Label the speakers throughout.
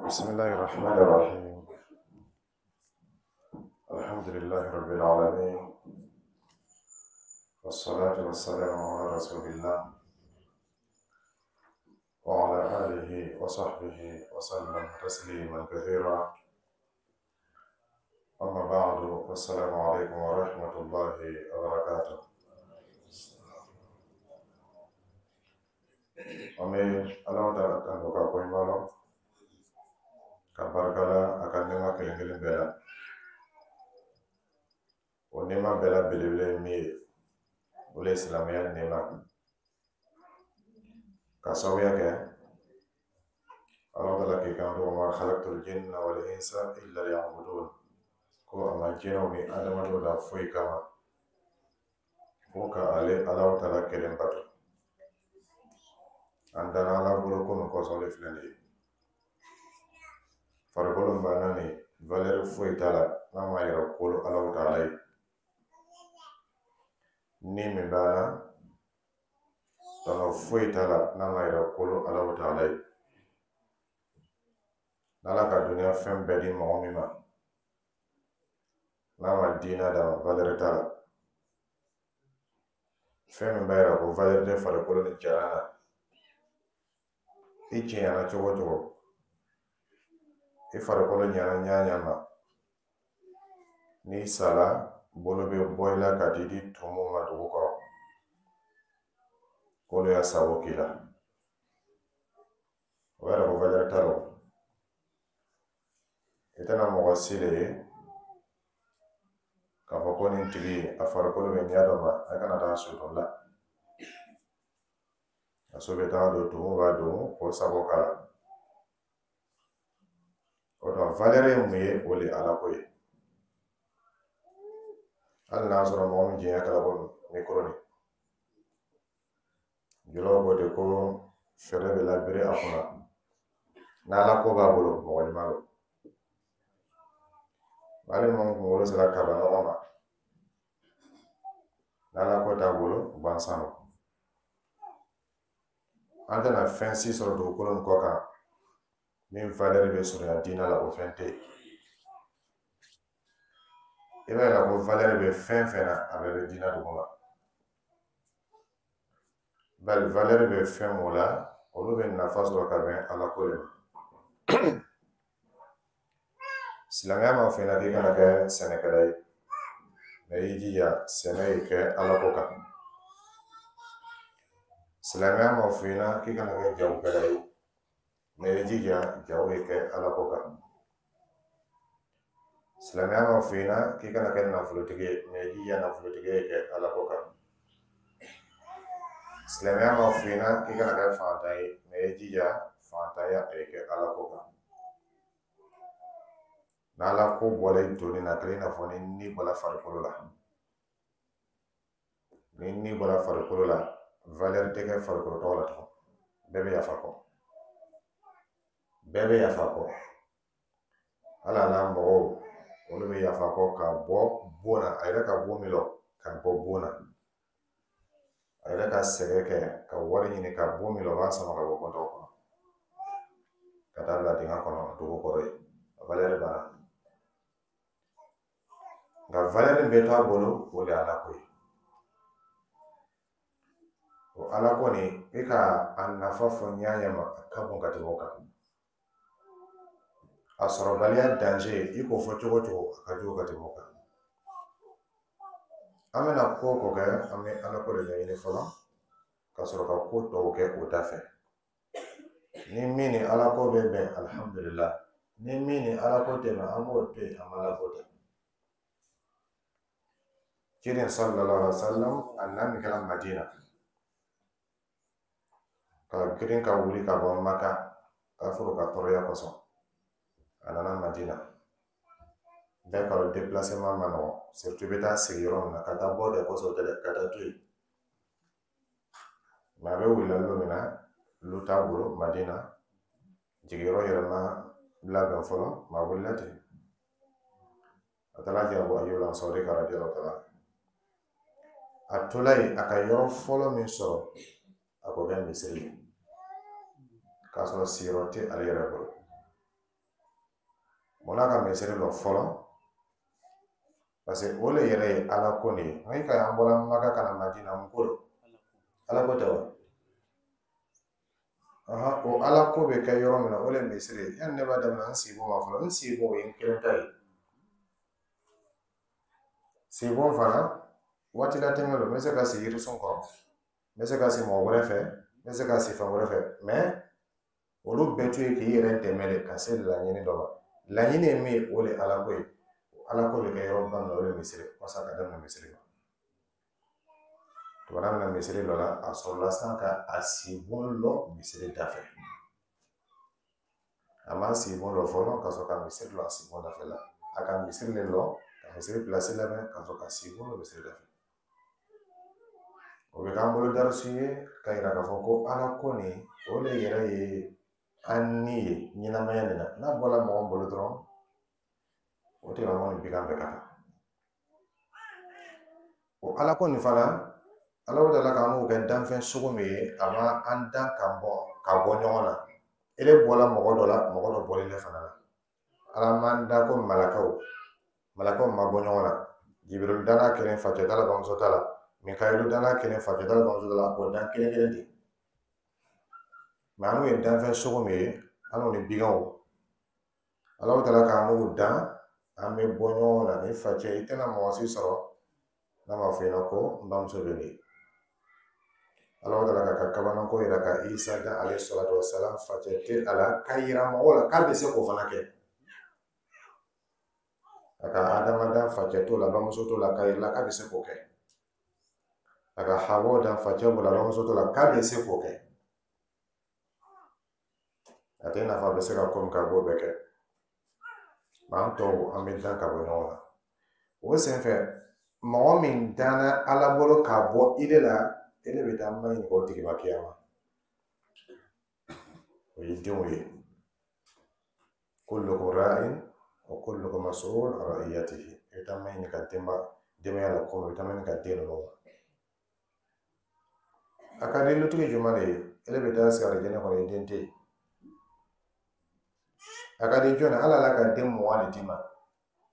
Speaker 1: بسم الله الرحمن الرحيم. الحمد لله رب العالمين، والصلاة والسلام على رسول الله وعلى آله وصحبه وسلم تسليما كثيرا. أما بعد، والسلام عليكم ورحمة الله وبركاته. An bɛ Ala taala tando ka koɲuman lɔn, ka barika la a ka nɛɛma kelen kelen bɛɛ la. O nɛɛma bɛɛ la belebele ye min ye, o le ye silamɛya nɛɛma. Ka sababuya kɛ Ala taala k'i kanto: وما خلقت الجن والإنس إلا ليعبدون. Ko a ma jinɛw ni adamadenw da foyi kama fo ka ale Ala taala kelen bato. An dara Ala bolo ko min kosɔn, o de filɛ nin ye. Farikolo min b'an na nin, valeur foyi t'a la n'a ma yɛrɛ kolo Ala taala ye. Ni min b'an na, tɔnɔ foyi t'a la n'a ma yɛrɛ kolo Ala taala ye. N'Ala ka duniya fɛn bɛɛ di mɔgɔ min ma, n'a ma diinɛ d'a ma, valeur t'a la. Fɛn min b'a yira ko valeur tɛ farikolo ni jalan na, i cɛɲana cogo o cogo, i farikolo ɲana ɲa ɲa ma, n'i sala, bolo bɛ bɔ i la ka t'i di tumuw ma dugu kɔrɔ, k'olu y'a sago k'i la, o b'a yira ko valeur t'a la. O i tɛna mɔgɔ si de ye k'a fɔ ko nin tigi a farikolo bɛ ɲɛ dɔ ma, a kana taa so dɔ la, a so bɛ taga don, tumu b'a don k'o sago k'a la. O tuma valeur ye mun ye? O de ye Ala ko ye. Hali n'a sɔrɔ mɔgɔ min jɛnya kɛra ko micro nin, julaw ko ten ko fɛɛrɛ bɛ labiri a kunna, n'Ala ko b'a bolo, mɔgɔ ɲuman don. Hali mɔgɔ min kunkolo sera kaba nɔgɔ ma, n'Ala ko t'a bolo, gansan don. An tɛna fɛn si sɔrɔ dugukolo nin kɔ kan min valeur bɛ surunya diinɛ la, o fɛn tɛ yen. I b'a yira ko valeur bɛ fɛn fɛn na, a bɛɛ bɛ diinɛ duguma. Bari valeur bɛ fɛn mun la, olu bɛ nafa sɔrɔ ka bɛn Ala ko de ma. Silamɛya m'a fɔ i ɲɛna k'i kana kɛ sɛnɛkɛla ye, mɛ i jija sɛnɛ ye kɛ Ala ko kan. Silamɛya m'a fɔ i ɲɛna k'i kana kɛ jagokɛla ye, mɛ i jija jago ye kɛ Ala ko kan. Silamɛya m'a fɔ i ɲɛna k'i kana kɛ nafolotigi ye, mɛ i jija nafolotigi ye kɛ Ala ko kan. Silamɛya m'a fɔ i ɲɛna k'i kana kɛ fantan ye, mɛ i jija fantanya a ye kɛ Ala ko kan. N'Ala ko bɔra i doni na, a kɛra i n'a fɔ ni ni bɔra farikolo la. Ni ni bɔra farikolo la, valeur tɛ kɛ farikolo tɔgɔ la tugun. Bɛɛ bɛ yafa kɔ, bɛɛ bɛ yafa kɔ. Hali a n'a mɔgɔw, olu bɛ yafa kɔ ka bɔ bon na, a yɛrɛ ka bon min lɔ ka bɔ bon na, a yɛrɛ ka sɛgɛn kɛ ka wari ɲini ka bon min lɔ, o b'a sama ka bɔ kɔntɔn kɔnɔ ka taa bila dingɛ kɔnɔ dugu kɔrɔ yen. A valeur banna. Nka valeur min bɛ to a bolo, o de ye Ala ko ye. O Ala ko nin, i ka a nafa fɔ ɲa ɲa ma, a ka bon ka tɛmɛ o kan. A sɔrɔbaliya danger, i k'o fɔ cogo o cogo, a ka jugu ka tɛmɛ o kan. An bɛna ko o ko kɛ, an bɛ Ala ko de ɲɛɲini fɔlɔ ka sɔrɔ ka ko tɔw kɛ o da fɛ. Ni min ni Ala ko bɛ bɛn, alihamudulila. Ni min ni Ala ko tɛ bɛn, an b'o to yen, an b'Ala ko ta. Ciden صلى الله عليه وسلم, a na min kɛra Madina, ka girin ka wuli ka bɔ Maka kafuru ka tɔɔrɔya kosɔn, a nana Madina. Bɛɛ ka dɔn déplacement ma nɔgɔn, surtout i bɛ taa sigi yɔrɔ min na, ka taa bɔ de kosɔn tɛ dɛ, ka taa to yen. Mɛ a bɛ wulila don min na, lu t'a bolo Madina, jigiyɔrɔ yɛrɛ ma labɛn fɔlɔ, mɛ a wulila ten, a taara jɛ Abu Ayyub Ansari ka رضي الله تعالى. A tola yen, a ka yɔrɔ fɔlɔ min sɔrɔ, a k'o kɛ misiri ye. K'a sɔrɔ siyɔrɔ tɛ ale yɛrɛ bolo. Munna ka misiri lɔ fɔlɔ? Parce que o le yɛrɛ ye Ala ko nin ye. Nka i ka an bɔra Maka ka na Madina, mun ko don? Ala ko tɛ wa? O Ala ko bɛ kɛ yɔrɔ min na, o le ye misiri ye. Yanni ne b'a daminɛ n sibon ma fɔlɔ, n sibon, o ye n kelen ta ye. Sibon fana, waati latɛmɛ don, n bɛ se ka sigi yirisun kɔrɔ, n bɛ se ka sigi mɔgɔ wɛrɛ fɛ, n bɛ se ka sigi fɛn wɛrɛ fɛ, mais olu bɛɛ to ye k'i yɛrɛ dɛmɛ de ka se laɲini dɔ ma. Laɲini ye min ye, o de ye Ala ko ye. Ala ko bɛ kɛ yɔrɔ ba min na, o de ye misiri. Walasa ka daminɛ misiri la. Tuma min na misiri dɔ la, a sɔrɔla sisan ka a sibon lɔ misiri da fɛ. A ma sibon lɔ fɔlɔ ka sɔrɔ ka misiri lɔ a sibon dafɛ la. A ka misiri le lɔ, ka misiri pilasi labɛn, ka sɔrɔ ka sibon lɔ misiri da fɛ. O bɛ k'an bolo darisu ye ka yira k'a fɔ ko Ala ko nin, o de yɛrɛ ye an ni ye ɲɛnamaya nin na. N'a bɔra mɔgɔ bolo dɔrɔn, o tigilamɔgɔ ni bigan bɛɛ ka kan. O Ala ko nin fana, Ala taala k'an n'o kɛ danfɛn sugu min ye, a ma an dan ka bɔ ɲɔgɔn na. Ele bɔla mɔgɔ dɔ la, mɔgɔ dɔ bɔlen ne fana la. Ala m'an da ko malakaw, malakaw ma bɔ ɲɔgɔn na. Jibiril danna kelen, facɛ t'a la, bamuso t'a la. Mikayilu danna kelen, facɛ t'a la, bamuso t'a la. O dan kelen kelen ten. Mais an n'u ye danfɛn sugu min ye, an n'u ni biganw, Ala taala k'an n'u dan, an bɛ bɔ ɲɔgɔn na. Ni facɛ, i tɛna mɔgɔ si sɔrɔ n'a m'a fɔ i ɲɛna ko n bamuso bɛ nin ye. Ala taala k'a ka kabanako yira ka Isa dan alayhi salatu wasalam, facɛ tɛ a la, k'a yira mɔgɔw la k'a bɛ se k'o fana kɛ. A ka Adama dan, facɛ t'o la, bamuso t'o la, k'a yira k'a bɛ se k'o kɛ. A ka Hawa dan, facɛ b'o la, bamuso t'o la, k'a bɛ se k'o kɛ. A tɛ i n'a fɔ a bɛ se ka ko min kɛ, a b'o bɛɛ kɛ. An tɔw, an bɛ dan ka bɔ ɲɔgɔn na. O senfɛ, mɔgɔ min danna Ala bolo ka bɔ i de la, e de bɛ taa ma ɲininka o tigi ma kiyama. O ye denw ye. Kullukum ra'in wa kullukum mas'ul an ra'iyatihi. I bɛ taa ma ɲininka denbaya la ko min, i bɛ taa ma ɲininka den ninnu ma. A ka di lutigi jumɛn de ye? E bɛ taa sigi alijinɛ kɔnɔ, i den tɛ yen. A ka di jɔn ye? Ala la ka den 20 de d'i ma.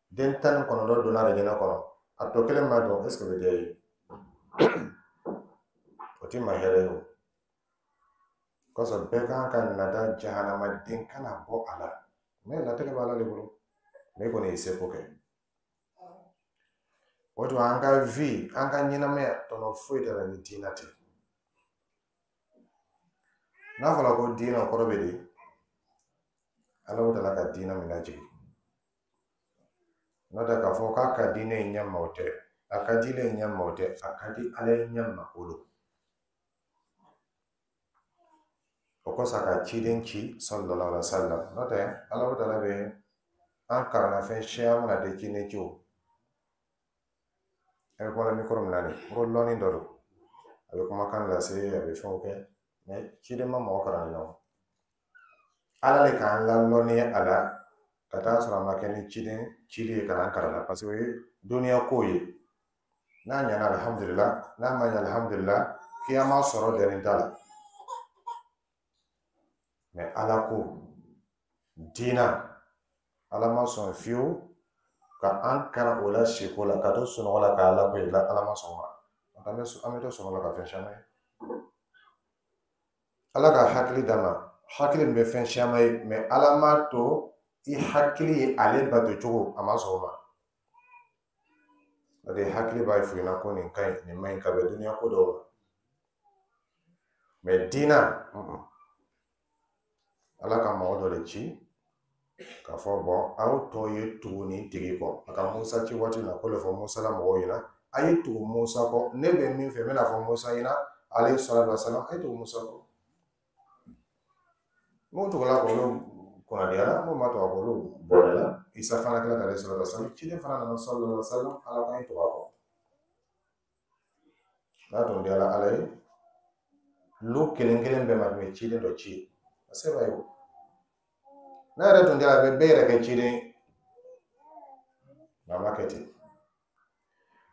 Speaker 1: Den 19 donna alijinɛ kɔnɔ. A tɔ kelen ma dɔn, est ce que o bɛ diya i ye? O t'i ma hɛrɛ ye o. Kosɔn bɛɛ kan ka nata jahanama den kana bɔ a la. Mais latigɛ b'Ala de bolo. Mais i kɔni y'i seko kɛ. O tuma an ka vie, an ka ɲɛnamaya, tɔnɔ foyi t'a la ni diinɛ tɛ. N'a fɔra ko diinɛ, o kɔrɔ bɛ di? Ala taala ka diinɛ min lajigin. N'o tɛ k'a fɔ k'a ka di ne ye ɲɛ ma, o tɛ. A ka di ne ye ɲɛ ma, o tɛ. A ka di Ala ye ɲɛ ma, o don. O kosɔn a ka ciden ci sallallahu alaihi wa sallam. N'o tɛ, Ala taala bɛ an kalanna fɛn siya mana tɛ ciden ci o. A bɛ kuma micro min na nin, n ko lɔnni dɔ don. A bɛ kumakan lase, a bɛ fɛnw kɛ. Mais ciden ma mɔgɔ kalan nin na o. Ala le k'an lalɔnniya a la ka taa sɔrɔ a ma kɛ ni ciden cili ye ka n'an kalan na, parce que o ye dɔnniya ko ye. N'a ɲɛna, alihamudulila. N'a ma ɲɛ, alihamudulila. Kiyama sɔrɔ dɛnnen t'a la. Mais Ala ko diina, Ala ma sɔn fiyewu ka an kalan o la siko la, ka to sunɔgɔ la ka Ala ko la, Ala ma sɔn o ma. An bɛ to sunɔgɔ la ka fɛn caman ye. Ala ka hakili d'a ma, hakili min bɛ fɛn caman ye, mais Ala m'a to i hakili ye ale bato cogo, a ma sɔn o ma. O de hakili b'a f'i ɲɛna ko nin ka ɲi, nin man ɲi, ka bɛn duniya ko dɔw ma. Mais diina, Ala ka mɔgɔ dɔ de ci k'a fɔ bɔn, aw tɔ ye tugu nin tigi kɔ. A ka Musa ci waati min na, ko le fɔ Musa la mɔgɔw ɲɛna, a ye tugu Musa kɔ. Ne bɛ min fɛ, n bɛna fɔ Musa ɲɛna alayhi salatu wa salam, a ye tugu Musa kɔ. N'o tugula k'olu kunnadiyara, n'o ma tugu a kɔ, olu bɔra la. Isa fana kɛra alayhi salatu wa salam, ciden fana nana sallallahu alaihi wa sallam, Ala k'an ye tugu a kɔ. N'a tun diyara Ala ye, lu kelen kelen bɛɛ ma tun bɛ ciden dɔ ci. A se b'a ye o. N'a yɛrɛ tun diyara, a bɛ bɛɛ yɛrɛ kɛ ciden ye. Nka a ma kɛ ten.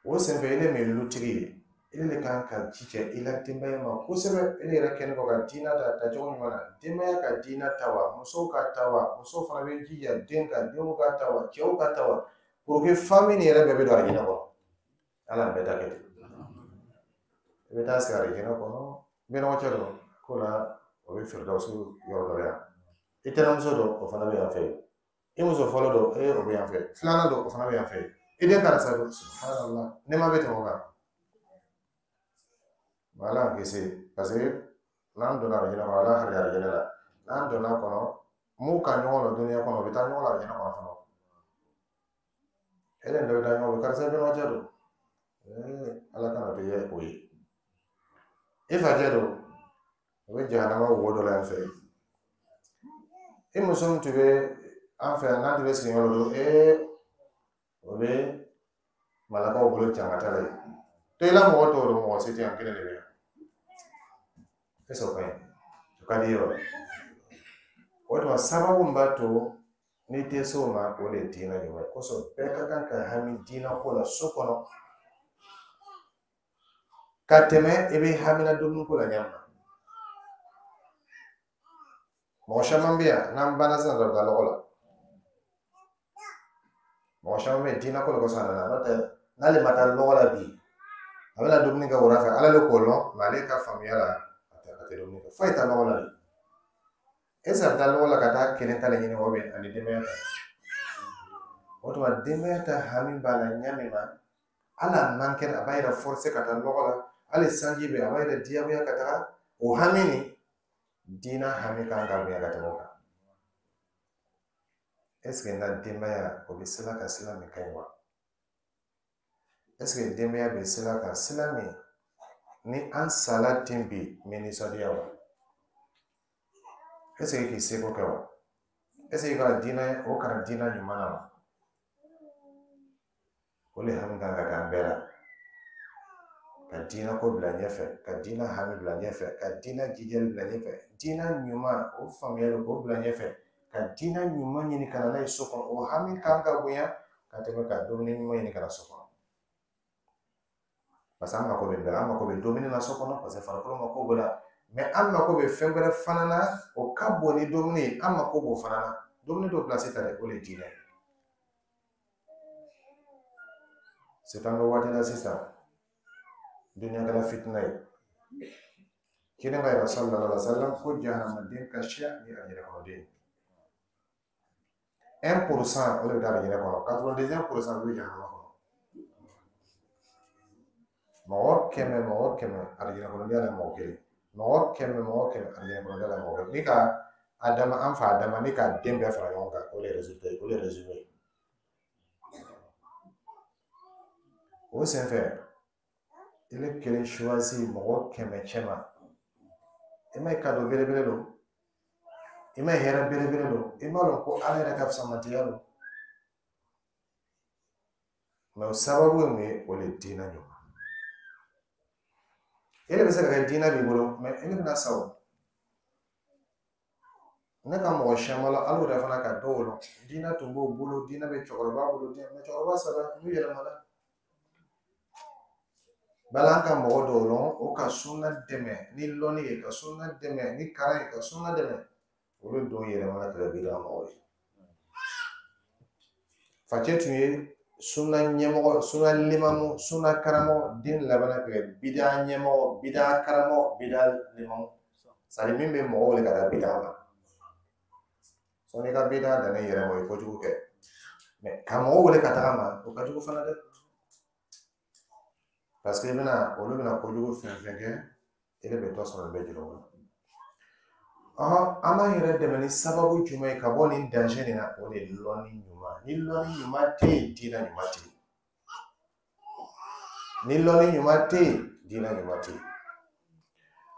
Speaker 1: O senfɛ, ile min ye lutigi ye, E de kan ka jija i la denbaya ma kosɛbɛ. E yɛrɛ kɛlen kɔ ka diinɛ ta tacogo ɲuman na, denbaya ka diinɛ ta wa, musow ka ta wa, musow fana bɛ jija den ka denw ka ta wa, cɛw ka ta wa, pour que famille nin yɛrɛ bɛɛ bɛ don arijinɛ kɔnɔ. Ala bɛɛ ta kɛ ten. I bɛ taa sigi arijinɛ kɔnɔ, bɛnɔgɔcɛ don ko la, o bɛ firidawusu yɔrɔ dɔ la yan. I tɛnɛmuso don, o fana bɛ yan fɛ. I muso fɔlɔ don, e o bɛ yan fɛ. Filanan don, o fana bɛ yan fɛ. I den karisa don, subhanallah, nɛma bɛ tɛmɛ o kan. Ala kisi, parce que n'an donna arijinɛ kɔnɔ, Ala hakili arijinɛ la, n'an donna kɔnɔ, mun ka ɲɔgɔn lɔ duniya kɔnɔ, u bɛ taa ɲɔgɔn la arijinɛ kɔnɔ fana. E de bɛ taa ɲɔgɔn fɛ, karisa bɛnɔgɔcɛ don, Ala kana to ye o ye. I facɛ don, o bɛ jahanama wo dɔ la yan fɛ. I muso min tun bɛ an fɛ yan, n'an tun bɛ sigi yɔrɔ dɔ, o bɛ malakaw bolo jangata la yen. To i la mɔgɔ tɔw don, mɔgɔ si tɛ yan, kelen de bɛ yan. Est-ce que o ka ɲi? O ka di ye wa? O tuma sababu min b'a to n'i tɛ se o ma, o de ye diinɛ ɲuman ye. Kosɔn bɛɛ ka kan ka hami diinɛ ko la so kɔnɔ ka tɛmɛ i bɛ hamina dumuni ko la ɲɛ ma. Mɔgɔ caman bɛ yan, n'an banna sisan dɔrɔn, taa lɔgɔ la. Mɔgɔ caman bɛ yen, diinɛ ko de kosɔn a nana. N'o tɛ, n'ale ma taa lɔgɔ la bi, a bɛna dumuni kɛ wula fɛ, Ala le k'o lɔn, mɛ ale ka faamuya la, a tɛ dumuni kɛ foyi. Taa lɔgɔ la de, est-ce que a bɛ taa lɔgɔ la ka taa kelen ta le ɲini o bɛ ani denbaya ta? O tuma denbaya ta hami b'a la ɲɛ min ma, hali a man kɛnɛ, a b'a yɛrɛ forcer ka taa lɔgɔ la. Hali sanji bɛ, a b'a yɛrɛ diyagoya ka taga. O hami nin, diinɛ hami kan ka bonya ka tɛmɛ o kan. Est-ce que n ka denbaya, o bɛ sira kan sira min ka ɲi wa? Est-ce que denbaya bɛ sira kan sira min ni an sala ten bi, n bɛ nisɔndiya wa? Est-ce que k'i seko kɛ wa? Est-ce que ka diinɛ o kalan diinɛ ɲuman na wa? O de hami kan ka kɛ an bɛɛ la, ka diinɛ ko bila ɲɛfɛ, ka diinɛ hami bila ɲɛfɛ, ka diinɛ jijali bila ɲɛfɛ, diinɛ ɲuman o faamuyali k'o bila ɲɛfɛ, ka diinɛ ɲuman ɲini ka na n'a ye so kɔnɔ. O hami kan ka bonya ka tɛmɛ ka dumuni ɲuman ɲini ka na so kɔnɔ, parce que an mako bɛ bɛɛ, an mako bɛ dumuni na so kɔnɔ, parce que farikolo mako b'o la, mɛ an mako bɛ fɛn wɛrɛ fana na, o ka bon ni dumuni ye. An mako b'o fana na. Dumuni dɔw pilasi ta dɛ, o de ye diinɛ ye. C'est an bɛ waati la sisan, duniya kɛra fitina ye. Kelen ka yɛrɛ sallallahu alaihi wa sallam ko jahanamaden ka siya ni arijinɛ kɔnɔden ye. 1%, o de bɛ taa arijinɛ kɔnɔ, 91% bɛ jahanama kɔnɔ. Mɔgɔ 100, mɔgɔ 100, arijinɛ kɔnɔden la mɔgɔ kelen. Mɔgɔ 100, mɔgɔ 100, arijinɛ kɔnɔden la mɔgɔ kelen. Ni ka Adama, an fa Adama ni ka den bɛɛ fara ɲɔgɔn kan, o de ye résultat ye, o de ye résumé ye. O senfɛ, i kelen choisi mɔgɔ 100 cɛ ma, i ma ye cadeau belebele don, i ma ye hɛrɛ belebele don, i m'a dɔn ko Ala yɛrɛ ka fisamantiya don. Mɛ o sababu ye mun ye? O de ye diinɛ ɲuman. E de bɛ se ka kɛ diinɛ b'i bolo, mɛ e bɛna sa o. Ne ka mɔgɔ siyaman la, hali o yɛrɛ fana ka dɔw lɔn, diinɛ tun b'o bolo, diinɛ bɛ cɛkɔrɔba bolo, mɛ cɛkɔrɔba sara, n'u yɛlɛmana. Bala an ka mɔgɔ dɔw lɔn, o ka sunna dɛmɛ ni lɔnni ye, ka sunna dɛmɛ ni kalan ye, ka sunna dɛmɛ, olu don yɛlɛmana ka kɛ bida mɔgɔw ye. Facɛ tun ye sunna ɲɛmɔgɔ, sunna limamu, sunna karamɔgɔ, den labanna ka kɛ bida ɲɛmɔgɔ, bida karamɔgɔ, bida limamu. C'est min bɛ mɔgɔw wele ka taa bida ma. Sɔnni i ka bida danna i yɛrɛ ma, o ye kojugu kɛ. Mɛ ka mɔgɔw wele ka taga ma, o ka jugu fana dɛ. Parce que i bɛna, olu bɛna kojugu fɛn fɛn kɛ, e de bɛ dɔ sɔrɔ, bɛɛ juru la. Ɔhɔn, an b'an yɛrɛ dɛmɛ ni sababu jumɛn ye ka bɔ nin danger nin na? O de ye lɔnni ɲuman. Ni lɔnni ɲuman tɛ yen, diinɛ ɲuman tɛ yen. Ni lɔnni ɲuman tɛ yen, diinɛ ɲuman tɛ yen.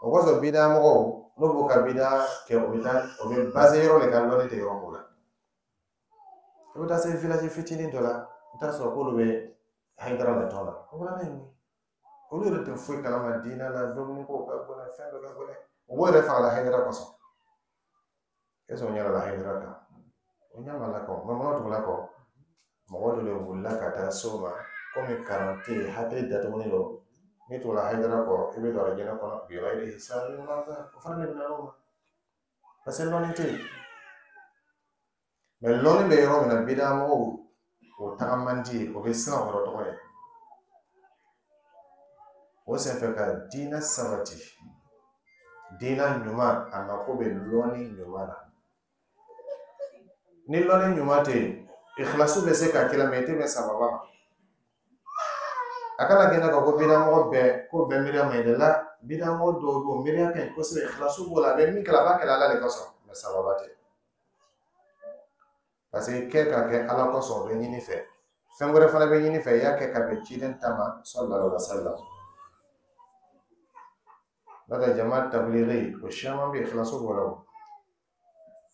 Speaker 1: O kosɔn bida mɔgɔw, n'u b'u ka bida kɛ, u bɛ taa, o bɛ basé yɔrɔ de kan, lɔnni tɛ yɔrɔ mun na. I bɛ taa se village fitinin dɔ la, i bɛ taa sɔrɔ k'olu bɛ Hayidara la tɔn na. O fana ye mun ye? Olu yɛrɛ tɛ foyi kalama diinɛ la, dumuni ko ka gɛlɛn, fɛn bɛɛ ka gɛlɛn. U b'o yɛrɛ fagala Hayidara kosɔn. Est ce que o ɲɛ la Hayidara kan? O ɲɛ ma la kɔ, mɛ mana tugula kɔ, mɔgɔ dɔ de wulila ka taa s'o ma, komi kalan tɛ yen, hakili datugulen don. N'i tugula Hayidara kɔ, i bɛ don arijinɛ kɔnɔ bi ghayri hisabin wala adhab. O fana de bɛ na o ma, parce que lɔnni tɛ yen. Mais lɔnni bɛ yɔrɔ min na, bidamɔgɔw o taga man di yen, o bɛ siran o yɔrɔ tɔgɔ ye. O senfɛ ka diinɛ sabati, diinɛ ɲuman, a mako bɛ lɔnni ɲuman na. Ni lɔnni ɲuman tɛ yen, ikhlasu bɛ se ka k'i la, mais i tɛ bɛn sababa ma. A kana kɛ i n'a fɔ ko bidamɔgɔ bɛɛ ko bɛɛ miiriya man ɲi dɛ. La, bidamɔgɔ dɔw bɛ yen, miiriya ka ɲi kosɛbɛ, ikhlasu b'o la, a bɛ min kɛ, a b'a kɛ Ala de kosɔn, mais sababa tɛ. Parce que kɛ ka kɛ Ala kosɔn, o bɛ ɲini fɛ. Fɛn wɛrɛ fana bɛ ɲini fɛ, i y'a kɛ ka bɛn ciden ta ma sallallahu alaihi wa sallam. N'o tɛ, jama tablighi o caman bɛ yen, ikhlasu b'o la. O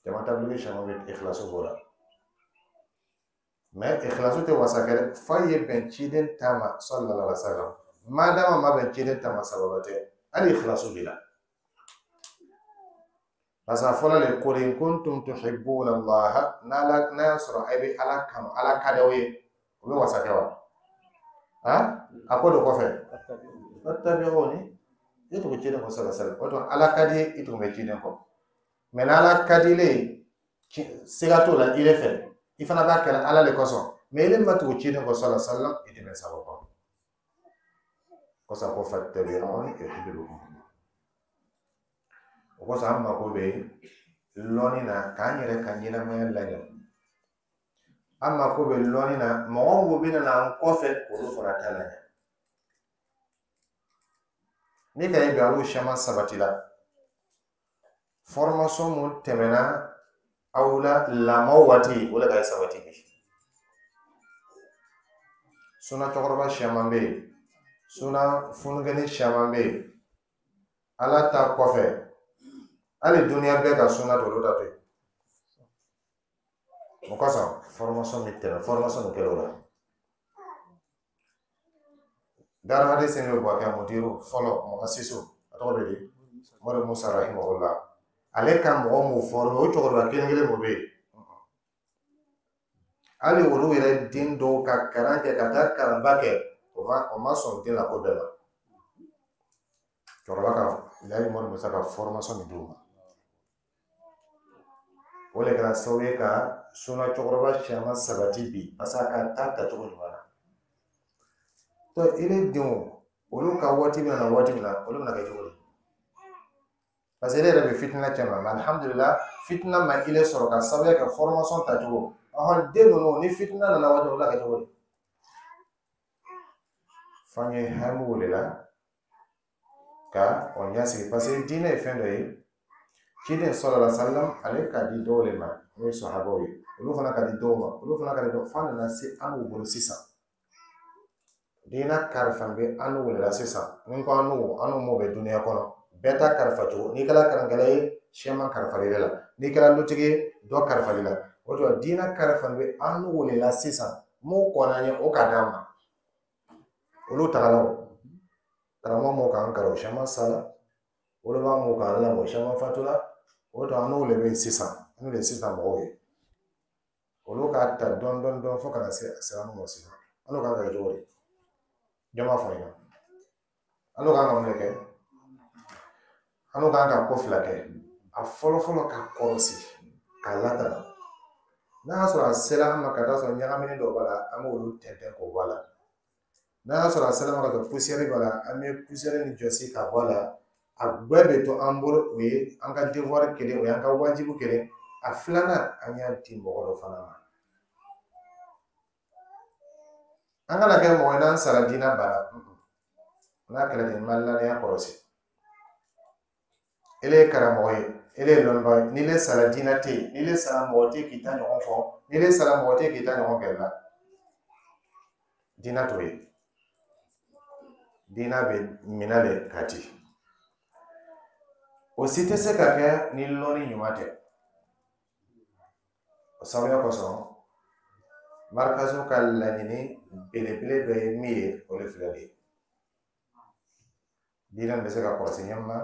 Speaker 1: jama tablighi caman bɛ yen, ikhlasu b'o la, mais ikhlasu tɛ wasa kɛ dɛ, f'a ye bɛn ciden ta ma sallallahu alaihi wa sallam. Madama ma bɛn ciden ta ma, sababa tɛ, hali ikhlasu b'i la. Parce que a fɔra le: qul in kuntum tuhibbuna Allah, n'ala n'a y'a sɔrɔ a bɛ Ala kanu, Ala ka di aw ye, o bɛ wasa kɛ wa? A ko do kɔfɛ: fattabi'uni, i tugu ciden kɔ sallallahu alaihi wa sallam. O tuma Ala ka di i tugu bɛ ciden kɔ. Mais n'Ala ka di ile ye, siga t'o la, ile fɛ, i fana b'a kɛra Ala le kosɔn, mais ile ma tugu ciden kɔ sallallahu alaihi wa sallam, i tɛ bɛn sababa kosɔn. Ko fattabi'uni yuhibbukum. O kosɔn an mako bɛ lɔnni na k'an yɛrɛ ka ɲɛnamaya laɲɛ. An mako bɛ lɔnni na, mɔgɔ mun bɛ na an kɔfɛ, olu fana ta laɲɛ. Ni ka ye bi, alu caman sabati la. Formation mun tɛmɛna aw la lamɔ waati, o de ka sabati bi. Suna cɛkɔrɔba caman bɛ yen, suna fununkɛni caman bɛ yen. Ala ta kɔfɛ, hali duniya bɛɛ ka suna to, olu ta to yen. O kosɔn formation bɛ tɛmɛ, formation bɛ kɛ o la. Dar Hadisi bɛ bɔ kɛ mudiru fɔlɔ, muassisu, a tɔgɔ bɛ di, Mori Musa rahimahullah. Ale ka mɔgɔ mun former, o cɛkɔrɔba kelen kelen mun bɛ yen, hali olu yɛrɛ den dɔw ka kalan kɛ ka taa kalanba kɛ, o ma sɔn den la ko bɛɛ ma. Cɛkɔrɔba ka Layi Mori Musa ka formation min d'u ma, o de kɛra sababu ye ka suna cɛkɔrɔba caman sabati bi, parce que a ka taa tacogo ɲuman na. To ile denw, olu ka waati bɛna na waati min na, olu bɛna kɛ cogo di? Parce que ele yɛrɛ bɛ fitina cɛ ma, mais alhamdulillah, fitina ma ile sɔrɔ ka sababuya kɛ formation tacogo. Ɔhɔn, den ninnu, ni fitina nana waati, olu bɛna kɛ cogo di? F'an ye hami o de la ka o ɲɛsigi, parce que diinɛ ye fɛn dɔ ye. Ciden sallallahu alaihi wa sallam, ale ka di dɔw de ma, n'o ye sahabaw ye, olu fana ka di dɔw ma, olu fana ka di dɔw, f'a nana se an n'u bolo sisan. Diinɛ kalifa bɛ an n'u de la sisan. Ni ko an n'u, an n'u m'o bɛ duniya kɔnɔ, bɛɛ ta kalifa cogo. N'i kɛra kalankɛla ye, siyaman kalifalen la. N'i kɛra lutigi ye, dɔ kalifalen la. O tuma diinɛ kalifa bɛ an n'u de la sisan. Mun kɔnna an ye, o ka d'an ma. Olu tagala, o karamɔgɔ m'o k'an kalan, o caman sala. Olu b'a m'o k'an lamɔ, o caman fatula. O tuma an n'o de bɛ yen sisan, n'o de ye sisan mɔgɔw ye. Olu k'a ta dɔɔni dɔɔni dɔɔni fo ka na se a sera an ma sisan. An n'o kan ka kɛ cogo di? Jɔn b'a fɔ an ɲɛna? An n'o kan ka mun de kɛ? An n'o kan ka ko fila kɛ. A fɔlɔ fɔlɔ, ka kɔlɔsi k'a latanga. N'a y'a sɔrɔ a sera an ma ka taa sɔrɔ ɲagamini dɔ b'a la, an b'olu tɛntɛn k'o bɔ a la. N'a y'a sɔrɔ a sera an ma ka sɔrɔ poussière b'a la, an bɛ poussière ni jɔsi k'a bɔ a la. A bɛɛ bɛ to an bolo, o ye an ka devoir kelen, o y'an ka wajibi kelen. A filanan, an y'a di mɔgɔ dɔ fana ma. An kana kɛ mɔgɔ ye n'an sara, diinɛ banna. N'a kɛra ten, ma ladenya kɔlɔsi. Ele ye karamɔgɔ ye, ele ye lɔnnibaga ye, n'i le sara, diinɛ tɛ yen. N'i le sara, mɔgɔ tɛ k'i ta ɲɔgɔn fɔ. N'i le sara, mɔgɔ tɛ k'i ta ɲɔgɔn kɛ la. Diinɛ t'o ye. Diinɛ bɛ minɛ de ka di. O si tɛ se ka kɛ ni lɔnni ɲuman tɛ. O sababuya kosɔn, marikaso ka laɲini belebele dɔ ye min ye, o de filɛ nin ye: diinɛ bɛ se ka kɔlɔsi ɲɛ ma,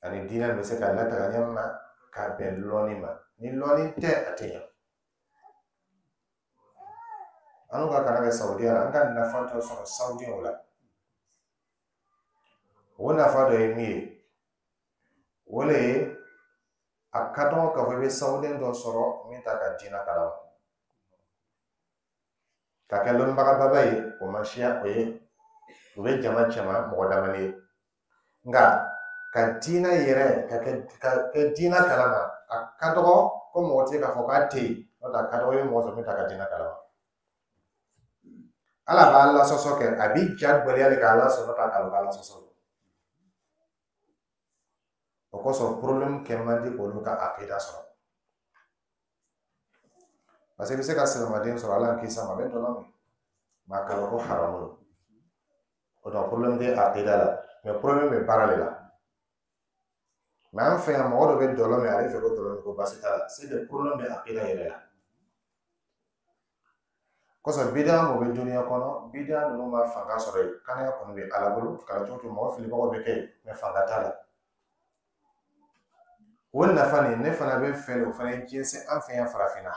Speaker 1: ani diinɛ bɛ se ka lataga ɲɛ ma k'a bɛn lɔnni ma. Ni lɔnni tɛ, a tɛ ɲɛ. An n'u ka kalan kɛ Saudiya la, an ka nafa tɔ sɔrɔ Saudiyaw la. O nafa dɔ ye min ye, o le ye a ka dɔgɔ k'a fɔ i bɛ sawuden dɔ sɔrɔ min t'a ka diinɛ kalama. Ka kɛ lɔnnibagababa ye, o ma siya, o ye o bɛ jama cɛma mɔgɔ damani ye. Nka ka diinɛ yɛrɛ ka kɛ diinɛ kalama, a ka dɔgɔ ko mɔgɔ tɛ k'a fɔ k'a tɛ yen. N'o tɛ, a ka dɔgɔ i bɛ mɔgɔ sɔrɔ min t'a ka diinɛ kalama. Ala b'a lasɔsɔ kɛ, a b'i ja gwɛlɛya de k'a lasɔrɔ ta k'a lɔn k'ala sɔsɔ. O kosɔn problème kɛ man di k'olu ka akida sɔrɔ, parce que i bɛ se ka silamaden sɔrɔ, Ala kisi a ma, a bɛ dɔlɔ min, mais a kalan ko haramu don. O donc problème tɛ akida la, mais problème bɛ baara de la. Mais an fɛ yan, mɔgɔ dɔ bɛ dɔlɔ min, ale fɛ ko dɔlɔ min ko baasi t'a la. C'est que problème bɛ akida yɛrɛ la. Kosɔn bidaa mun bɛ duniya kɔnɔ, bidaa ninnu ma fanga sɔrɔ yen. Kanaya kɔni bɛ Ala bolo, kalan cogo cogo, mɔgɔ filibagaw bɛ kɛ yen, mais fanga t'a la. O nafa nin, ne fana bɛ fɛ de o fana ye jɛnsɛn an fɛ yan farafinna,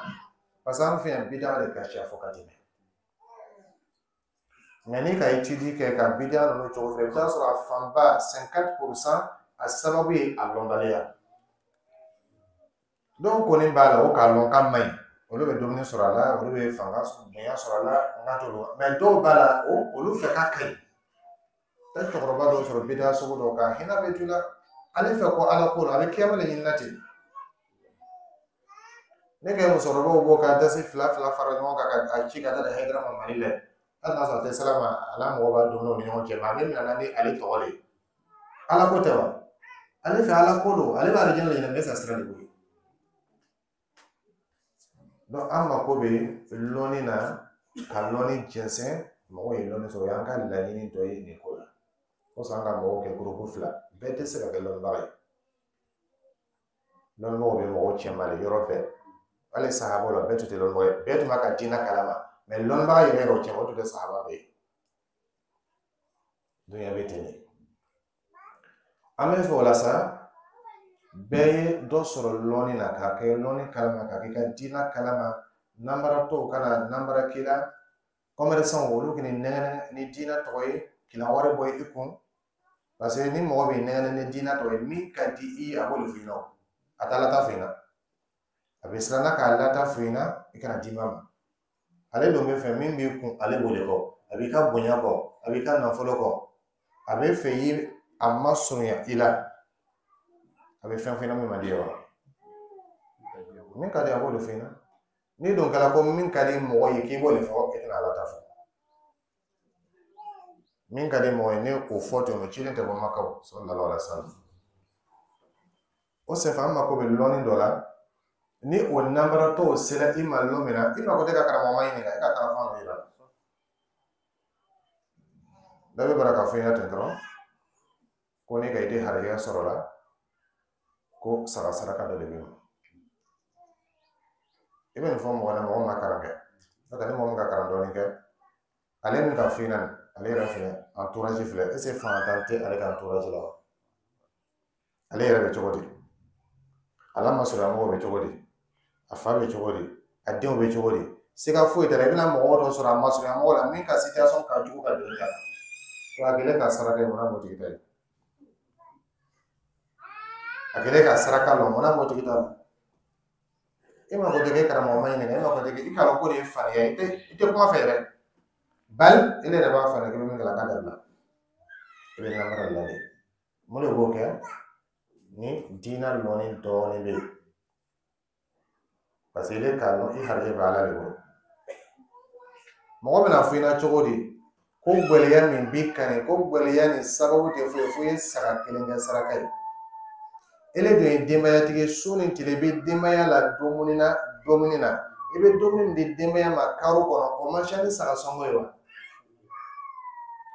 Speaker 1: parce que an fɛ yan, bidaa de ka ca fo ka tɛmɛ. Mais n'i ka étude kɛ ka bidaa ninnu cogo fɛ, i bɛ taa sɔrɔ a fanba, 50 %, a sababu ye a lɔnbaliya. Dɔw kɔni b'a la, o k'a lɔn k'a man ɲi, olu bɛ dumuni sɔrɔ a la, olu bɛ fanga bonya sɔrɔ a la, n ka t'olu. Mais dɔw b'a la, o olu fɛ k'a ka ɲi. Taa cɛkɔrɔba dɔw sɔrɔ bidaa sugu dɔw kan, hinɛ bɛ t'u la. Ale fɛ ko Ala ko la, a bɛ kiyama de ɲini na ten. Ne kɛ musokɔrɔbaw bɔ ka dasi fila fila fara ɲɔgɔn kan ka ci ka taa di Hayidara ma Mali la. Hali n'a sɔrɔ a tɛ sira ma, a n'a mɔgɔw b'a dumuni ni ɲɔgɔn cɛ, mais a bɛ minɛ ni ale tɔgɔ de ye. Ala ko tɛ wa? Ale fɛ Ala ko don, ale b'a alijinɛ de ɲini, ne sa sira de b'o ye. Donc an mako bɛ lɔnni na, ka lɔnni jɛnsɛn, mɔgɔw ye lɔnni sɔrɔ, o y'an ka laɲini dɔ ye nin ko la. Kosɔn an ka mɔgɔw kɛ groupe fila, bɛɛ tɛ se ka kɛ lɔnnibaga ye. Lɔnnibagaw bɛ mɔgɔw cɛma de yɔrɔ bɛɛ. Hali sahabaw la, bɛɛ tun tɛ lɔnnibaga ye, bɛɛ tun b'a ka diinɛ kalama, mais lɔnnibaga yɛrɛ yɛrɛ o cɛma, o tun tɛ sahaba bɛɛ ye. Dunuya bɛ ten de. An bɛ fɛ o la sa, bɛɛ ye dɔ sɔrɔ lɔnni na, k'a kɛ lɔnni kalama, k'a kɛ i ka diinɛ kalama. Nanbaratɔw kana nanbara k'i la, commerçant olu k'i nɛgɛn ni diinɛ tɔgɔ ye, k'i la wari bɔ i kun. Parce que ni mɔgɔ b'i nɛgɛn ni diinɛ tɔgɔ ye, min ka di i ye, a b'o de f'i ɲɛna. O a t'a lata f'i ɲɛna, a bɛ siran k'a lata f'i ɲɛna, i kana d'i ma. Ale dun bɛ fɛ min b'i kun, ale b'o de kɔ. A b'i ka bonya kɔ, a b'i ka nafolo kɔ, a bɛ fɛ i a ma surunya i la, a bɛ fɛn f'i ɲɛna min man di ye wa min ka di, a b'o de f'i ɲɛna. N'i dun kɛra ko min ka di mɔgɔ ye k'i b'o de fɔ, e tɛna Ala ta fɔ. Min ka di mɔgɔ ye, ne o fɔ ten, o cilen tɛ bɔ Maka sallallahu alaihi wa sallam. O senfɛ, an mako bɛ lɔnni dɔ la. Ni o nanbaratɔw sera i ma lon min na, i mako tɛ ka karamɔgɔ ma ɲininka, e ka taa fan dɔ yira. Dɔ bɛ bara k'a fɔ i ɲɛna ten dɔrɔn ko ne ka i tɛ harijɛgɛ sɔrɔ la, ko saga saraka dɔ de bɛ yen. I bɛ nin fɔ mɔgɔ la, mɔgɔ ma kalan kɛ. N'o tɛ, ni mɔgɔ min ka kalan dɔɔnin kɛ, ale min ka f'i ɲɛna, ale yɛrɛ filɛ, entourage filɛ, est ce que fantan tɛ ale ka entourage la wa? Ale yɛrɛ bɛ cogo di? A la masurunya mɔgɔw bɛ cogo di? A fa bɛ cogo di? A denw bɛ cogo di? Siga foyi t'a la, i bɛna mɔgɔ dɔ sɔrɔ a masurunya mɔgɔ la min ka situation ka jugu ka don i kan. A kɛlen ka saraka ye, munna m'o tigi ta ye? A kɛlen ka saraka lɔ, munna m'o tigi ta la? E ma ko tɛ karamɔgɔ ma ɲininka, e ma ko tɛ i k'a dɔn ko de ye farinya ye, i tɛ kuma fɛ yɛrɛ. Bali e yɛrɛ b'a fɔ k'i bɛ min kɛ, a k'a dabila, i bɛ namara la de. Mun de b'o kɛ? Ni diinɛ lɔnni dɔɔnin bɛ yen, parce que i k'a lɔn i harijɛ bɛ Ala de bolo. Mɔgɔ bɛna fɔ i ɲɛna cogo di ko gwɛlɛya min b'i kan, ko gwɛlɛya nin sababu tɛ foyi ye fo i ye saga kelen kɛ saraka ye? Ele dun ye denbayatigi ye, su ni tile i bɛ denbaya la dumuni na, dumuni na, i bɛ dumuni min di denbaya ma karo kɔnɔ, o man ca ni saga sɔngɔ ye wa?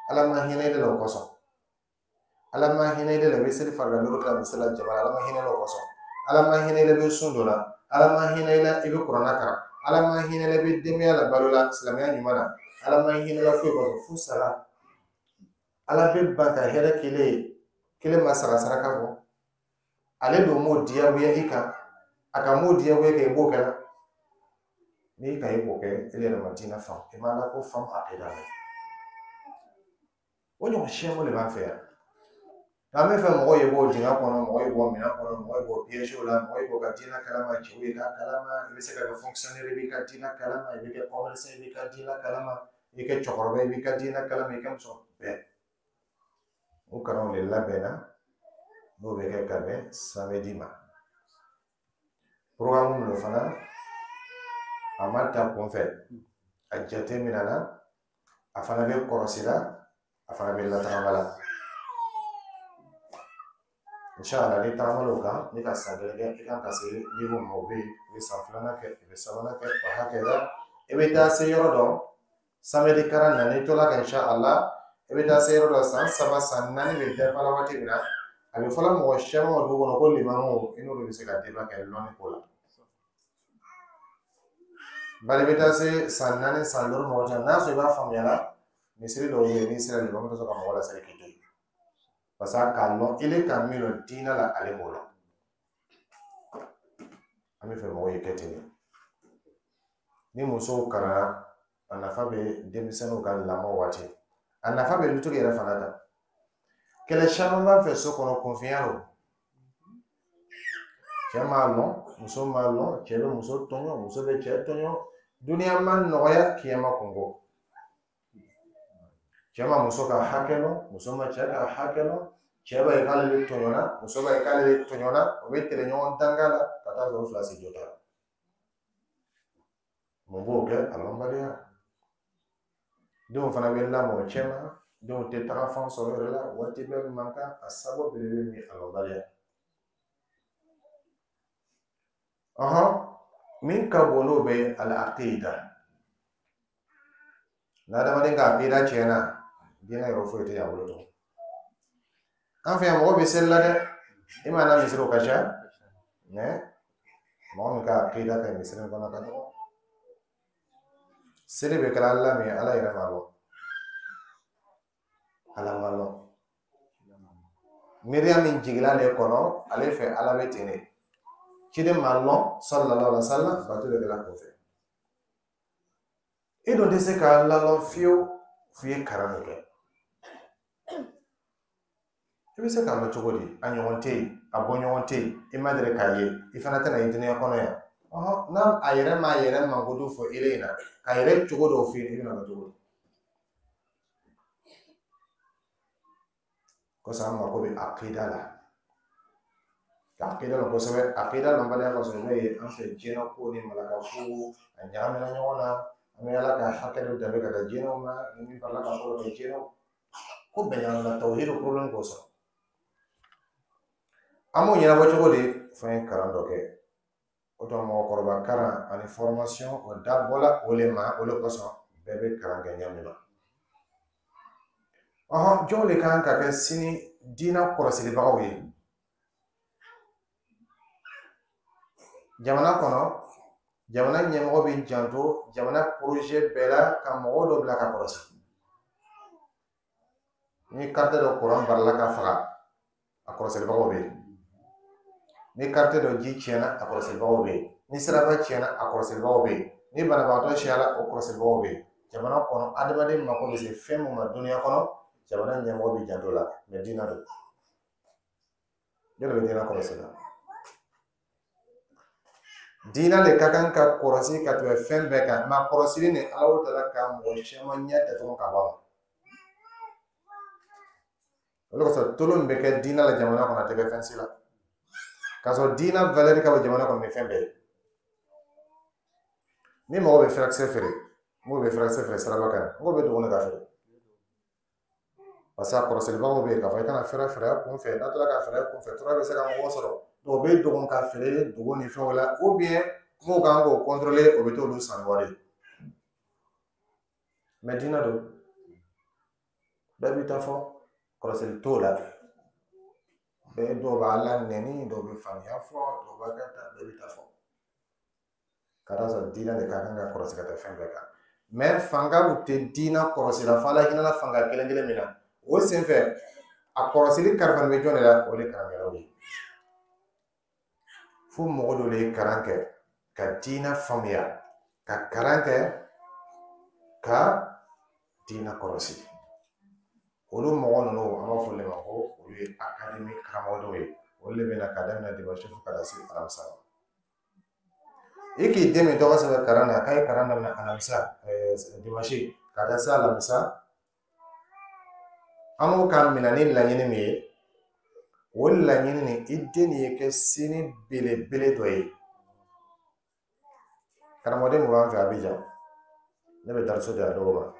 Speaker 1: Ala ma hinɛ e de la o kosɔn. Ala ma hinɛ e de la, i bɛ seli farida duuru kɛ misali la jama la. Ala ma hinɛ o kosɔn. Ala ma hinɛ i la, i bɛ sun dɔ la. Ala ma hinɛ i la, i bɛ kuranɛ kalan. Ala ma hinɛ i la, i bɛ denbaya la balo la silamɛya ɲuman na. Ala ma hinɛ i la foyi kosɔn fo saga. Ala bɛ ban ka hɛrɛ kelen ye, kelen ma saga saraka bɔ. Ale dun m'o diyagoya i kan, a ka m'o diyagoya kɛ, i b'o kɛ la. N'i ka i b'o kɛ, e yɛrɛ ma diinɛ faamu, i ma Ala ko faamu, a tɛ da. O ɲɔgɔn siyaman de b'an fɛ yan. Nka an bɛ fɛ mɔgɔw ye bɔ dingɛ kɔnɔ, mɔgɔw ye bɔ minɛn kɔnɔ, mɔgɔw ye bɔ piège la, mɔgɔw ye bɔ ka diinɛ kalama, cɛw ye k'a kalama, i bɛ se ka kɛ fonctionnaire, i b'i ka diinɛ kalama, i bɛ kɛ commerçant, i b'i ka diinɛ kalama, i kɛ cɛkɔrɔba, i b'i ka diinɛ kalama, i kɛ muso bɛɛ. O kalanw de labɛnna n'o bɛ kɛ ka bɛn samedi ma. Programme min don fana, a ma ta kunfɛ, a jate minɛna, a fana bɛ kɔlɔsi la, a fana bɛ latagama la. Inshallah, ni tagamala o kan, ni ka san kelen kɛ, i kan ka se niveau min ma, o bɛ yen. I bɛ san filanan kɛ, i bɛ sabanan kɛ, o hakɛ la i bɛ taa se yɔrɔ dɔ. Samedi kalan na, n'i tola ka, inshallah, i bɛ taa se yɔrɔ dɔ, san 3, san 4 bɛ dafa la waati min na, a bɛ fɔla mɔgɔ caman ma dugu kɔnɔ ko limamu, i n'olu bɛ se ka débat kɛ lɔnni ko la. Bari i bɛ taa se san 4, san 5 mɔgɔ caman, n'a sɔrɔ i b'a faamuya la, misiri dɔw bɛ yen, n'i sera limamu tɛ sɔn ka mɔgɔ laseli k'i to yen. Parce que k'a lɔn ele ka min lɔn diinɛ la, ale m'o lɔn. An bɛ fɛ mɔgɔw ye kɛ ten de. Ni musow kalanna, a nafa bɛ denmisɛnninw ka lamɔ waati, a nafa bɛ dutigi yɛrɛ fana kan. Kɛlɛ caman b'an fɛ so kɔnɔ, kunfinya don. Cɛ m'a lɔn, muso m'a lɔn, cɛ bɛ muso tɔɲɔ, muso bɛ cɛ tɔɲɔ. Duniya ma nɔgɔya, kiyama kunko. Cɛ ma muso ka hakɛ lɔn, muso ma cɛ ka hakɛ lɔn, cɛ b'a ye k'ale bɛ tɔɲɔna, muso b'a ye k'ale bɛ tɔɲɔna, o bɛ tɛrɛ ɲɔgɔn danga la ka taa sɔrɔ fila si jɔ t'a la. Mun b'o kɛ? A lɔnbaliya. Denw fana bɛ lamɔ o cɛ ma, denw tɛ taga fan sɔrɔ yɛrɛ la, waati bɛɛ man kan, a sababu belebele min a lɔnbaliya. Min ka bon n'o bɛɛ ye al-aqida. N'adamaden ka aqida tiɲɛna, diinɛ yɔrɔ foyi tɛ yan bolo tugun. An fɛ yan, mɔgɔ bɛ seli la dɛ, i m'a na misiriw ka ca, mɛ mɔgɔ min ka aqida ka ɲi misiri kɔnɔ ka dɔgɔ. Seli bɛ kɛla Ala min ye, Ala yɛrɛ m'a lɔn. Ala ma lɔn. Miiriya min jiginna ale kɔnɔ, ale fɛ Ala bɛ ten de. Ciden ma lɔn, sallallahu alaihi wa sallam, bato de kɛla kɔfɛ. I dun tɛ se k'a lalɔn fiyewu f'i ye kalan de kɛ. I bɛ se k'a lɔn cogo di? A ɲɔgɔn tɛ yen, a bɔ ɲɔgɔn tɛ yen, i ma deli k'a ye, i fana tɛna ye dunuya kɔnɔ yan. N'a a yɛrɛ m'a yɛrɛ mankutu fɔ e ɲɛna, k'a yɛrɛ cogo dɔw f'i ye, i bɛna lɔn cogo di? Kosɔn an mako bɛ aqida la. Ka aqida lɔn kosɛbɛ, aqida lɔnbaliya kosɔn, i b'a ye an fɛ jinɛ ko ni malaka ko a ɲagamina ɲɔgɔn na. An bɛ Ala ka hakɛ dɔ danbe ka taa jinɛw ma, ni min farala ka fɔlɔ kɛ jinɛw ko bɛɛ ɲagamina tawhidu problème kosɔn. An b'o ɲɛnabɔ cogo di? F'an ye kalan dɔ kɛ. O tuma mɔgɔkɔrɔba kalan ani formation o dabɔla o le ma, o le kosɔn bɛɛ bɛ kalan kɛ ɲɛ min ma. Jɔnw de kan ka kɛ sini diinɛ kɔlɔsilibagaw ye jamana kɔnɔ? Jamana ɲɛmɔgɔ bɛ janto jamana projet bɛɛ la ka mɔgɔw dɔ bila ka kɔlɔsi. Ni carte dɔ kuran barila ka faga, a kɔlɔsilibagaw bɛ yen. Ni carte dɔ ji tiɲɛna, a kɔlɔsilibagaw bɛ yen. Ni siraba tiɲɛna, a kɔlɔsilibagaw bɛ yen. Ni banabagatɔ siyara, o kɔlɔsilibagaw bɛ yen. Jamana kɔnɔ, adamaden mako bɛ se fɛn mun ma dunuya kɔnɔ, jamana ɲɛmɔgɔ bɛ janto la, mɛ diinɛ don. Jɔn de bɛ diinɛ kɔlɔsi la? Diinɛ de ka kan ka kɔlɔsi ka tɛmɛ fɛn bɛɛ kan. Mɛ kɔlɔsili ni Ala taala ka mɔgɔ caman ɲɛ datugu ka bɔ a ma. O de kosɔn tolon min bɛ kɛ diinɛ la jamana kɔnɔ, a tɛ kɛ fɛn si la. K'a sɔrɔ diinɛ valeur ka bon jamana kɔnɔ ni fɛn bɛɛ ye. Ni mɔgɔ bɛ furakisɛ feere, mɔgɔ bɛ furakisɛ feere siraba kan, mɔgɔ bɛ dogo ne ka feere. Parce que a kɔlɔsilibagaw bɛ yen k'a fɔ i kana fɛrɛ feere a kun fɛ, n'a tora ka feere a kun fɛ, tɔɔrɔ bɛ se ka mɔgɔ sɔrɔ. Donc o bɛ dogo ka feere dogo ni fɛnw la, ou bien mɔgɔw kan k'o contrôler, o bɛ t'olu san ni wari ye. Mɛ diinɛ don, bɛɛ b'i ta fɔ, kɔlɔsili t'o la. Bɛɛ dɔw b'a la nɛni, dɔw bɛ faamuya fɔ, dɔw b'a kɛ tan, bɛɛ b'i ta fɔ. Ka d'a sɔrɔ diinɛ de ka kan ka kɔlɔsi ka taa fɛn bɛɛ kan. Mɛ fangaw tɛ diinɛ kɔlɔsi la, fo Ala hinɛna fanga kelen kelen min na. O senfɛ, a kɔlɔsili kalifa bɛ jɔn de la? O de karankɛlaw ye. Fo mɔgɔ dɔ de ye kalan kɛ ka diinɛ faamuya, ka kalan kɛ ka diinɛ kɔlɔsi. Olu mɔgɔ ninnu, an b'a fɔ olu de ma ko olu ye académie karamɔgɔdenw ye. Olu de bɛ na ka daminɛ dimanche fo ka taa se alamisa ma. I k'i den min tɔgɔ sɛbɛn kalan na k'a ye kalan daminɛ alamisa, dimanche ka taa se alamisa, an b'o ka minɛ ni laɲini min ye, o laɲini nin, i den nin ye kɛ sini belebele dɔ ye. Karamɔgɔden mun b'an fɛ Abijan, ne bɛ dariso di a dɔw ma.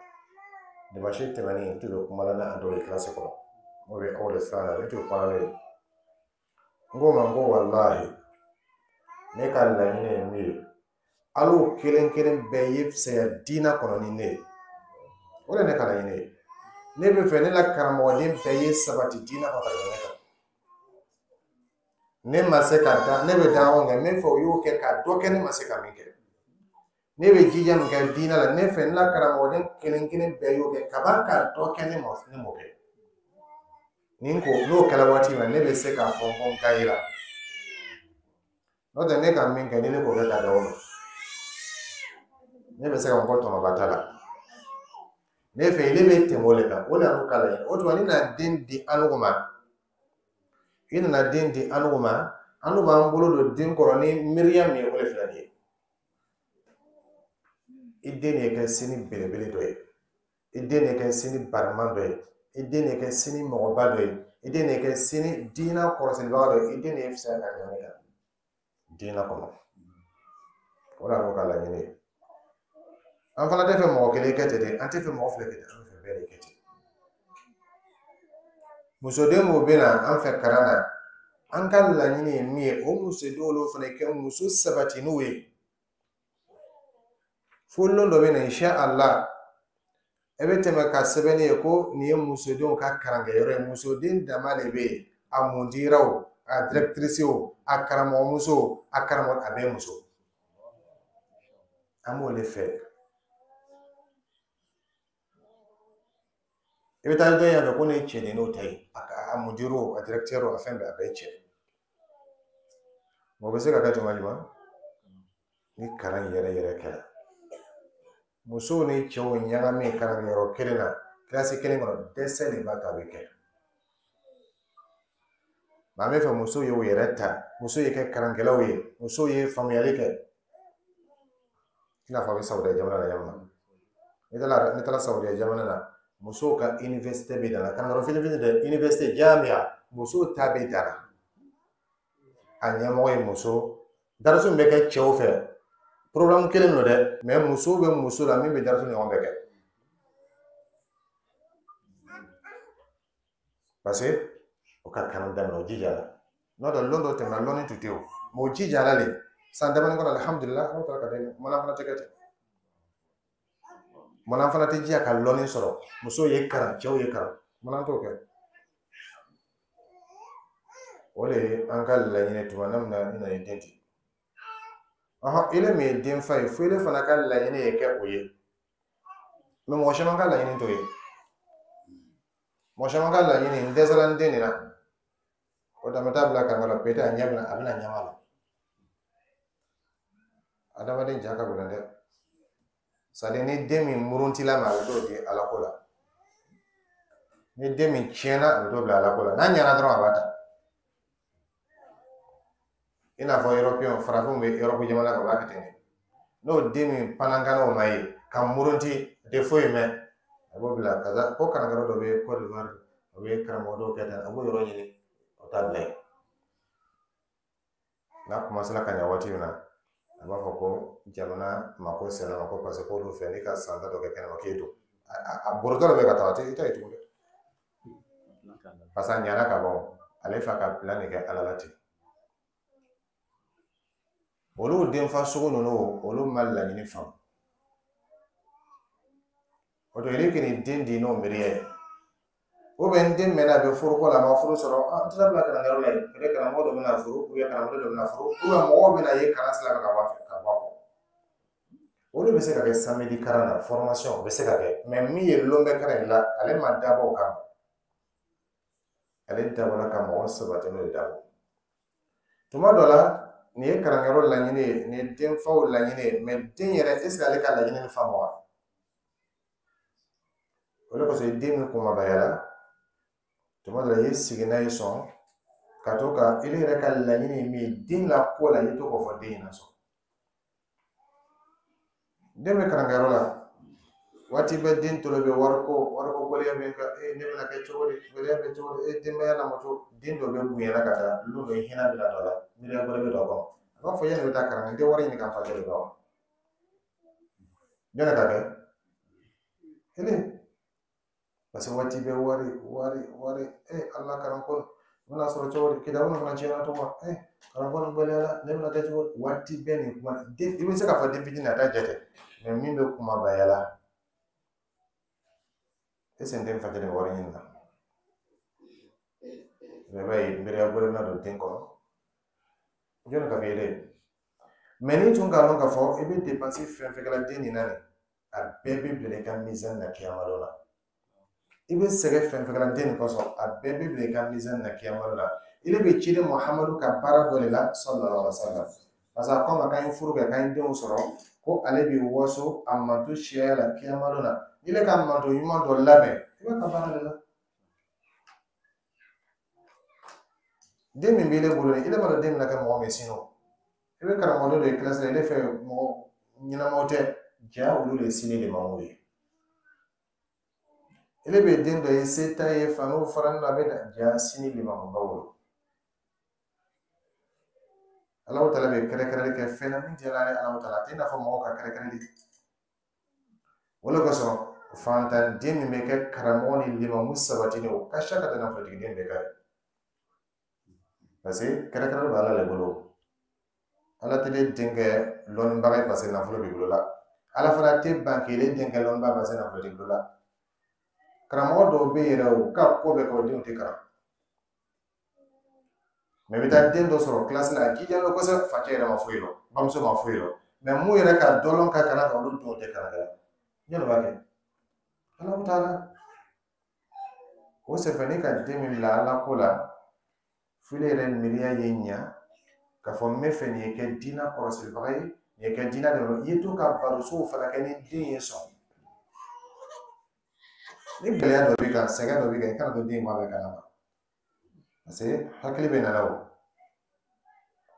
Speaker 1: Dimanche tɛmɛnen, n tun bɛ kuma la n'a dɔw ye kilasi kɔnɔ, n'o bɛ aw de siran na, ne tun bɛ kuma n'o ye. N ko ma, n ko walahi, ne ka laɲini ye min ye, al'o kelen kelen bɛɛ ye fisaya diinɛ kɔnɔ ni ne ye. O de ye ne ka laɲini ye. Ne bɛ fɛ ne la karamɔgɔden bɛɛ ye sabati diinɛ kɔnɔ ka tɛmɛ ne kan. Ne ma se ka da, ne bɛ danko kɛ, n bɛ fɛ o y'o kɛ ka dɔ kɛ ne ma se ka min kɛ. Ne bɛ jija min kɛ diinɛ la, ne fɛ n la karamɔgɔden kelen kelen bɛɛ y'o kɛ kaban ka dɔ kɛ ne ma, ne m'o kɛ. Ni ko n'o kɛra waati min na, ne bɛ se k'a fɔ ko n ka yira. N'o tɛ, ne ka min kɛ, ni ne k'o kɛ ka da o ma, ne bɛ se ka fɔ ko tɔnɔba t'a la. Ne fɛ ile bɛ tɛmɛ o de kan, o de y'an ka laɲini. O tuma, ni nana den di an ma, i nana den di an ma, an b'an bolo don den kɔrɔ ni miiriya min ye, o de filɛ nin ye. I den de kɛ sini belebele dɔ ye, i den de kɛ sini bariman dɔ ye, i den de kɛ sini mɔgɔba dɔ ye, i den de kɛ sini diinɛ kɔrɔsibaga dɔ ye, i den de ye fisaya ka tɛmɛ ne kan diinɛ kɔnɔ. O de y'an ka laɲini ye. An fana tɛ fɛ mɔgɔ kelen kɛ ten dɛ, an tɛ fɛ mɔgɔ fila kɛ ten, an bɛ fɛ bɛɛ de kɛ ten. Musoden mun bɛ na an fɛ kalan na, an ka laɲini ye min ye, o musodenw olu fana kɛ muso sabatininw ye. Fo lon dɔ bɛ na, insha Allah, e bɛ tɛmɛ ka sɛbɛnni ye ko nin ye musodenw ka karankɛyɔrɔ ye. Musoden dama de bɛ yen, a mundira o, a directrice o, a karamɔgɔmuso o, a karamɔgɔ, a bɛɛ muso. An b'o de fɛ. I bɛ taa dɔ yan fɛ ko nin ye cɛ n'o ta ye, a mundira o, a directeur o, a fɛn bɛɛ, a bɛɛ ye cɛ. O bɛ se ka kɛ tuma jumɛn? Ni kalan yɛrɛ yɛrɛ kɛra. Musow ni cɛw ɲagami kalankɛyɔrɔ kelen na, kilasi kelen kɔnɔ, dɛsɛ de b'a to a bɛ kɛ. An bɛ fɛ musow y'u yɛrɛ ta, musow ye kɛ karankɛlaw ye, musow ye faamuyali kɛ. I n'a fɔ a bɛ Sawudiya jamana na yan nɔ. N'i taara Sawudiya jamana na, musow ka université bɛ da la, kalanyɔrɔ fitinin fitinin tɛ, université jamia, musow ta bɛ da la. A ɲɛmɔgɔ ye muso. Dariso min bɛ kɛ cɛw fɛ, programme kelen don dɛ, mais musow bɛ muso la min bɛ dariso ɲɔgɔn bɛɛ kɛ. Parce que o ka kalan daminɛ, o jijala. N'o tɛ, lon dɔ tɛmɛna, lɔnni tun tɛ o. Mais o jijala le. San damadɔ kɔnɔ, alhamdulillah, Ala taara ka den. Mana fana tɛ kɛ ten. Mana fana tɛ jija ka lɔnni sɔrɔ. Musow ye kalan, cɛw ye kalan. Mana t'o kɛ. O de ye an ka laɲini tuma min na i nana i den di. Ile min ye den fa ye, fo ile fana ka laɲini ye kɛ o ye. Mais mɔgɔ caman ka laɲini t'o ye. Mɔgɔ caman ka laɲini, n dɛsɛra n den de la. O tɛ, an bɛ taa bila karamɔgɔ la, peut-être a ɲɛ bɛna, a bɛna ɲɛma la. Adamaden ja ka gɛlɛn dɛ. C'est-à-dire ni den min muruntila ma, a bɛ t'o di Ala ko la. Ni den min tiɲɛna, a bɛ t'o bila Ala ko la. N'a ɲɛna dɔrɔn, a b'a ta. I n'a fɔ Européen, farafinw bɛ Europe jamana kan, u b'a kɛ ten de. N'o den min panankannaw ma ye, ka murunti, a tɛ foyi mɛn, a b'o bila ka taa ko karankɛyɔrɔ dɔ bɛ Côte d'Ivoire, o bɛ karamɔgɔ dɔw kɛ tan, a b'o yɔrɔ ɲini, o t'a bila yen. N'a commencé ka ɲɛ waati min na, a b'a fɔ ko jamana mako sera ma ko parce que k'olu fɛ n'i ka san ta dɔ kɛ kɛnɛma k'e don. A borotɔ dɔ bɛ ka taa, a tɛ i ta ye tugun dɛ. Parce que a ɲɛna ka ban, ale fa ka plan de kɛ Ala la ten. Olu denfa sugu ninnu, olu ma laɲini faamu. O to ile k'i den di n'o miiriya ye. O bɛ n den mɛnna, a bɛ furuko la, a ma furu sɔrɔ, an tɛ bila kalanyɔrɔ la yen. Peut-être karamɔgɔ dɔ bɛna furu, ou bien karamɔgɔ dɔ bɛna furu, ou bien mɔgɔw bɛna ye kalan sira kan ka bɔ a fɛ, ka bɔ a kɔ. Olu bɛ se ka kɛ samedi kalan na, formation o bɛ se ka kɛ, mais min ye lon bɛɛ kalan in la, ale ma dabɔ o kama. Ale dabɔra ka mɔgɔ sabati n'o de dabɔ. Tuma dɔ la, nin ye kalankɛyɔrɔ laɲini ye, nin ye denfaw laɲini ye, mais den yɛrɛ, est ce que ale ka laɲini nin faamu wa? O de kosɔn den min kunbabayara, Tuma dɔ la i ye sigi n'a ye sɔn ka to ka ile yɛrɛ ka laɲini ye min ye den la ko la, i to k'o fɔ den ɲɛna sɔn. Den bɛ karankɛyɔrɔ la, waati bɛɛ den tolo bɛ wariko wariko gɛlɛya bɛ kan, e ne bɛna kɛ cogo di, gɛlɛya bɛ cogo di, e denbaya lamɔ cogo. Den dɔ bɛ bonyana ka taa lon dɔ hinɛ bɛna dɔ la, miiriya wɛrɛ bɛ dɔ kɔnɔ, a b'a fɔ yanni bɛ taa kalan, n tɛ wari ɲini ka n facɛ de la wa? Jɔn ka kɛ ele, parce que waati bɛɛ wari wari wari, e Ala, kalanko n bɛna sɔrɔ cogo di, kitabu fana tiɲɛna cogo ma, e kalanko nin gɛlɛyara, ne bɛna kɛ cogo di? Waati bɛɛ nin kuma den, i bɛ se k'a fɔ den fitinin a t'a jate, mɛ min bɛ kumabaya la, e sen den facɛ de bɛ wari ɲini na. I b'a ye miiriya wɛrɛ bɛna don den kɔnɔ, jɔnni ka f'i ye dɛ? Mɛ n'i tun k'a dɔn k'a fɔ i bɛ dépense fɛn fɛn kɛla den nin na nin, a bɛɛ bɛ bila i ka mizani na kiyama dɔ la. I bɛ sɛgɛn fɛn fɛn kɛla den nin kosɔn, a bɛɛ bɛ bila i ka mizani na kiyama dɔ la. Ile bɛ ciden Muhamadu ka baara dɔ de la, sallallahu alaihi wa sallam, parce que a ko a ma k'an ye furu kɛ, k'an ye denw sɔrɔ, ko ale bɛ waso a manto siyaya la kiyama dɔ la. N'i ka manto ɲuman dɔ labɛn, i b'a ka baara de la. Den min b'ile bolo ile b'a dɔn den bɛna kɛ mɔgɔ min sini o. I bɛ karamɔgɔ dɔ de ye kilasi la, ile fɛ mɔgɔ ɲɛnamaw tɛ, ja olu de ye sini limamuw ye. Ile bɛ den dɔ ye se t'a ye, faniw faralen don, a bɛ na, ja sini limamuba wolo. Alahu taala bɛ kɛrɛkɛrɛli kɛ fɛn na min diyara ale Alahu taala, a tɛ i n'a fɔ mɔgɔw ka kɛrɛkɛrɛli. O de kosɔn fantanden min bɛ kɛ karamɔgɔ ni limamu sabatilen, o ka siya ka tɛmɛ nafolotigi bɛɛ kan ye, parce que kɛrɛkɛrɛli bɛ Ala de bolo. Ala tɛ ne den kɛ lɔnnibaga ye parce que nafolo b'i bolo la. Ala fana tɛ ban k'ile den kɛ lɔnnibaga parce que nafolo t'i bolo la. Karamɔgɔ dɔw bɛ yen yɛrɛ, o ka ko bɛɛ kɛ, o denw tɛ kalan. Mɛ i bɛ taa den dɔ sɔrɔ kilasi la, a jijalen don kosɛbɛ, facɛ yɛrɛ ma foyi lɔn, bamuso ma foyi lɔn, mɛ mun yɛrɛ ka dɔ lɔn ka kalan kan, olu denw tɛ kalan kɛ. Jɔn b'a kɛ? Alahu taala. O senfɛ, n'i ka den min bila Ala ko la, f'ile yɛrɛ miiriya ye ɲa k'a fɔ n bɛ fɛ nin ye kɛ diinɛ kɔrɔsibaga ye, nin ye kɛ diinɛ dɛmɛ. I ye to ka barosow fana kɛ ni den ye sɔn. Ni gɛlɛya dɔ b'i kan, sɛgɛn dɔ b'i kan, i kana to den bɔ a bɛɛ kalama, parce que hakili bɛ nana o,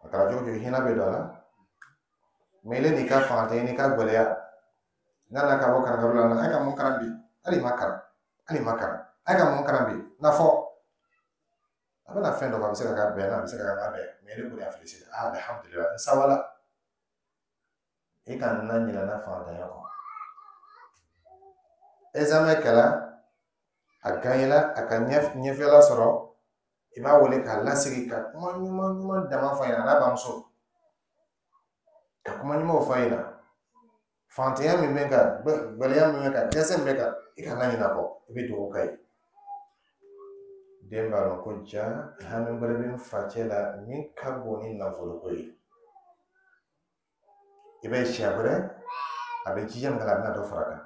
Speaker 1: a kɛra cogo cogo, hinɛ bɛ don a la. Mɛ ile n'i ka fanga tɛ, n'i ka gɛlɛya n'a nana ka bɔ karankaro la, a ka mun kalan bi? Hali ma kalan, hali ma kalan, a ka mun kalan bi? N'a fɔ a bɛna fɛn dɔ fɔ, a bɛ se ka kɛ bɛn na, a bɛ se ka kɛ a bɛn, mɛ ne kɔni y'a félicité, ah, alhamdulilah, n sawala. I ka na ɲinɛ na fantanya kɔ. Examen kɛra, a gagnera, a ka ɲɛfɛla sɔrɔ, i b'a wele k'a lasigi ka kuma ɲuman ɲuman dama f'a ɲɛna, a n'a bamuso, ka kuma ɲumanw f'a ɲɛna. Fantanya min bɛ kan, gɛlɛya min bɛ kan, dɛsɛ min bɛ kan, i kana ɲinɛ a kɔ, i bɛ dugawu k'a ye. Den b'a dɔn ko ja hami wɛrɛ bɛ n facɛ la min ka bon ni nafoloko ye. I b'a ye siɲɛ wɛrɛ a bɛ jija min kɛ, a bɛna dɔ fara a kan.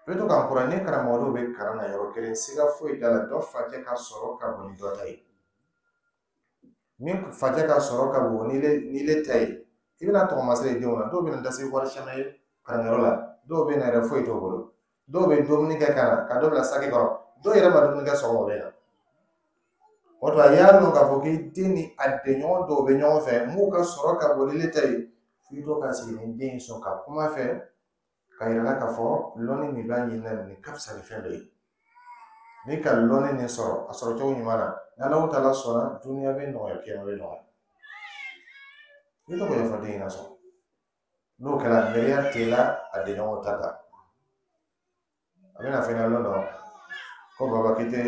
Speaker 1: I bɛ to k'an kura ni karamɔgɔ dɔw bɛ kalan na yɔrɔ kelen, siga foyi t'a la, dɔ facɛ ka sɔrɔ ka bon ni dɔ ta ye. Min facɛ ka sɔrɔ ka bon ni le ta ye, i bɛna tɔgɔmasere ye denw na. Dɔw bɛ na dase wari caman ye kalanyɔrɔ la, dɔw bɛ na yɛrɛ foyi t'o bolo, dɔw bɛ dumuni kɛ ka na ka dɔ bila saki kɔrɔ, dɔw yɛrɛ ma dumuni kɛ sɔgɔma, o bɛ na. O tuma i y'a dɔn k'a fɔ k'i den ni a denɲɔgɔn dɔw bɛ ɲɔgɔn fɛ m'u ka sɔrɔ ka bon ni le ta ye, f'i to ka sigi ni den sɔn ka kuma fɛ ka yira la k'a fɔ lɔnni min b'a ɲini na nin ka fisa ni fɛn bɛɛ ye. N'i ka lɔnni nin sɔrɔ a sɔrɔ cogo ɲuman na, ni Alahu taala sɔnna, duniya bɛ nɔgɔya, kiyama bɛ nɔgɔya. I tɔgɔ ɲɛfɔ den ɲɛna sɔn. N'o kɛra, miiriya t'i la a denɲɔgɔnw ta kan. A bɛna fɛn ɲɛna lon dɔ ko baba k'i tɛ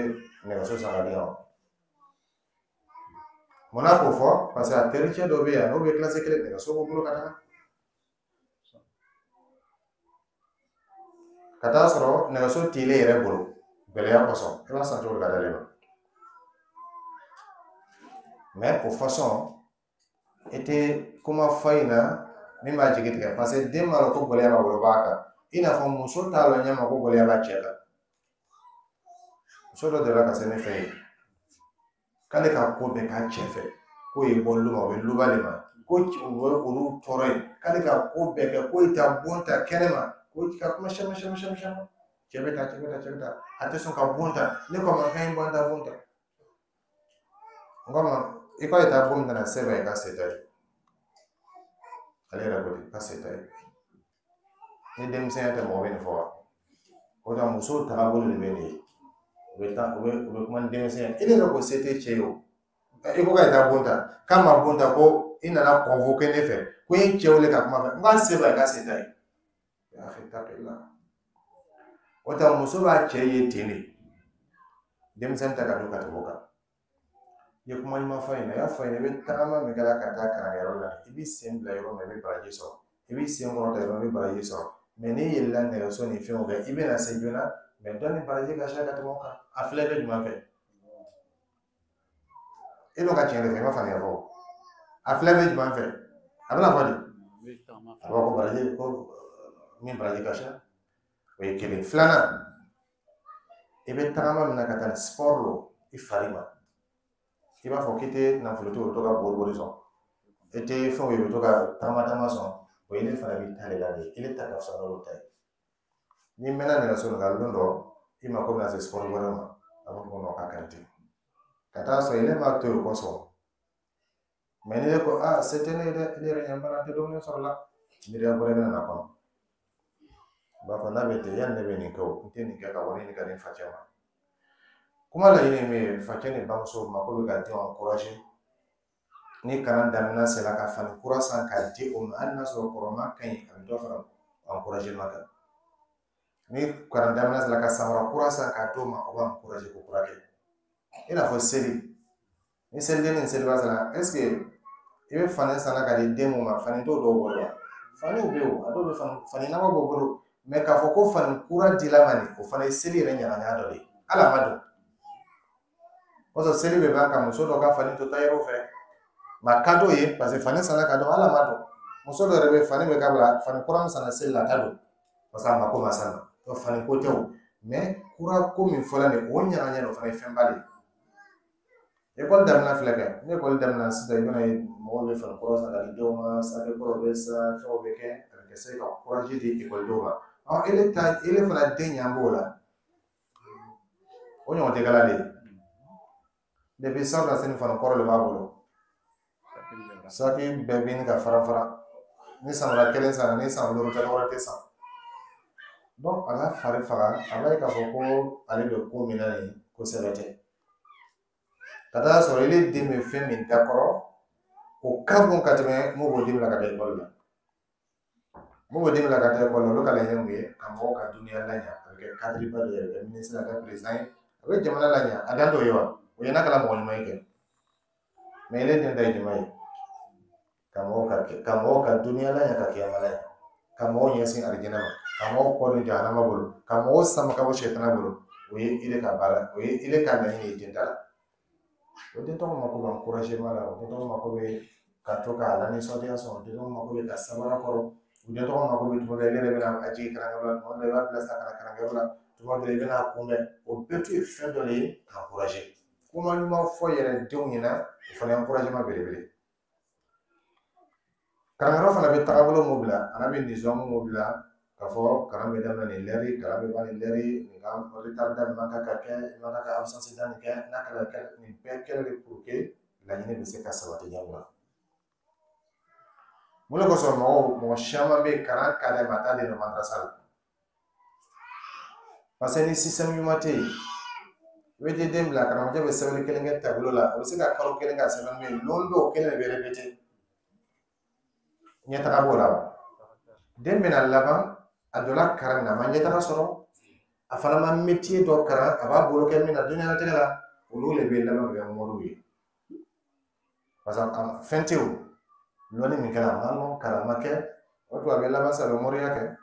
Speaker 1: nɛgɛso san ka di yan. Munna k'o fɔ? Parce que a tericɛ dɔ bɛ yan, n'o bɛ kilasi kelen, nɛgɛso b'o bolo ka taga. Ka taa sɔrɔ nɛgɛso t'ile yɛrɛ bolo gɛlɛya kosɔn, i b'a san cogo di ka d'ale ma? Mɛ o façon i tɛ kuma fɔ a ɲɛna min b'a jigi tigɛ, parce que den b'a dɔn ko gɛlɛya b'a bolo b'a kan, i n'a fɔ muso t'a lɔn ɲɛ ma ko gɛlɛya b'a cɛ kan. Muso dɔ delila ka se ne fɛ yen k'ale ka ko bɛɛ k'a cɛ fɛ, k'o ye bɔ lu ma, o bɛ luba de ma, ko u bɛ olu tɔɔrɔ yen, k'ale ka ko bɛɛ kɛ, ko i ta bon ta kɛnɛ ma, ko ka kuma caman caman caman caman. Cɛ bɛ taa, cɛ bɛ taa, cɛ bɛ taa, a tɛ sɔn ka bon ta. Ne ko a ma k'an ye bon ta, bon ta. N ko a ma i k'a ye taa bon min na, se b'a ye, k'a se t'a ye. Ale yɛrɛ ko ten k'a se t'a ye. Ni denmisɛnya tɛ, mɔgɔ bɛ nin fɔ wa? O tɛ, musow tagabolo de bɛ nin ye. U bɛ taa, u bɛ kuma ni denmisɛnya ye. E yɛrɛ ko se tɛ cɛ ye o. I ko k'a ye taa bon ta, k'a ma bon ta, ko i nana convoquer ne fɛ, ko i ye cɛ wele ka kuma fɛ. N k'a se b'a ye, k'a se t'a ye. Ya akhi, ittaqillah. O tɛ, muso b'a cɛ ye ten de. Denmisɛnnin ta ka don ka tɛmɛ o kan. I ye kuma ɲuman fɔ a ɲɛna, i y'a fɔ a ɲɛna, i bɛ tagama min kɛra ka taa kalankɛyɔrɔ la, i b'i sen bila yɔrɔ min na, i bɛ baraji sɔrɔ. I b'i sen kɔrɔta yɔrɔ min, i bɛ baraji sɔrɔ. Mɛ n'i yɛlɛla nɛgɛso ni fɛnw kɛ, i bɛna se joona, mɛ dɔ ni baraji ka ca ka tɛmɛ o kan. A filɛ bɛ jumɛn fɛ? E dun ka tiɲɛ de fɛ, i ma faamuya fɔlɔ. A filɛ bɛ jumɛn fɛ? A bɛna fɔ di? A b'a fɔ ko baraji, ko min baraji ka ca. O ye kelen. Filanan, i bɛ tagama min na ka taa ni sport lo i fari ma. I b'a fɔ k'i tɛ nafolotigi, o bɛ to ka bori bori sɔn. I tɛ fɛnw ye, i bɛ to ka tagama tagama sɔn. O ye ne fana b'i ta de la de. I ta ka fisa n'olu ta ye. N'i mɛnna nɛgɛso nin kan, don dɔ i mako bɛna se sport wɛrɛ ma, a b'a fɔ ko k'a ka ɲi ten. Ka taa sɔrɔ ile m'a to yen o kosɔn. Mɛ ni ne ko aa, se tɛ ne ye dɛ, ne yɛrɛ ɲɛ bana tɛ dumuni sɔrɔ la, miiriya wɛrɛ bɛna na kɔnɔ. U b'a fɔ n'a bɛ ten, yanni ne bɛ nin kɛ o, n tɛ nin kɛ ka wari ɲini ka di n facɛ ma. Kuma laɲini ye min ye, facɛ ni bamuso mako bɛ ka denw encourager. Ni kalan daminɛ sera, ka fani kura san k'a di o ma, hali n'a sɔrɔ kɔrɔma ka ɲi, a bɛ dɔ fara encouragement kan. Ni kalan daminɛ sera, ka samara kura san k'a d'o ma, o b'a encourager ko kura kɛ. I n'a fɔ seli, ni seliden ni seliba sera, est ce que i bɛ fani san ka di den mun ma, fani t'o dɔw bolo wa? Faniw bɛ yen o, a dɔw bɛ fani fani nɔgɔ b'o bolo, mɛ k'a fɔ ko fani kura dila ma nin, o fana ye seli yɛrɛ ɲagaɲaga dɔ de ye, hali a ma don. O sɔrɔ seli bɛ ban ka muso dɔ ka fani to tailleur fɛ, ma ka d'o ye, parce que fani sanna ka dɔn, hali a ma don. Muso dɔ yɛrɛ bɛ fani bɛ k'a bila, fani kura min sanna seli la, a t'a don, parce que a mako ma s'a ma. Donc fani ko tɛ o, mɛ kura ko min fɔla nin, o ɲagaɲaga, o fana ye fɛnba de ye. Ekɔli daminɛ filɛ kɛ, ni ekɔli daminɛ sisan, i bɛna ye mɔgɔw bɛ fani kura san ka di denw ma, sac kuraw bɛ san, fɛnw bɛ kɛ, a bɛ kɛ se ka courage di ekɔlidenw ma. Ɔ, ele ta, ele fana den ɲan b'o la, o ɲɔgɔn tɛ kala de ye. Depuis san na sini, fani kɔrɔ de b'a bolo, saki bɛɛ bɛ ka fara fara. Ni samara kelen sanna, ni san 5 tɛ, wɛrɛ tɛ san. Donc a b'a fari faga, a b'a ye k'a fɔ ko ale bɛ ko min na nin, ko sɛbɛ tɛ. Ka taa sɔrɔ ile den bɛ fɛn min da kɔrɔ, o ka bon ka tɛmɛ mun b'o den bila ka taa ekɔli la. Mun b'o den bila ka taa ekɔli la, olu ka laɲini mun ye? Ka mɔgɔw ka duniya laɲa, a bɛ kɛ cadre ba dɔ ye, a bɛ kɛ ministre, a bɛ kɛ président ye, a bɛ jamana laɲa. A dan t'o ye wa? O ye n'a kɛra mɔgɔ ɲuman ye kɛ. Mɛ ile den ta ye jumɛn ye? Ka mɔgɔw ka duniya laɲa, ka kiyama laɲa, ka mɔgɔw ɲɛsin alijinɛ ma, ka mɔgɔw kɔ don jahanama bolo, ka mɔgɔw sama ka bɔ sɛtana bolo. O ye ile ka baara, o ye ile ka laɲini ye den ta la. O den tɔgɔ mako bɛ encouragement la, o den tɔgɔ mako bɛ ka to k'a lanisɔndiya sɔrɔ, o den tɔgɔ mako bɛ ka sabara kɔrɔ, o den tɔgɔ mako bɛ tuma dɔ la, ile yɛrɛ bɛna a jigin kalankɛyɔrɔ la, tuma dɔ la i b'a bila sa ka na kalankɛyɔrɔ la, tuma dɔ la i bɛna a kunbɛn. O bɛɛ tun ye fɛn dɔ de ye ka encourager. Kuma ɲuman fɔ yɛrɛ denw ɲɛna, o fana ye encouragement belebele. Kalanyɔrɔ fana bɛ tagabolo mun bila, a bɛ nizamu mun bila, k'a fɔ kalan bɛ daminɛ nin lɛri, kalan bɛ ban nin lɛri, nin ka retard da nin man kan ka kɛ, i man kan ka absence da nin kɛ, n'a kɛra kɛ nin bɛɛ kɛra de pour que laɲini bɛ se ka sabati ɲɛ min na. Mun de kosɔn mɔgɔ caman bɛ yen, kalan ka d'a ye, a t'a den dɔn madarasa la? Parce que ni système ɲuman tɛ yen, i bɛ t'i den bila, karamɔgɔcɛ bɛ sɛbɛnni kelen kɛ tableau la, a bɛ se ka kalo kelen kɛ a sɛbɛnni bɛ yen, lon dɔw kelen de bɛ répéter. Ɲɛtaga b'o la wa? Den bɛna laban, a donna kalan min na, a ma ɲɛtaga sɔrɔ, a fana ma métier dɔ kalan a b'a bolo kɛ min na diɲɛlatigɛ la. Olu de bɛ laban ka kɛ moriw ye, parce que fɛn tɛ o lɔnni min kɛra, a ma lɔn, kalan ma kɛ. O tuma a bɛ laban sa, a bɛ moriya kɛ,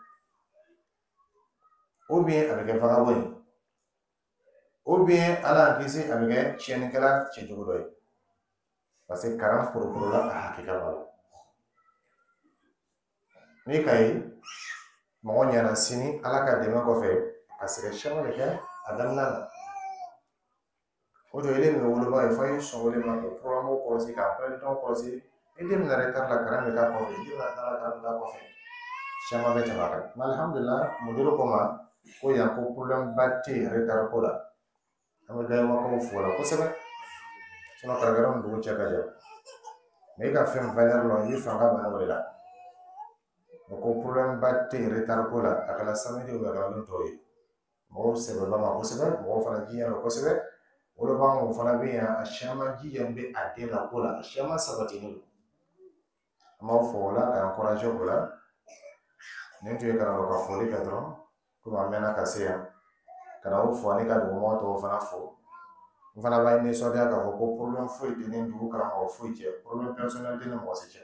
Speaker 1: ou bien a bɛ kɛ vagabond ye, ou bien, Ala y'an kisi, a bɛ kɛ tiɲɛnikɛla cɛjugu dɔ ye, parce que kalan poroporola a hakika b'a la. N'i ka ye mɔgɔ ɲɛna sini, Ala ka dɛmɛ kɔfɛ, ka sɛgɛn caman de kɛ a daminɛ na. O de ye min woloba ye, f'a ye sɔn o de ma k'o programme kɔlɔsi, k'a emploi kɔlɔsi. I den bɛna retard la, kalan bɛ k'a kɔfɛ, i den bɛna taa la, kalan bɛ k'a kɔfɛ, caman bɛ tɛmɛ a kan. Mɛ alihamudulila, mudiru ko ma Ko yan ko problème ba tɛ yen retard ko la. An bɛ Gayomakaw fo la kosɛbɛ. Sinon karamɔgɔ ni dugu cɛ ka jan. Mais i ka fɛn valeur lɔn, i bɛ fanga bana o de la. O ko problème ba tɛ yen retard ko la, a kɛra samedi o a kɛra don tɔw ye. Mɔgɔw sɛbɛla ma kosɛbɛ, mɔgɔw fana jijalen kosɛbɛ. Wolobaganw fana bɛ yan, a caman jijalen bɛ a den la ko la, a caman sabatilen don. An b'aw fo o la ka encourager o la. Nin tun ye karamɔgɔ ka foli kɛ dɔrɔn, komi an mɛnna ka se yan. Ka na aw fo ani ka dugumɔgɔ tɔw fana fo. N fana b'a nisɔndiya k'a fɔ ko problème foyi tɛ ni dugu karamɔgɔ foyi cɛ, problème personnel tɛ ni mɔgɔ si cɛ.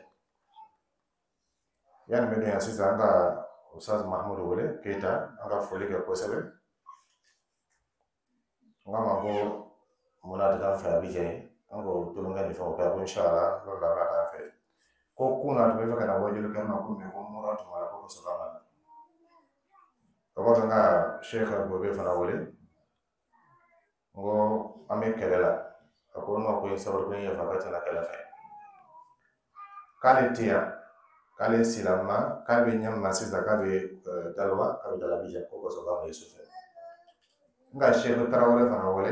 Speaker 1: Yanni n bɛ don yan sisan, an ka Ustaz Mahamudu wele Keyita, an ka foli kɛ kosɛbɛ. N k'a ma ko munna a tɛ taa an fɛ Abijan ye, an k'o tulonkɛ ni fɛnw kɛ, ko inshallah n'o la a bɛna taa an fɛ. Ko kunun a tun bɛ fɛ ka na wajuli kɛ ma ko mais ko mura tun b'a la ko ka sɔrɔ a ma na. O kɔfɛ n ka Sheikh Gobe fana wele, n ko an bɛ kɛlɛ la. A ko non, ko n sabali, ko n yafa, k'a tɛna kɛlɛ fɛ. K'ale tɛ yan, k'ale silama, k'a bɛ ɲɛ sisan, k'a bɛ Dalowa, k'a bɛ taa Abijan, ko ka sɔrɔ k'a ma ye sufɛ. N ka Sheikh Tarawele fana wele,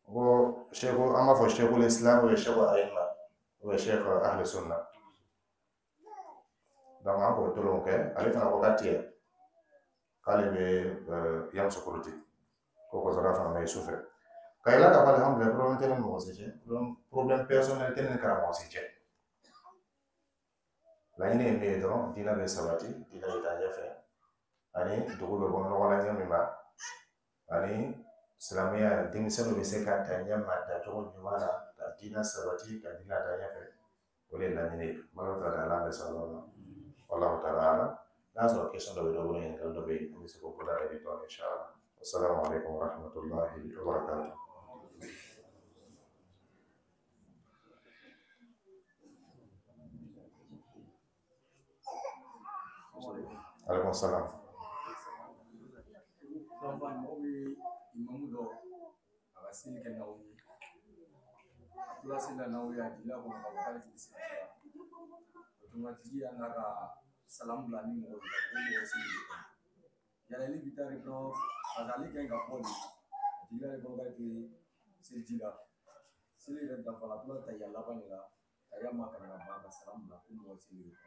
Speaker 1: n ko Sheikh, an b'a fɔ Sheikhul Islam ou Sheikh Ayima ou Sheikh Ahli Sunna. Donc an k'o tolon kɛ, ale fana ko k'a tɛ yan, k'ale bɛ Yamoussoukro ten, ko ka sɔrɔ k'a fana ma ye sufɛ. Ka yira k'a fɔ alhamdulilayi, problème tɛ ne ni mɔgɔ si cɛ, problème personnel tɛ ne ni karamɔgɔ si cɛ. Laɲini ye min ye dɔrɔn, diinɛ bɛ sabati, diinɛ bɛ taa ɲɛfɛ, ani dugu bɛ bɔ nɔgɔ la ɲɛ min ma, ani silamɛya denmisɛnninw bɛ se ka ta ɲɛ ma tacogo ɲuman na, ka diinɛ sabati, ka diinɛ taa ɲɛfɛ. O de ye laɲini ye. Ala ta ala bɛ sababa ma. Wallahu ta'ala alam. N'a sɔrɔ question dɔ bɛ dɔ bolo, ɲininkali dɔ bɛ yen, an bɛ se k'o bolo da dɔɔnin inshallah. Wassalamu alaikum warahmatullahi wabarakatuh. Alaikum salam.
Speaker 2: Mɔgɔ bɛ imamu dɔ a ka seli kɛ n'aw ye, a tora seli la n'aw ye, a jiginna kɔnɔ k'a fɔ k'ale tɛ seli la, automatique y'a n'a ka salamu bila ni mɔgɔ ye ko mɔgɔ seli de kɔnɔ yala ale bɛ taa de dɔrɔn, parce que ale ka ɲi ka bɔ de, a jiginna de kɔnɔ k'ale tɛ seliji la, seli yɛrɛ dafara, a tora tahiya laban de la, tahiya ma kalan ka ban ka salamu bila ko mɔgɔ seli de kɔnɔ.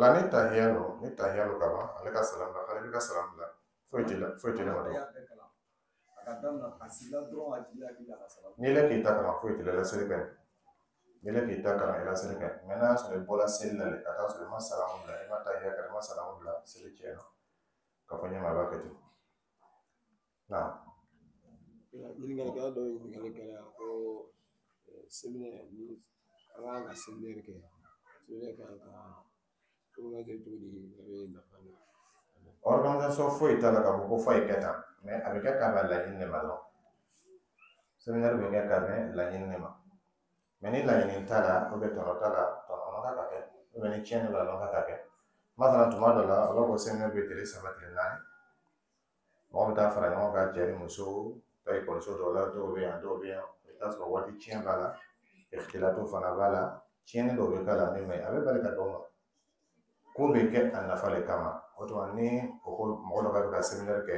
Speaker 1: La ni tahiya lo, ni tahiya lo ka ban, ale ka salam bila, ale bɛ ka salam bila, foyi t'i la, foyi t'i la ma dɔrɔn. N'i le k'i ta kalan, foyi t'i la, i la seli ka ɲi. N'i le k'i ta kalan, i la seli ka ɲi. Mais n'a y'a sɔrɔ i bɔra seli la de, ka taa sɔrɔ i ma salamu bila, i ma tahiya kɛ, i ma salamu bila, seli tiɲɛna. Ka fɔ ɲɛma, a b'a kɛ ten. Naam.
Speaker 3: Ɲininkalikɛla dɔ ye ɲininkali kɛra ko séminaire ni an kan ka séminaire kɛ, séminaire kan ka organiser cogo di, a bɛ nafa ɲɛ?
Speaker 1: Organisation foyi t'a la k'a fɔ ko f'a ye kɛ tan, mais a bɛ kɛ ka bɛn laɲini de ma dɔrɔn. Séminaire bɛ kɛ ka bɛn laɲini de ma. Mais ni laɲini t'a la, ou bien tɔnɔ t'a la, tɔnɔ man kan ka kɛ, ou bien ni tiɲɛni b'a la, a man kan ka kɛ. Masalan tuma dɔ la, a b'a fɔ séminaire bɛ tile 3 tile 4. Mɔgɔ bɛ taa fara ɲɔgɔn kan, cɛ ni muso, taa ekɔliso dɔw la, dɔw bɛ yan, dɔw bɛ yan. I bɛ taa sɔrɔ waati tiɲɛ b'a la, ikhtilatu fana b'a la, tiɲɛni dɔw bɛ k'a la min man ɲi, a bɛ bali ka dɔw ma. Ko bɛ kɛ a nafa de kama. O tuma ni o ko mɔgɔ dɔ k'a bɛ ka séminaire kɛ,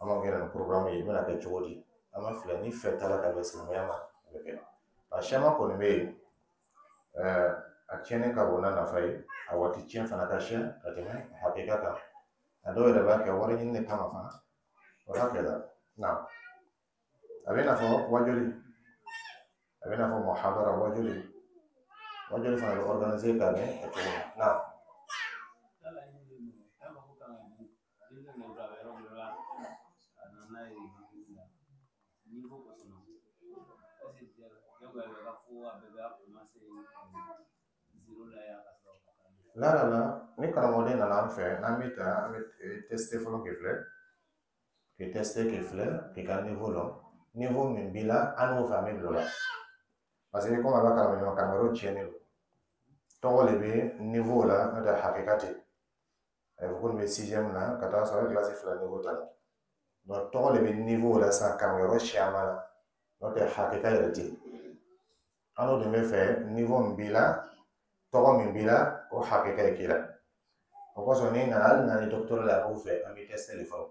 Speaker 1: an b'a kɛ nin programme ye, i bɛna kɛ cogo di? An b'a filɛ ni fɛ t'a la ka bɛn silamɛya ma, a bɛ kɛ. A caman kɔni bɛ yen, a tiɲɛni ka bon n'a nafa ye, a waati tiɲɛ fana ka siya ka tɛmɛ a hakika kan. A dɔw yɛrɛ b'a kɛ wari ɲini de kama fana. O hakɛ la. Na. A bɛ i n'a fɔ wajuli, a bɛ i n'a fɔ muhadara wajuli. Wajuli fana bɛ organiser ka bɛn a cogo ma. Na. La la la, ni karamɔgɔden nana an fɛ, n'an bɛ ta, an bɛ tester fɔlɔ k'i filɛ, k'i tester k'i filɛ, k'i ka niveau dɔn. Niveau min b'i la, an n'o fɛ an bɛ bila o la. Parce que komi a b'a kalama ɲɔgɔn, karamɔgɔ tiɲɛnen don. Tɔgɔ de bɛ niveau la, n'o tɛ hakika tɛ. A bɛ fɔ ko nin bɛ sixième na, ka taa sɔrɔ a bɛ kilasi 2 niveau ta la. Donc tɔgɔ de bɛ niveau la sisan karamɔgɔ caman na, n'o tɛ hakika yɛrɛ tɛ yen. An n'o de bɛ fɛ niveau min b'i la, tɔgɔ min b'i la, o hakika ye k'i la. O kosɔn n'i nana, hali n'a ni docteur la anw fɛ, an bɛ test de fɔlɔ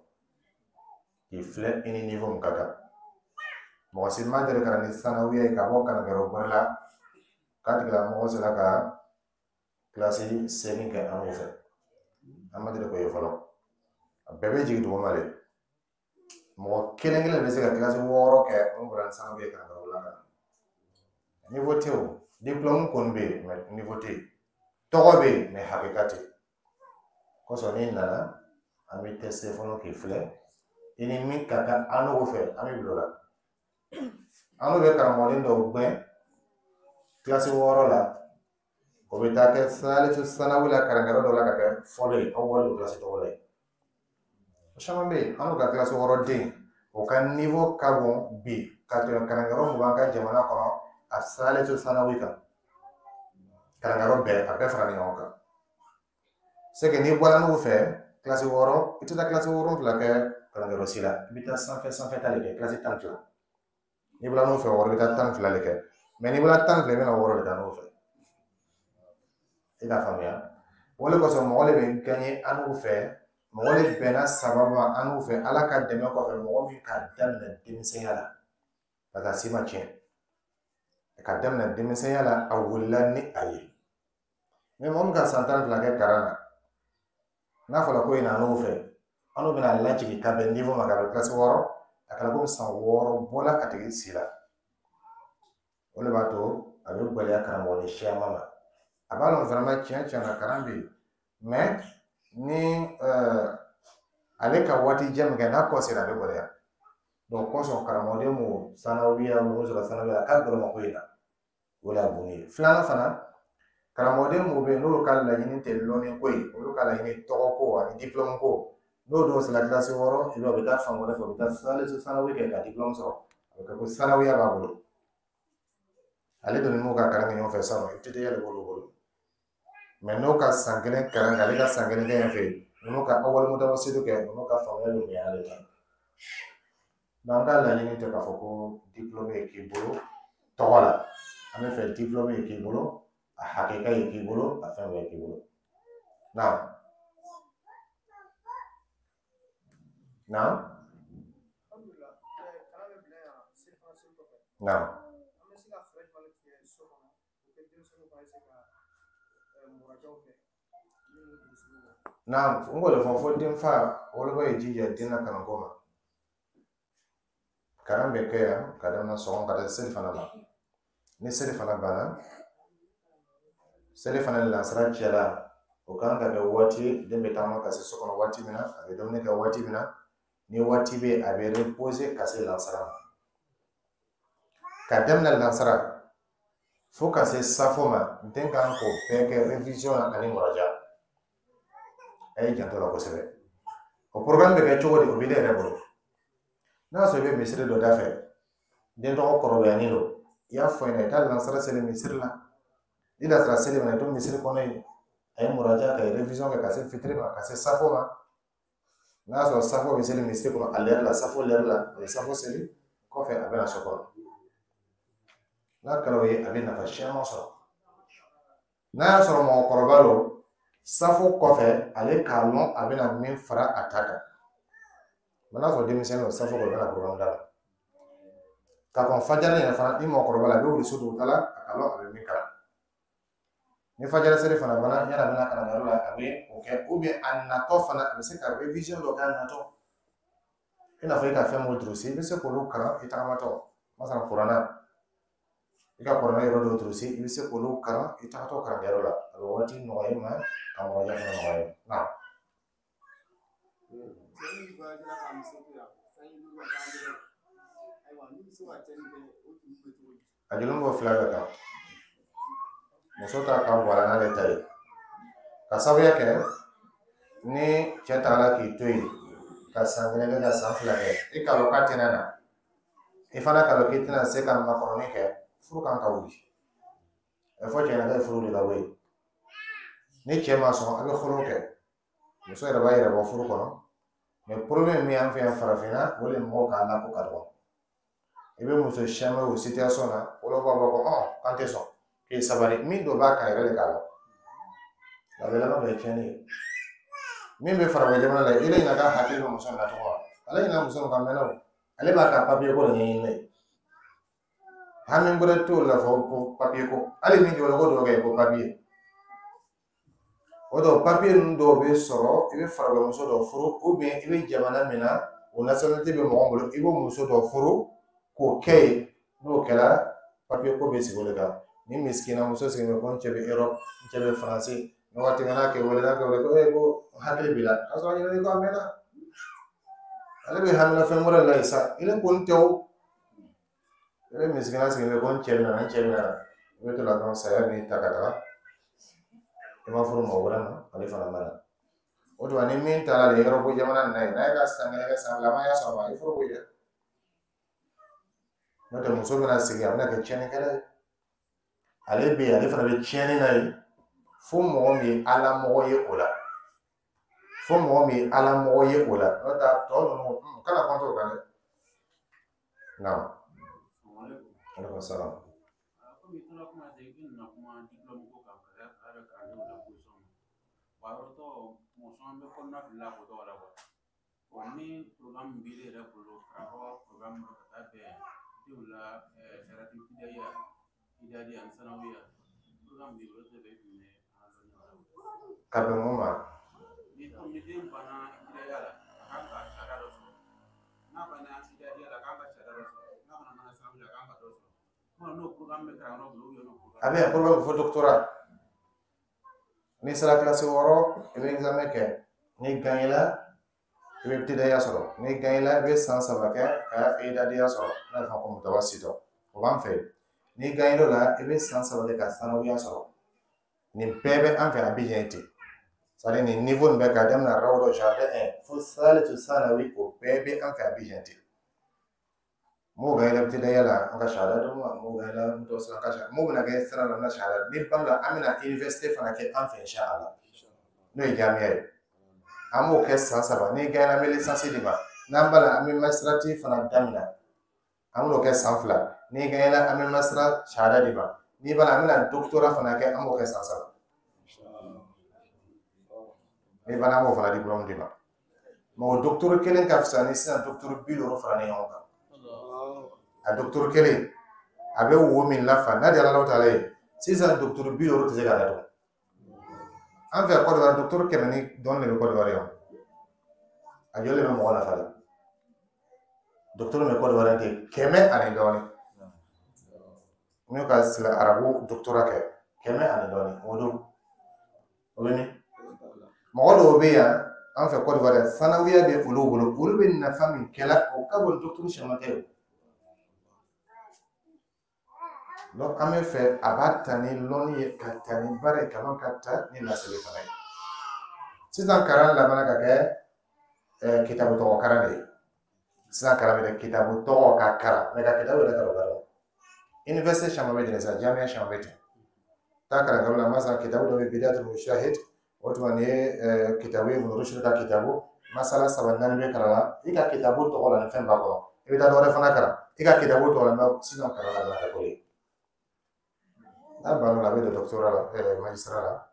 Speaker 1: k'i filɛ i ni niveau min ka kan. Mɔgɔ si ma deli ka na ni sanawiya ye ka bɔ kalankɛyɔrɔ wɛrɛ la k'a tigilamɔgɔ sera ka kilasi 8 kɛ an fɛ. An ma deli k'o ye fɔlɔ. A bɛɛ bɛ jigin duguma de. Mɔgɔ kelen kelen bɛ se ka kilasi 6 kɛ mun bɔra ni sanawiya ye kalankɛyɔrɔ la ka na. Niveau tɛ o. Diplôme kɔni bɛ yen, mais niveau tɛ yen. Tɔgɔ bɛ yen, mais hakika tɛ yen. Kosɔn n'i nana, an bɛ test fɔlɔ k'i filɛ i ni min ka kan an n'o fɛ, an bɛ bila o la. An n'o bɛ karamɔgɔden dɔw gɛn kilasi 6 la, o bɛ taa kɛ salisu sanawi la kalankɛyɔrɔ dɔ la ka kɛ fɔlɔ ye, aw wari don kilasi tɔgɔ la yen. O caman bɛ yen, an n'u ka kilasi 6 den, o ka niveau ka bon bi ka tɛmɛ kalankɛyɔrɔ 20 ka jamana kɔnɔ a salisu sanawi kan. Kalankɛyɔrɔ bɛɛ, a bɛɛ fara ɲɔgɔn kan. C'est que n'i bɔra n'u fɛ kilasi 6, i tɛ taa kilasi 7 kɛ kalankɛyɔrɔ si la, i bɛ taa sanfɛ sanfɛ ta de kɛ, kilasi 12. N'i bɔra n'u fɛ 6, i bɛ taa 12 de kɛ. Mais n'i bɔra 12, i bɛna 6 de kɛ n'u fɛ. I k'a faamuya. O de kosɔn mɔgɔ de bɛ gagner an n'u fɛ, mɔgɔ de bɛnna sababu ma an n'u fɛ, Ala ka dɛmɛ kɔfɛ, mɔgɔ min k'a daminɛ denmisɛnya la, parce que a si ma tiɲɛ. Ka daminɛ denmisɛnya la, a wulila ni a ye. Mais mɔgɔ min ka san 12 kɛ kalan na, n'a fɔra ko i na n'o fɛ, an n'o bɛna lajigin ka bɛn niveau ma, ka bɛn kilasi 6, a kɛra komi san 6 bɔla a tigi si la. O de b'a to a bɛ gɛlɛya karamɔgɔden caman ma. A b'a dɔn vraiment tiɲɛ tiɲɛ na kalan bɛ yen, mais ni ale ka waati jan min kɛ n'a kɔ sera, a bɛ gɛlɛya. Donc kosɔn karamɔgɔden mun sanawiya mun sɔrɔ sanawiya, a ka gɛlɛn ma ko in na, o de y'a bon ye. Filanan fana, karamɔgɔden mun bɛ yen n'olu ka laɲini tɛ lɔnni ko ye, olu ka laɲini tɔgɔ ko ani diplôme ko, n'o dɔw sera kilasi 6, i b'a ye u bɛ taa fan wɛrɛ fɛ, u bɛ taa salisu sanawi kɛ ka diplôme sɔrɔ, a bɛ kɛ ko sanawiya b'a bolo. Ale dun ni mun ka kalan kɛ ɲɔgɔn fɛ sisan, ibtida'iya de b'olu bolo. Mais n'o ka san 1 kalan kɛ, ale ka san 1 kɛ yan fɛ yen, ninnu ka awali mutawasitu kɛ, ninnu ka faamuya bɛ bonya ale ta. Donc an ka laɲini tɛ k'a fɔ ko diplôme ye k'i bolo tɔgɔ la. An bɛ fɛ diplôme ye k'i bolo, a hakika ye k'i bolo, a fɛn bɛɛ ye k'i bolo. Naam. Naam. Naam. Naam, n k'o de fɔ fo denfa woloba ye jija den na kalanko ma. Kalan bɛ kɛ yan ka daminɛ sɔgɔma ka taa seli fana ma. Ni seli fana banna, seli fana lansara cɛla, o kan ka kɛ waati den bɛ taama ka se so kɔnɔ waati min na, a bɛ dumuni kɛ waati min na, ni waati bɛ yen, a bɛ reposer ka se lansara ma. Ka daminɛ lansara fo ka se safo ma, den kan k'o bɛɛ kɛ révision ani muraja. A ye janto la kosɛbɛ. O programme bɛ kɛ cogo di, o bɛ ne yɛrɛ bolo. N'a y'a sɔrɔ i bɛ misiri dɔ da fɛ, den tɔgɔ kɔrɔbayalen don, i y'a fɔ ɲɛna, i ka lansara seli misiri la. Ni lansara seli mana, i to misiri kɔnɔ yen, a ye muraja ka révision kɛ ka se fitiri ma, ka se safo ma. N'a y'a sɔrɔ safo bɛ seli misiri kɔnɔ a lɛri la, safo lɛri la, a bɛ safo seli, kɔfɛ a bɛ na so kɔnɔ. N'a kɛra o ye, a bɛ nafa caman sɔrɔ. N'a y'a sɔrɔ mɔgɔkɔrɔba don, safo kɔfɛ ale k'a lɔn a bɛna min fara a ta kan. Mɛ n'a sɔrɔ denmisɛnnin don, safo kɔfɛ, u bɛna programme da la. Ka kɔn fajari yɛrɛ fana, ni mɔgɔkɔrɔba la, a bɛ wuli so dugutala, a k'a lɔn a bɛ min kalan. Ni fajari seli fana banna, yanni a bɛna kalanyɔrɔ la, a bɛ o kɛ, ou bien a natɔ fana, a bɛ se ka révision dɔ kɛ a natɔ. I n'a fɔ i ka fɛn mun durusi, i bɛ se k'olu kalan i tagamatɔ. Masalan kuranna, i ka kuranna yɔrɔ dɔw durusi, i bɛ se k'olu kalan i tagatɔ kalankɛyɔrɔ la. A bɛ waati nɔgɔya i ma, ka mɔgɔ fana nɔgɔya i ma. Naam. A joli b'o fila bɛɛ kan. Muso ta ka bɔ a la n'ale ta ye. Ka sababuya kɛ ni cɛ tagara k'i to yen ka san 1 kɛ, ka san 2 kɛ, i k'a dɔn k'a tɛna na, i fana k'a dɔn k'i tɛna se ka makɔnɔni kɛ, furu kan ka wuli. A bɛ fɔ cɛ ɲɛna k'a ye furu wuli ka bɔ yen. Ni cɛ ma sɔn, a bɛ furu kɛ. Muso yɛrɛ b'a yɛrɛ bɔ furu kɔnɔ. Mais problème min y'an fɛ yan farafinna, o de mɔgɔw k'a la ko ka dɔgɔ. I bɛ muso caman ye o situation na, olu b'a fɔ ko k'an tɛ sɔn, k'i sabali, min dɔ b'a kan yɛrɛ de k'a lɔn. A bɛ laban ka kɛ tiɲɛni ye. Min bɛ farafin jamana la, ele ɲina ka hakili bɛ muso in na tɔgɔ wa? Ale ɲina muso in ka mɛnɛ o. Ale b'a ka papiye ko de ɲɛɲini ne ye. Hami wɛrɛ t'o la fɔ ko papiye ko. Hali min jɔlen ko dɔ kɛ ko papiye. O dɔw papiye ninnu dɔw bɛ sɔrɔ, i bɛ farafin dɔ furu, ou bien i bɛ jamana min na, o nationalité bɛ mɔgɔ bolo, i b'o muso dɔ furu k'o kɛ yen. N'o kɛra, papiye ko bɛ sigi o de kan. Ni misikina muso sigilen bɛ ko n cɛ bɛ Europe, n cɛ bɛ Faransi, ni waati min n'a kɛ wele, n'a kɛ wele ko ee ko n hakili b'i la, k'a sɔrɔ a ɲinɛn'i kɔ a mɛnna. Ale bɛ hamina fɛn wɛrɛ la yen sa, ile ko n tɛ o. Ile misikina sigilen bɛ ko n cɛ bɛ na, n cɛ bɛ na. I bɛ to la dɔrɔn saya b'i ta ka taga. I ma furu mɔgɔ wɛrɛ ma, ale fana ma na. O tuma ni min taara de Europe jamana nin na yen, n'a ye ka san kelen kɛ, san 2, ma y'a sɔrɔ ma, i furu ko yɛ. N'o tɛ muso bɛna sigi, a bɛna kɛ tiɲɛnikɛla ye. Ale bɛ yen, ale fana bɛ tiɲɛni na yen. Fo mɔgɔ min ye ala mɔgɔ ye o la. Fo mɔgɔ min ye ala mɔgɔ ye o la. N'o tɛ tɔ ninnu, kana kɔnto o kan dɛ. Naam. Aleykum salaam.
Speaker 4: Komi i tora kuma se i nana kuma diplôme ko kan ka ka kalandenw la position ma. Wa yɔrɔ tɔ mɔgɔ caman bɛ kɔnɔna fili la ko tɔgɔ la kuwa. Bon, ni programme b'i yɛrɛ bolo, karamɔgɔ programme dɔ ka taa bɛn denw la sarati fidaya idadi ani sanawiya, programme b'i bolo tɛ bɛ i kun bɛ an dɔnniya o la.
Speaker 1: Ka bɛn mun ma?
Speaker 4: Ni komi ni den banna fidaya la, a kan ka sariya dɔ sɔrɔ. N'a banna idadiya la, a kan ka sariya dɔ sɔrɔ. N'a fana banna sanawiya la, a kan ka dɔ sɔrɔ. Kuma n'o programme bɛ karamɔgɔ bolo, ou bien n'o programme.
Speaker 1: A bɛ yan programme fo doctorat. N'i sera kilasi 6, i bɛ examen kɛ. N'i gagnera, i bɛ ibtidaiya sɔrɔ. N'i gagnera, i bɛ san 3 kɛ ka idadiya sɔrɔ. N'a bɛ fɔ ko mutawasitɔ. O b'an fɛ yen. N'i gagnera o la, i bɛ san 3 kɛ ka sanawiya sɔrɔ. Nin bɛɛ bɛ an fɛ Abidjan ten. C'est à dire nin niveau nin bɛɛ k'a daminɛ rawdo jardin 1 fo salisu sanawi, o bɛɛ bɛ an fɛ Abidjan ten. M'o gagnera ibtidaiya la, an ka shahada d'u ma. M'o gagnera mutawassit, an ka shahada. M'o bɛna kɛ sira la, an ka shahada. Ni ban la, an bɛna université fana kɛ an fɛ inshallah. N'o ye jamiya ye. An b'o kɛ san 3. N'i gagnera, an bɛ licence d'i ma. N'an b'a la, an bɛ magistrature fana daminɛ. An b'o kɛ san 2. N'i gagnera, an bɛ magistrat shahada d'i ma. N'i b'a la, an bɛna doctorat fana kɛ, an b'o kɛ san 3. N'i banna, an b'o fana diplôme d'i ma. Mais o docteur kelen ka fisa ni sisan docteur 50 faralen ɲɔgɔn kan. A docteur kelen a bɛ wo min lafa n'a di Ala taala ye, sisan docteur 50 tɛ se k'a datugu. An fɛ Côte d'Ivoire, docteur 100 ni dɔɔnin de bɛ Côte d'Ivoire yan. A joli bɛ mɔgɔ nafa la? Docteur bɛ Côte d'Ivoire ten 100 ani dɔɔnin. N'u ka sila arabu doctorat kɛ 100 ani dɔɔnin, o don o bɛ min? Mɔgɔ dɔw bɛ yan an fɛ Côte d'Ivoire, sanawiya bɛ olu bolo, olu bɛ nafa min kɛla, o ka bon docteur caman tɛ o. Donc an bɛ fɛ a b'a ta ni lɔnni ye, ka ta ni baara ye, ka dɔn ka ta ni laseli fana ye. Sisan kalan labanna ka kɛ kitabu tɔgɔ kalan de ye. Sisan kalan bɛ kɛ kitabu tɔgɔ ka kalan, mɛ ka kitabu yɛrɛ kalan o ka dɔgɔ. Université caman bɛ ten sisan, jamiya caman bɛ ten. Taa kalankɛyɔrɔ la, masalan kitabu dɔ bɛ Bidatul Mujtahid, o tuma nin ye kitabu ye, Ibn Rushd ka kitabu, masala 3 4 bɛ kalan la, i ka kitabu tɔgɔ la ni fɛn b'a kɔnɔ. I bɛ taa dɔ wɛrɛ fana kalan, i ka kitabu tɔgɔ la, mɛ sisan kalan labanna ka k'o ye. N'a banna o la, a bɛ don doctorat la, magistrat la.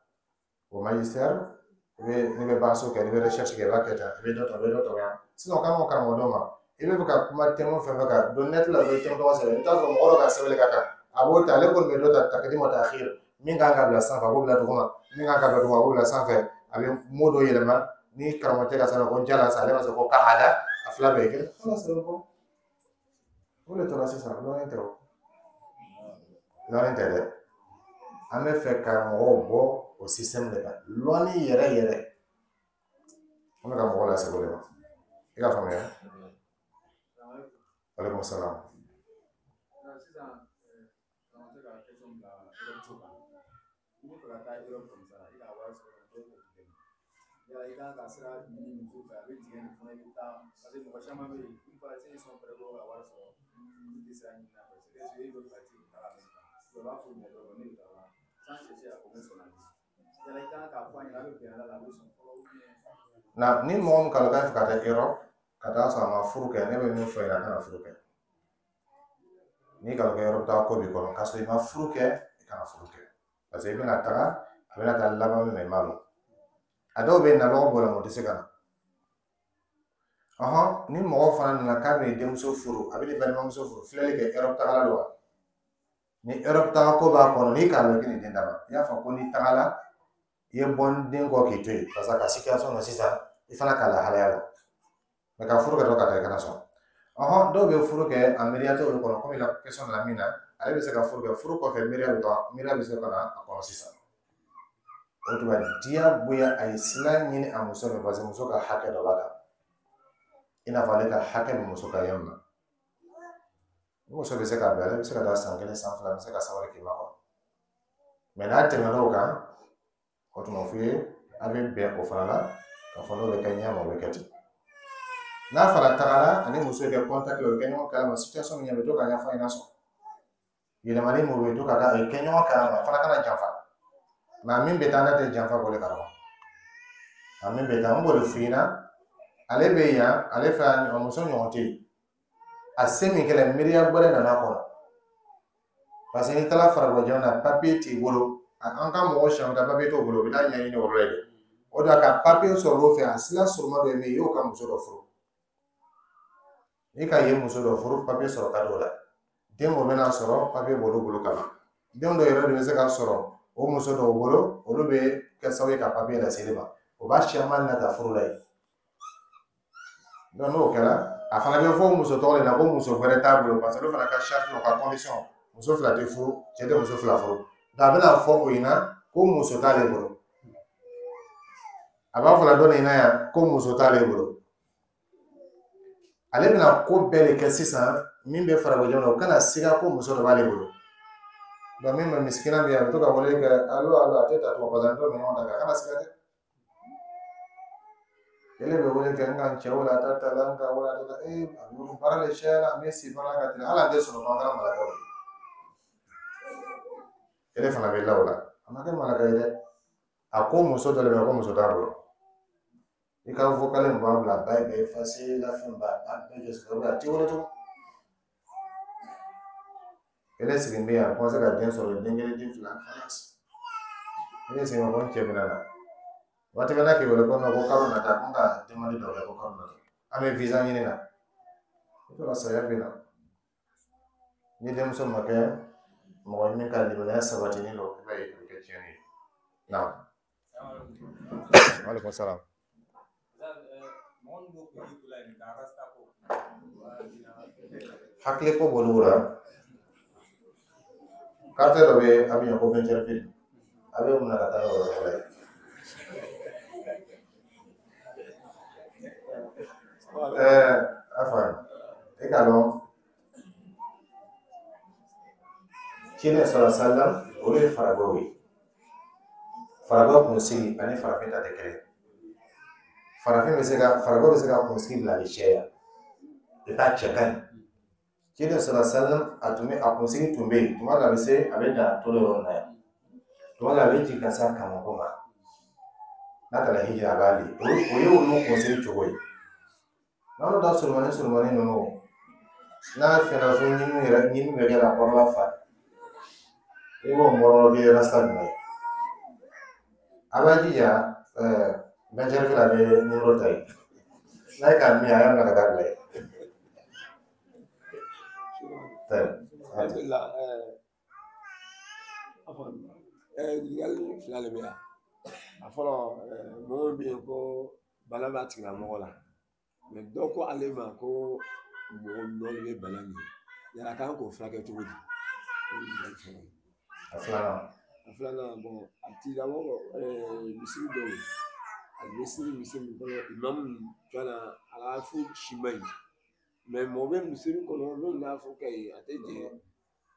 Speaker 1: O magistère, i bɛ n'i bɛ baso kɛ, n'i bɛ recherche kɛ, i b'a kɛ tan, i bɛ dɔ ta, i bɛ dɔ ta yan. Sisan o kan ka karamɔgɔ dɔw ma, i bɛ fɛ ka kuma thème fɛn fɛn kan, don net la dɔrɔn i thème tɔgɔ sɛbɛn, i bɛ taa sɔrɔ mɔgɔ dɔ ka sɛbɛnni ka kan, a b'o ta, ale kɔni bɛ dɔ ta takdim wa ta'khir, min kan ka bila sanfɛ, a b'o bila duguma, min kan ka bila duguma, a b'o bila sanfɛ, a bɛ mot dɔ yɛlɛma, ni karamɔgɔcɛ ka sɛbɛn ko jala sa, ale b'a sɔrɔ ko qa'ada, a fila bɛɛ ye kelen. Ala sɛbɛn ko o de tora sisan, lɔnni tɛ o. Lɔnni tɛ dɛ. An bɛ fɛ ka mɔgɔw bɔ o système de kan. Lɔnni yɛrɛ yɛrɛ. An bɛ ka mɔgɔw lase o de ma. I ka faamuya? Aleykum salaam.
Speaker 2: Sisan, karamɔgɔ ka question bila Europe ko kan. I bɛ fɛ ka taa Europe comme ça, i ka wari sɔrɔ dɔw b'o dɛmɛ. Yala i kan ka sira ɲini muso fɛ, a bɛ tigɛ nin fana i bɛ taa, parce que mɔgɔ caman bɛ yen, une fois s'ils sont prêts ko ka wari sɔrɔ, olu tɛ sira ɲini a fɛ. C'est que ils veulent partir ka taa la u b'a fɔ ɲɛ dɔrɔn ne bɛ taa sans chercher à connaître son ami. Yala i kan k'a fɔ a ɲɛna, a bɛ bɛn ala la, a bɛ sɔn fɔlɔ ou bien.
Speaker 1: Na ni mɔgɔ min kalo k'a fɛ ka taa Europe, ka taa sɔrɔ a ma furu kɛ, ne bɛ min fɔ i ɲɛna, a kana furu kɛ. N'i kalo kɛ Europe taa ko b'i kɔnɔ, k'a sɔrɔ i ma furu kɛ, i kana furu kɛ. Parce que i bɛna taga, a bɛna taa laban min na, i m'a dɔn. A dɔw bɛ na lɔgɔ b'o la, o tɛ se ka na. Ɔhɔn, ni mɔgɔ fana nana k'a bɛ denmuso furu, a bɛ ni balimamuso furu, filɛli kɛ Europe tagala don wa? Ni Europe taga ko b'a kɔnɔ, n'i k'a lɔn k'i ni den d'a ma, i y'a fɔ ko n'i tagala i ye bɔ n den kɔ k'i to yen, parce que a ka situation na sisan i fana k'a lahalaya lɔn. Mɛ ka furu kɛ dɔrɔn ka taa i kana sɔn. Ɔhɔn, dɔw bɛ furu kɛ a miiriya t'olu kɔnɔ, komi la question nana min na, ale bɛ se ka furu kɛ, furu kɔfɛ miiriya bɛ taa, miiriya bɛ se ka na a kɔnɔ sisan. O tuma diyagoya a ye sira ɲini a muso fɛ, parce que muso ka hakɛ dɔ b'a kan. I n'a fɔ ale ka hakɛ bɛ muso kan yan nɔ. Ni muso bɛ se k'a bila, ale bɛ se ka taa san 1, san 2, a bɛ se ka sabali k'i makɔnɔ. Mɛ n'a tɛmɛn'o kan, o tuma f'i ye a bɛ bɛn o fana la, k'a fɔ n'o bɛ kɛ ɲɛ ma, o bɛ kɛ ten. N'a fana tagara ani muso kɛ contact la, o bɛ kɛ ɲɔgɔn kalama, situation min ɲɛ bɛ to ka ɲɛfɔ a ɲɛna sɔn. Yɛlɛmani min bɛ to ka kɛ ɲɔgɔn kalama, a fana kana janfa. Mɛ min bɛ taa n'a tɛ janfa k'o de kalama. A min bɛ taa, n b'o de f'i ɲɛna, ale bɛ yan, ale fɛ a muso ɲɔgɔn tɛ yen. A se min kɛlɛ, miiriya wɛrɛ nana kɔnɔ. Parce que n'i taara farajɛ jamana na, papiye t'i bolo. An ka mɔgɔ siyan ka papiye t'o bolo, u bɛ taa ɲɛɲini o yɔrɔ la yen. O de la ka papiye sɔrɔ o fɛ, a sira surunman dɔ ye min ye, i y'o ka muso dɔ furu. N'i ka yen muso dɔ furu, papiye sɔrɔ ka di o la. Den o bɛna sɔrɔ, papiye b'olu bolo ka ban. Den dɔw yɛrɛ de bɛ se ka sɔrɔ o muso dɔw bolo, olu bɛ kɛ sababu ye ka papiye lase e ma. O b'a siyaman nata furu la yen. Donc n'o kɛra, a fana bɛ fɔ muso tɔgɔ de la ko muso wɛrɛ t'a bolo, parce que olu fana ka charte n'u ka condition, muso 2 tɛ furu, cɛ tɛ muso 2 furu. Donc a bɛna fɔ o ɲɛna ko muso t'ale bolo. A b'a fɔ la dɔ nin na yan ko muso t'ale bolo. Ale bɛna ko bɛɛ de kɛ sisan min bɛ farajɛ jamana, o kana siga ko muso dɔ b'ale bolo. Donc min bɛ misikina bɛ yan, a bɛ to ka wele kɛ alo alo, a tɛ ta tugun, parce que an t'o ɲɔgɔn ta kɛ, a kana siga dɛ. Ele bɛ wele kɛ n ka n cɛ wele a ta ta la, n ka wele a ta ta, ee a bɛ baara de caya la, an bɛ si baara ka teli, hali an tɛ sunɔgɔ, an kɛra malakaw ye. Ele fana bɛ la o la, a ma kɛ malaka ye dɛ. A ko muso dɔ de bɛ yen ko muso t'a bolo. I ka vocal in b'a bila, ba bɛ effacer la, fɛn ba a bɛɛ jɔ, a t'i wele tugun. Ele sigilen bɛ yan, a commencé ka den sɔrɔ, den 1, den 2, khalas. Ele sigilen ko n cɛ bɛna na. Waati bɛɛ n'a k'i wele ko non, ko kalo nata, ko n ka demande dɔ kɛ ko kalo nata. An bɛ visa ɲini na. I tora saya bɛ na. Ni denmuso ma kɛ mɔgɔ ye min ka limaniya sabatilen don, i b'a ye a bɛ kɛ tiɲɛni ye. Naam. Waaleykum salaam. Hakili ko b'olu la. Carte dɔ bɛ Abidjan ko Ventureville. A bɛ mun na ka taa yɔrɔ wɛrɛ la yen. Afa, e k'a dɔn ciden sɔrɔ salam, olu ye faragɛw ye. Faragɛw kunsigi ani farafin ta tɛ kelen. Farafin bɛ se ka, faragɛw bɛ se ka kunsigi bila a bɛ caya. I t'a cɛ ka ɲi. Ciden sɔrɔ salam, a tun bɛ a kunsigi tun bɛ yen, tuma dɔ la a bɛ se a bɛ dan tolo yɔrɔ in na yan. Tuma dɔ la a bɛ jigin ka se a kamakun ma. N'a taara hiji a b'a li. O ye olu kunsigi cogo ye. N'anw ta surumani surumani ninnu, n'a fɛnna fo ɲimi yɛrɛ, ɲimi bɛ kɛ ka kɔrɔla fa. I b'o mɔrɔ k'i rasta jumɛn ye. A b'a jija, Ventureville a bɛ nimoro ta yen. N'a ye k'a min, a y'a minɛ ka taa bila yen.
Speaker 3: Alhamdulillah, ɲininkali 2 de bɛ yan. A fɔlɔ, mɔgɔ min bɛ yen ko bana b'a tigilamɔgɔ la, mɛ dɔ ko ale ma ko mɔgɔ nɔ de bɛ bana nin ye, yala a kan k'o furakɛ cogo di? O ye ɲininkali fɔlɔ ye.
Speaker 1: A filanan.
Speaker 3: A filanan, bɔn a tigilamɔgɔ misiri dɔw a bɛ siri misiri min kɔnɔ, imamu fana a ka fu si man ɲi, mɛ mɔgɔ bɛ misiri kɔnɔ n'o n'a fɔ ka ye a tɛ jɛ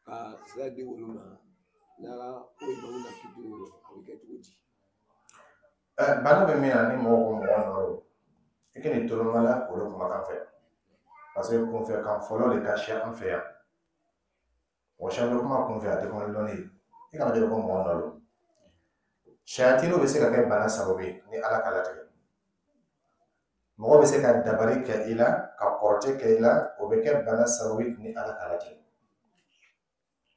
Speaker 3: ka sira di olu ma, n'ala ko imamu na kiti a bɛ kɛ cogo di?
Speaker 1: Bana bɛ min na ni mɔgɔ ko mɔgɔ nɔ don, i kana tolomala olu kumakan fɛ, parce que kunfɛ kan fɔlɔ de ka siya an fɛ yan. Mɔgɔ caman bɛ kuma kunfɛ, a tɛ kuma ni dɔnni ye. I kana jɔ ko mɔgɔ nɔ don. Sayatiniw bɛ se ka kɛ bana sababu ye ni Ala ka latigɛ. Mɔgɔ bɛ se ka dabali kɛ i la, ka kɔrɔtɛ kɛ i la, o bɛ kɛ bana sababu ye ni Ala ka latigɛ.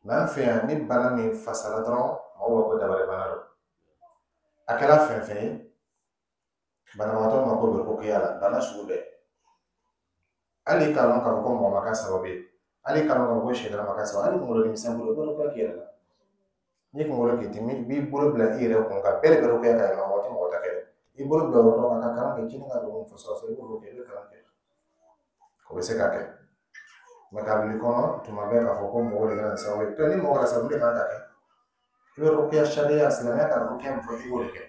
Speaker 1: Mɛ an fɛ yan, ni bana min fasala dɔrɔn, mɔgɔw b'a fɔ ko dabali bana don. A kɛra fɛn fɛn ye, Banabagatɔ mako bɛ rukiya la, bana sugu bɛɛ. Hali k'a lɔn k'a fɔ ko mɔgɔ ma k'a sababu ye, hali k'a lɔn k'a fɔ ko sɛtana ma k'a sababu, hali kunkolo denmisɛn bolo, i bɛ rukiya k'i yɛrɛ la. N'i kunkolo k'i dimi, i b'i bolo bila i yɛrɛ kun kan, bɛɛ de bɛ rukiya k'a yɛrɛ la, mɔgɔ tɛ mɔgɔ ta kɛ dɛ. I bolo bila o yɔrɔ kan ka kalan kɛ, kini ka don fɔsɔ, i b'o kɛ, i bɛ kalan kɛ. O bɛ se ka kɛ. Mɛ k'a bila i kɔnɔ tuma bɛɛ k'a fɔ ko mɔgɔ de kɛra nin sababu ye. Ni mɔgɔ kɛra sababu ye, mun de kan ka kɛ? I bɛ rukiya sariya, silamɛya ka rukiya min fɔ, i b'o de kɛ.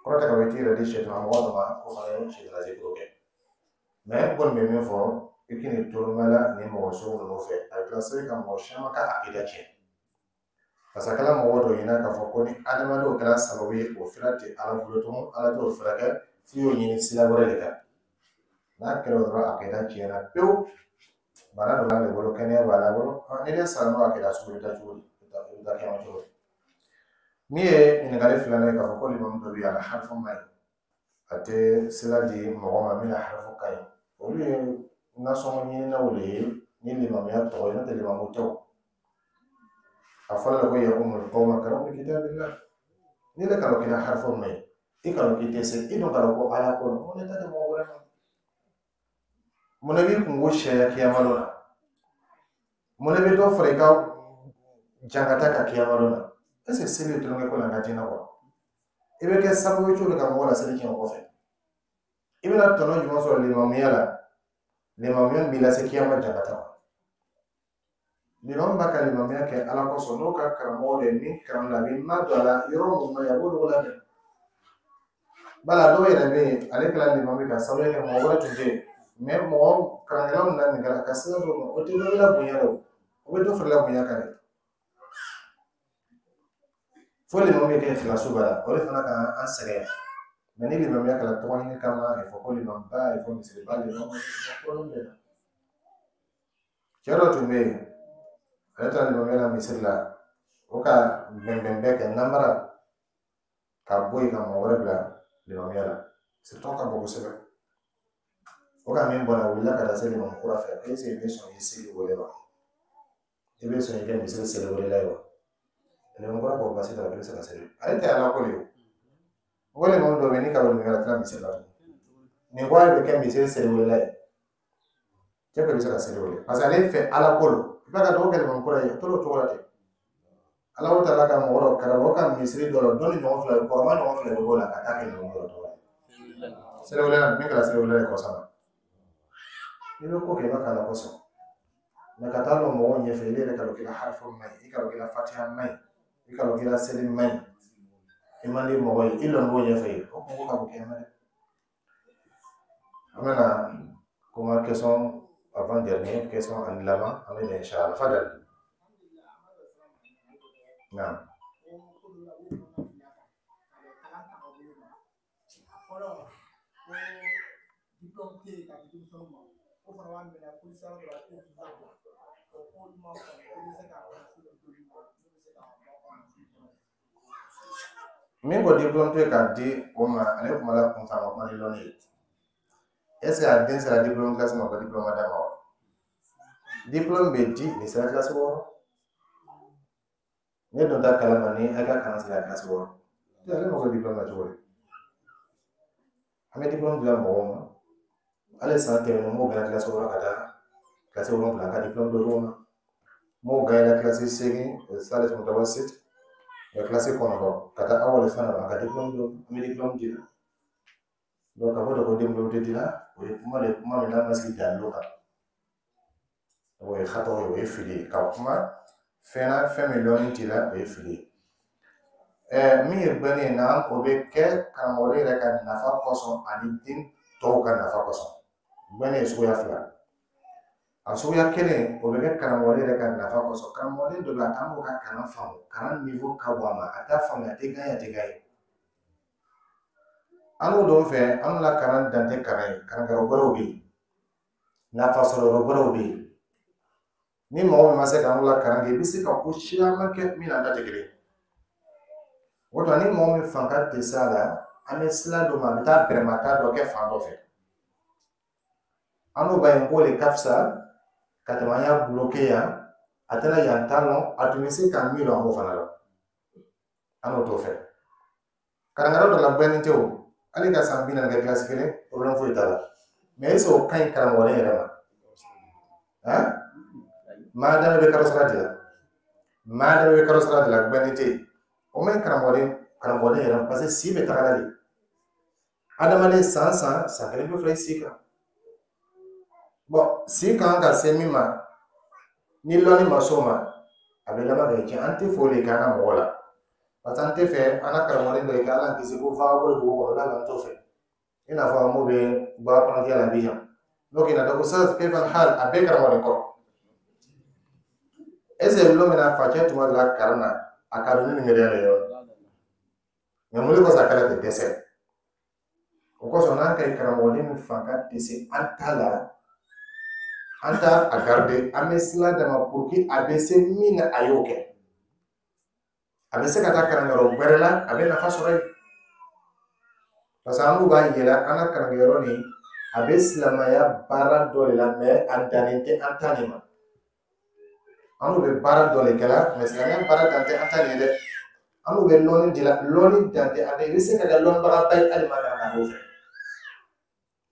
Speaker 1: Kɔrɔ tɛ ka fɔ i t'i yɛrɛ di sɛtana mɔgɔ dɔ ma, ko fana ye sɛtana zikuru kɛ. Mɛ n kɔni bɛ min fɔ, i k'i tolomɛ la nin mɔgɔ sugu ninnu fɛ, a bɛ kila se ka mɔgɔ caman ka akida tiɲɛ. Parce que a kɛra mɔgɔ dɔ ɲɛna k'a fɔ ko ni adamadenw kɛra sababu ye, o fira tɛ Ala bolo tugun, Ala t'o furakɛ, f'i y'o ɲini sira wɛrɛ de kan. N'a kɛra o dɔrɔn, akida tiɲɛna pewu. Bana dɔ b'ale bolo, kɛnɛya b'a bolo. Ni ne sara n'o akida sugu, i bɛ taa cogo di? I bɛ taa kɛnɛma cogo di? Min ye ɲininkali filanan ye, k'a fɔ ko limamu dɔ bɛ yen, a la harifu man ɲi, a tɛ sira di mɔgɔ ma min na harifu ka ɲi, olu ye nasɔngɔ ɲininaw de ye ni limamuya tɔgɔ ye, n'o tɛ limamu tɛ o. A fɔra la ko ya umul qawma karamu kitabillah. Ni le kalo kila harifu man ɲi, i kalo k'i tɛ se, i dun kalo ko Ala ko mun ne ta di mɔgɔ wɛrɛ ma? Mun ne b'i kungo sariya kiyama dɔ la? Mun ne bɛ dɔ fara i ka jankata kan kiyama dɔ la? Est ce que seli ye tulonkɛ ko la an ka diinɛ kɔnɔ? I bɛ kɛ sababu ye cogo di ka mɔgɔ laseli tiɲɛ o kɔfɛ? I bɛna tɔnɔ jumɛn sɔrɔ limamuya la? Limamuya min b'i lase kiyama jankata ma. Limamu b'a ka limamuya kɛ Ala kosɔn, n'o ka karamɔgɔ de ye min kalan la, a b'i ma don a la yɔrɔ mun ma ɲi, a b'olu labɛn. Bala dɔw yɛrɛ bɛ yen, ale kɛra limamu ye ka sababu kɛ mɔgɔ wɛrɛ tun tɛ yen. Mɛ mɔgɔ kalankɛlaw nana nin kɛ ka sira dɔw ma, o tɛ dɔ la bonya la o, o bɛ dɔ fara la bonya kan dɛ. Fo limamu bɛ kɛ filaso ba la, o de fana ka an sɛgɛn. Mɛ ni limamuya kɛra tɔgɔ ɲini kama, a fɔ ko limamuba, a fɔ misiriba, limamu bɛ na. Cɛ dɔ tun bɛ yen, ale taara limamuya la misiri la, o ka bɛnbɛn bɛɛ kɛ namara ka bɔ yen ka mɔgɔ wɛrɛ bila limamuya la. Sirитɔ ka bon kosɛbɛ. O ka min bɔra, a wulila ka taa se limamu kura fɛ, est ce que i bɛ sɔn i seli wele wa? I bɛ sɔn i kɛ misiri seli welela ye wa? Limamu kura ko baasi t'a la, i bɛ se ka seli. Ale tɛ Ala ko de ye o. N ko limamu dɔ bɛ yen, ni ka wele la tɛna misiri la tugun. Nin ko ale bɛ kɛ misiri seli welela ye. Cɛ ko i bɛ se ka seli wele. Parce que ale fɛ Ala ko don. I b'a ka dɔgɔ kɛ limamu kura ye, a tor'o cogo la ten. Ala o taala ka mɔgɔ dɔ karamɔgɔ ka misiri dɔ la, dɔnni ɲɔgɔn fila, kɔrɔma ɲɔgɔn fila bɛ b'o la ka taa kɛ limamu dɔ tɔgɔ ye. Seli welela min kɛra seli welela ye kɔsa la. N'i bɛ ko kɛ, i b'a kɛ Ala kosɔn. Mɛ ka taa lɔ mɔgɔw ɲɛfɛ, i yɛrɛ ka dɔn k'i ka harifu man ɲi, i ka dɔn k'i ka fatiha man ɲi, i ka dɔn k'i ka seli man ɲi, i man di mɔgɔ ye, i lɔn b'o ɲɛfɛ ye, o kungo ka bon kɛnɛ dɛ. An bɛna kuma question avant dernier question ani laban, an bɛ na inshallah. Fadal. Naam.
Speaker 5: Fɔlɔ ko diplôme tɛ yen ka di denmisɛnninw ma, o fana b'a minɛ ko ni sera dɔrɔn ko k'i labila, o ko olu ma faamu ko bɛ se ka nafolo d'olu ma n'u bɛ se ka bɔ ka nafolo kɔnɔ.
Speaker 1: Min ko diplôme tɛ k'a di o ma, ale kuma la kun fɛ, a ma kuma ni lɔnni ye. Est ce que a den sera diplôme classe ma, ko diplôme ma d'a ma wa? Diplôme bɛ di ni sera classe 6. Ne dun t'a kalama ni a ka kalan sera classe 6. Ale mako diplôme na cogo di? An bɛ diplôme dilan mɔgɔw ma. Hali san tɛmɛnen, m'o gɛnna classe 6 ka taa classe 7, ka diplôme dɔ ma. M'o gɛnna classe 8, salis mutawasit, classe 9 ka taa awali fana a ka diplôme dɔ, an bɛ diplôme di la. Donc k'a fɔ de ko diplôme tɛ di la, o ye kuma de, kuma min n'a ma sigi dalilu kan. O ye hatɔ ye, o ye fili ye. Ka kuma fɛn na, fɛn min lɔnni t'i la, o ye fili ye. Min ye gbɛnni ye na, o bɛ kɛ karamɔgɔ yɛrɛ ka nafa kosɔn ani den tɔw ka nafa kosɔn. Gbɛnni ye suguya fila. A suguya kelen, o bɛ kɛ karamɔgɔ yɛrɛ ka nafa kosɔn. Karamɔgɔden dɔ bɛ yen, a t'an ka kalan faamu, kalan niveau ka bon a ma, a t'a faamuya, a tɛ gan ye, a tɛ gan ye. An n'o dɔw fɛ, an la kalan dan tɛ kalan ye, kalankɛyɔrɔ wɛrɛw bɛ yen, nafa sɔrɔ yɔrɔ wɛrɛw bɛ yen. Ni mɔgɔ min ma se k'an la kalan kɛ, i bɛ se ka ko caman kɛ min n'an ta tɛ kelen ye. O tuma, ni mɔgɔ min fanga tɛ se a la, an bɛ sira dɔ ma, a bɛ taa bɛrɛmata dɔ kɛ fan dɔ fɛ. An n'o b'a ye k'o de ka fisa ka tɛmɛ an y'a bloqué yan, a tɛna yan ta lɔn, a tun bɛ se ka min lɔn, an b'o fana lɔn. An n'o t'o fɛ. Kalankɛyɔrɔ dɔ la, gbɛnni tɛ o. Hali ka san 40 kɛ kilasi kelen, problème foyi t'a la. Mais est ce que o ka ɲi karamɔgɔden yɛrɛ ma? Han, maadama bɛ kalo sara di la, maadama bɛ kalo sara di la, gbɛnni tɛ yen, o ma ɲi karamɔgɔden yɛrɛ ma, parce que si bɛ taga la de. Adamaden san san san kelen bɛ fara i si kan. Bon, si kan ka se min ma, ni lɔnni ma s'o ma, a bɛ laban ka tiɲɛ. An tɛ fɛ o de k'an ka mɔgɔ la, parce que an tɛ fɛ an ka karamɔgɔden dɔ ye k'Ala kisi ko vagabond dugu kɔnɔ la, an t'o fɛ. I n'a fɔ an b'o bɛ bɔ apprenti la Abidjan, n'o k'i na ko sa kayfa hal, a bɛɛ karamɔgɔden kɔrɔ. Est ce que lon min na facɛ tun b'a la kalan na, a ka dɔn ni nin yɛrɛ ye wa? Mais mun de kosɔn a kɛra ten dɛsɛ? O kosɔn n'an ka ɲi karamɔgɔden min fan ka tɛ se an ta la, an t'a a garder, an bɛ sira d'a ma pour que a bɛ se min na, a y'o kɛ. A bɛ se ka taa kalanyɔrɔ wɛrɛ la, a bɛ nafa sɔrɔ yen, parce que an n'u b'a yira an ka kalankɛyɔrɔ nin, a bɛ silamɛya baara dɔ de la, mais a dannen tɛ an ta nin ma. An n'u bɛ baara dɔ de kɛ la, mais silamɛya baara dan tɛ an ta nin ye dɛ. An n'u bɛ lɔnni di la, lɔnni dan tɛ an ta, i bɛ se ka kɛ lɔnnibagaba ye hali ma kalan k'o fɛ.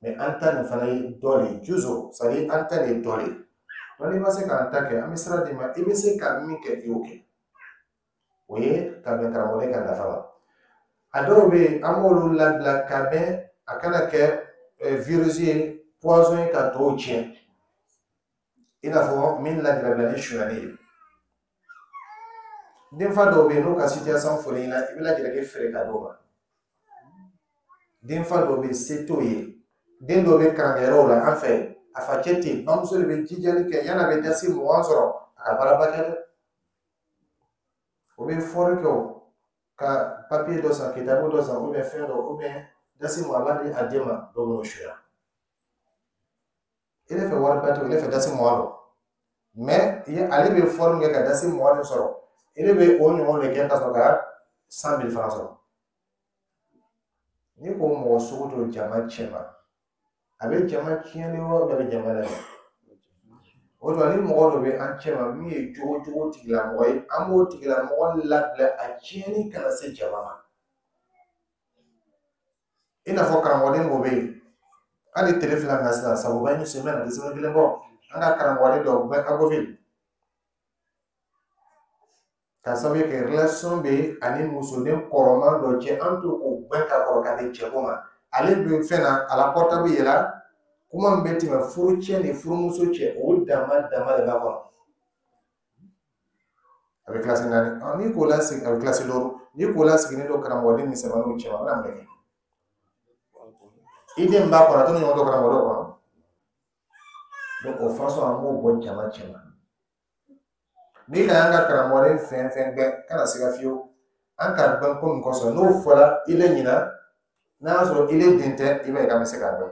Speaker 1: Mais an ta nin fana ye dɔ de ye, juzo, c'est à dire an ta nin ye dɔ de ye. Donc n'i ma se k'an ta kɛ, an bɛ sira d'i ma, i bɛ se ka min kɛ, i y'o kɛ. O ye ka bɛn karamɔgɔden ka nafa ma. A dɔw bɛ yen, an b'olu labila ka bɛn a kana kɛ virus ye, poison ye ka tɔw tiɲɛ. I n'a fɔ min lajabila ni sonyali ye. Denfa dɔw bɛ yen, n'u ka situation fɔra i ɲɛna, i bɛ lajɛrɛ feere ka d'o ma. Denfa dɔw bɛ yen, se t'o ye. Den dɔw bɛ kalankɛyɔrɔw la an fɛ, a facɛ tɛ yen, bamuso de bɛ jijali kɛ, yan'a bɛ dasi 20 sɔrɔ, a ka baaraba kɛ dɛ. O bɛ fɔri kɛ o, ka papiye dɔ san, kitabu dɔ san, ou bien fɛn dɔ, ou bien dasi 20 a b'a di a den ma, dɔw b'o suya. I ne fɛ wariba tɛ o, ne fɛ dasi 20 don. Mais ale bɛ fɔri min kɛ ka dasi 20 nin sɔrɔ, i ne bɛ o ɲɔgɔn de kɛ ka sɔrɔ ka 100 000 fana sɔrɔ. N'i ko mɔgɔ sugu to jama cɛ ma, a bɛ jama tiɲɛ de wa, a bɛ jama lajɛ? O tuma ni mɔgɔ dɔ bɛ an cɛ ma min ye jogo jugu tigilamɔgɔ ye, an b'o tigilamɔgɔ labila a tiɲɛni kana se jama ma. I n'a fɔ karamɔgɔden dɔ bɛ yen, hali tile fila min na sisan, sabuba ni sɛmɛ na tɛ sɛbɛn kelen bɔ, an ka karamɔgɔden dɔ bɛ Agboville, ka sababu kɛ relation bɛ ani musoden kɔrɔman dɔ cɛ, an to k'o gbɛn ka kɔrɔ ka bɛn cɛko ma. Ale bɛ fɛn na, a la portable yɛlɛ, kuma min bɛ tɛmɛ furu cɛ ni furumuso cɛ, o dama dama de b'a kɔnɔ. A bɛ kilasi 4, n'i k'o lasigi, a bɛ kilasi 5, n'i k'o lasigilen don karamɔgɔden misɛnmaninw cɛ ma, a bɛna mun de kɛ? I den b'a kɔnɔ, a t'o ɲɔgɔn dɔn karamɔgɔ kɔnɔ. Donc o façon an b'o bɔ jama cɛ ma. N'i ka an ka karamɔgɔden fɛn fɛn gbɛn, kana siga fiyewu. An ka gbɛn ko min kosɔn, n'o fɔra i le ɲina, n'a y'a sɔrɔ i le den tɛ, i b'a ye k'an bɛ se k'a dɔn.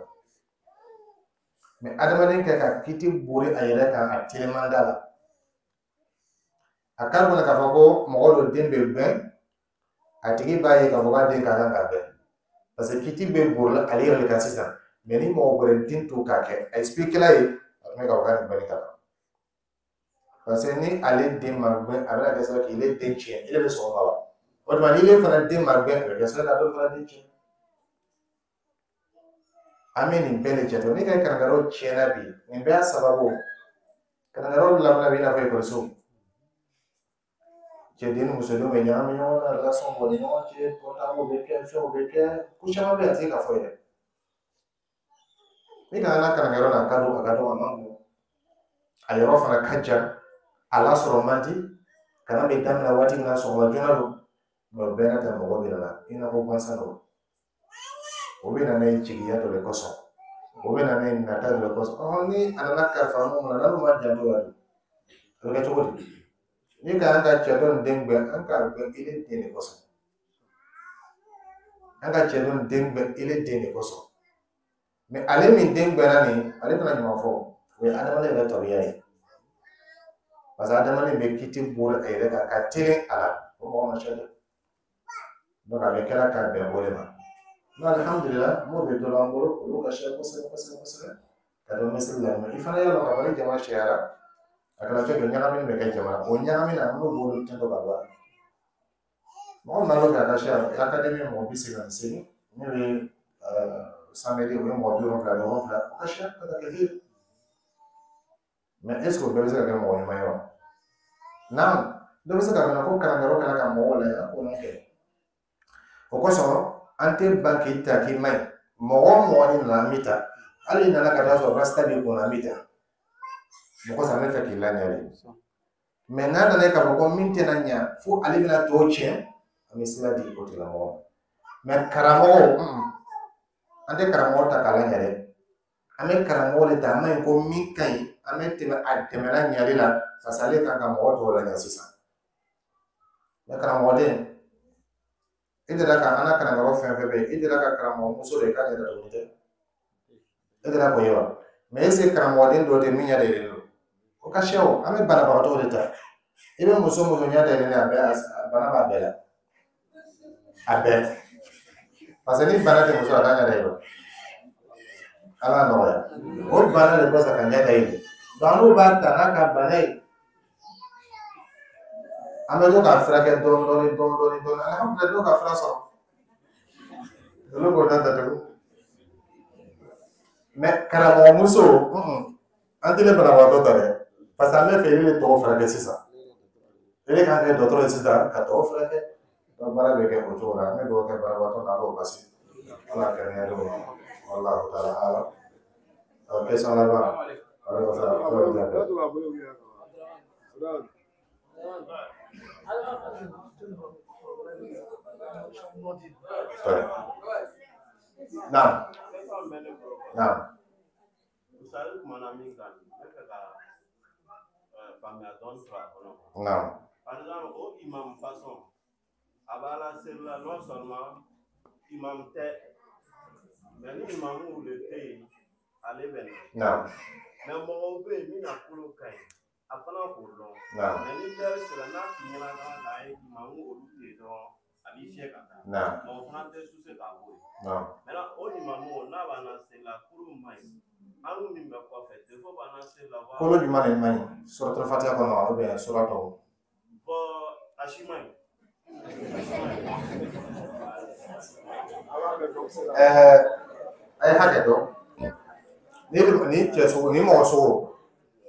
Speaker 1: Mais adamaden kɛ ka kiti bori a yɛrɛ kan, a teliman da la. A kan kɔnɔ k'a fɔ ko mɔgɔ dɔ den bɛ gbɛn, a tigi b'a ye k'a fɔ k'a den ka kan ka gbɛn. Parce que kiti bɛ borila ale yɛrɛ de kan sisan. Mais ni mɔgɔ wɛrɛ den to k'a kɛ, a expliqué la ye, a tun bɛ k'a fɔ k'a ni gbɛnni ka kan. Parce que ni ale den ma gbɛn, a bɛna kɛ sababu k'ile den tiɲɛ, ile bɛ sɔn o ma wa? O tuma n'ile fana den ma gbɛn, a bɛ kɛ sababu ka dɔ fana den tiɲɛ. An bɛ nin bɛɛ de jate. Ni ka kalankɛyɔrɔ tiɲɛna bi, nin bɛɛ y'a sababu. Kalankɛyɔrɔ lamina bɛ i n'a fɔ ekɔliso. Cɛden ni musodenw bɛ ɲagami ɲɔgɔn na, relation b'u ni ɲɔgɔn cɛ, portable bɛ kɛ, fɛnw bɛ kɛ, ko caman bɛ yen a tɛ se ka fɔ yɛrɛ. Ni ka na kalankɛyɔrɔ la, a ka dɔgɔ, a ka dɔgɔ, a man bon. A yɔrɔ fana ka jan, a lasɔrɔ man di. Kalan bɛ daminɛ waati min na, sɔgɔma joona don. Mais o bɛɛ n'a ta, mɔgɔ bɛ na i n'a fɔ gansan don. O bɛ na n'a ye jigiya dɔ de kosɔn. O bɛ na n'a ye nata dɔ de kosɔn. Ni a nana kalifa mun na, n'olu ma janto la dun, a bɛ kɛ cogo di? Ni ka an ka cɛ dɔ nin den gbɛn, an k'a gbɛn ile den de kosɔn. An ka cɛ dɔ nin den gbɛn ile den de kosɔn. Mais ale min den gbɛnna nin, ale tɛna ɲuman fɔ. O ye adamaden yɛrɛ tabiya ye. Parce que adamaden bɛ kiti bori a yɛrɛ kan ka teli a la, o mɔgɔ ma ca dɛ. Donc a bɛ kɛra ka bɛn o de ma. Mais alhamdulillah, m'o bɛ dɔ b'an bolo, olu ka ca kosɛbɛ kosɛbɛ kosɛbɛ. Ka dɔn misiri la, i fana y'a dɔn k'a fɔ ni jama cayara, a kana fɛn dɔ ɲagami bɛ kɛ jama la. O ɲagami na, n'o b'olu tɛntɛn ka bɔ a la. Mɔgɔ min b'a fɛ a ka ca, académie mɔgɔ 88, ne bɛ Samedi o ye mɔgɔ 77, o ka siya ka kɛ hiri. Mais est ce que o bɛɛ bɛ se ka kɛ mɔgɔ ɲuman ye wa? Naam, dɔ bɛ se ka fana ko kalankɛyɔrɔ kɛra ka mɔgɔw lajɛ, an k'o kɛ. O kosɔn an tɛ ban k'i ta k'i man ɲi. Mɔgɔ o mɔgɔ ni nana, an b'i ta. Hali n'i nana ka taa sɔrɔ rasta b'i kunna, an b'i ta. Mɔgɔ sɔrɔ an bɛ fɛ k'i laɲɛ de. Mais n'a nana ye k'a fɔ ko min tɛna ɲa fo ale bɛna tɔw tiɲɛ, an bɛ sira di o tigilamɔgɔ ma. Mais karamɔgɔ, an tɛ karamɔgɔ ta k'a laɲɛ dɛ. An bɛ karamɔgɔ de ta, an ma ɲi ko min ka ɲi, an bɛ tɛmɛ a tɛmɛna ɲali la, parce que ale kan ka mɔgɔ tɔw laɲɛ sisan. Mais karamɔgɔden, e delila ka an ka kalanyɔrɔ fɛn fɛn bɛ yen, e delila ka karamɔgɔ muso de k'a ɲɛ datugu tɛ? E delila k'o ye wa? Mais est ce que karamɔgɔden dɔ tɛ min ɲɛ dayɛlɛlen don? O ka siya o, an bɛ banabagatɔw de ta. I bɛ muso muso ɲɛ dayɛlɛlen, a bɛɛ bana b'a bɛɛ la. A bɛɛ. Parce que ni bana tɛ muso la, a t'a ɲɛ dayɛlɛ. Ala nɔgɔya. O bana de kɔsɔn ka ɲɛ dayɛlɛ. Donc n'u b'a ta n'a ka bana ye, an bɛ to k'a furakɛ dɔɔni dɔɔni dɔɔni dɔɔni dɔɔni. Alihamudulila, dɔw ka fura sɔrɔ. Olu k'o ta datugu. Mais karamɔgɔ muso, an tɛ ne banabagatɔ ta dɛ. Parce que an bɛ fɛ e de tɔgɔ furakɛ sisan. E de kan kɛ dɔgɔtɔrɔ ye sisan ka tɔgɔ furakɛ. Donc baara bɛ kɛ o cogo la. An bɛ dugawu kɛ banabagatɔ n'a b'o basi. Ala ka kɛnɛya d'o ma. Wallahu ta'ala alam. Question laban. Aleykum salaam. Naam. Naam. Naam.
Speaker 6: Par exemple, o imam façon, a b'a la seli la, non seulement imam tɛ, mais ni imamu de tɛ yen, ale bɛ na.
Speaker 1: Naam.
Speaker 6: Mais mɔgɔw bɛ yen min na kolo ka ɲi, a fana k'o dɔn.
Speaker 1: Naam.
Speaker 6: Mais ni lɛri sera n'a t'i ɲɛna dɔrɔn k'a ye imamu olu tɛ yen dɔrɔn, a b'i fiyɛ ka taa.
Speaker 1: Naam.
Speaker 6: Mɔgɔ fana tɛ suse k'a bɔ yen.
Speaker 1: Naam.
Speaker 6: Maintenant o imamu n'a b'an na seli la, kolo man ɲi. An min bɛ kɔfɛ, défaut b'an na seli la.
Speaker 1: Kolo jumɛn de man ɲi? Suratul Fatiha kɔnɔ ou bien sura tɔw?
Speaker 6: Bon, a si man ɲi.
Speaker 1: A ye hakɛ dɔn. Ni cɛ sugu, ni mɔgɔ sugu,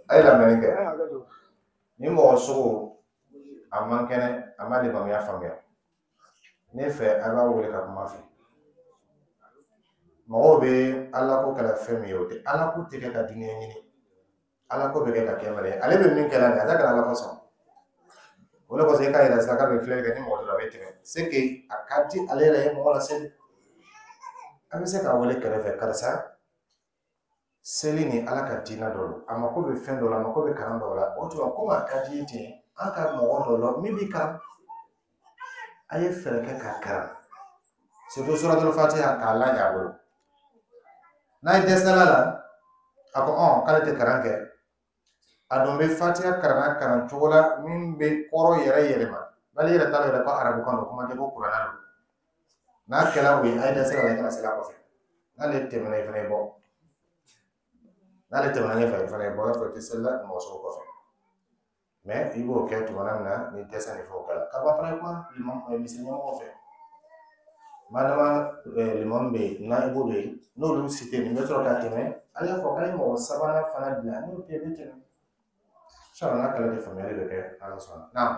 Speaker 1: a ye lamɛnni kɛ. Ni mɔgɔ sugu, a man kɛnɛ, a ma limamuya faamuya. Ne fɛ a b'a wele ka kuma fɛ. Mɔgɔw bɛ Ala ko kɛla fɛn min ye, o tɛ Ala ko tɛ kɛ ka dunuya ɲini. Ala ko bɛ kɛ ka kɛ mara ye. Ale bɛ min kɛ la nin ye, a tɛ ka Ala ko sɔn. O de kosɔn e k'a yira sisan k'a bɛ filɛli kɛ ni mɔgɔ dɔ a bɛ tɛmɛ. C'est que a ka di ale yɛrɛ ye mɔgɔ laseli. An bɛ se k'a wele kɛrɛfɛ, karisa, seli ni Ala ka diinɛ dɔ don. A mako bɛ fɛn dɔ la, a mako bɛ kalan dɔ la. O tuma komi a ka di ye ten, an ka mɔgɔ dɔ la min b'i kalan. A ye fɛɛrɛ kɛ k'a kalan. Surtout suratul Fatiha k'a laɲɛ a bolo. N'a ye dɛsɛla la, a ko k'ale tɛ kalan kɛ. A dun bɛ Fatiha kalan kalan cogo la min bɛ kɔrɔ yɛrɛ yɛlɛma. N'ale yɛrɛ t'a dɔn yɛrɛ ko arabukan don, kuma tɛ ko kuranɛ don. N'a kɛra o ye, a ye dɛsɛla la, i kana seli a kɔfɛ. N'ale tɛmɛna, i fana ye bɔ. N'ale tɛmɛna ɲɛfɛ, i fana ye bɔ, i b'a fɔ i tɛ seli la mɔgɔ sugu kɔfɛ. Mais i b'o kɛ tuma min na ni dɛsɛ ni fɛnw kɛra. Ka ban fana kuma misiri ɲɛmɔgɔw fɛ. Madama limam bɛ yen, naibu bɛ yen, n'olu si tɛ yen, nin bɛ sɔrɔ ka tɛmɛ. An y'a fɔ k'an ye mɔgɔ sabanan fana bila, n'o tɛ bɛ tɛmɛ. Inshallah n'a kɛla ten, faamuyali bɛ kɛ, Ala sɔnna. Naam.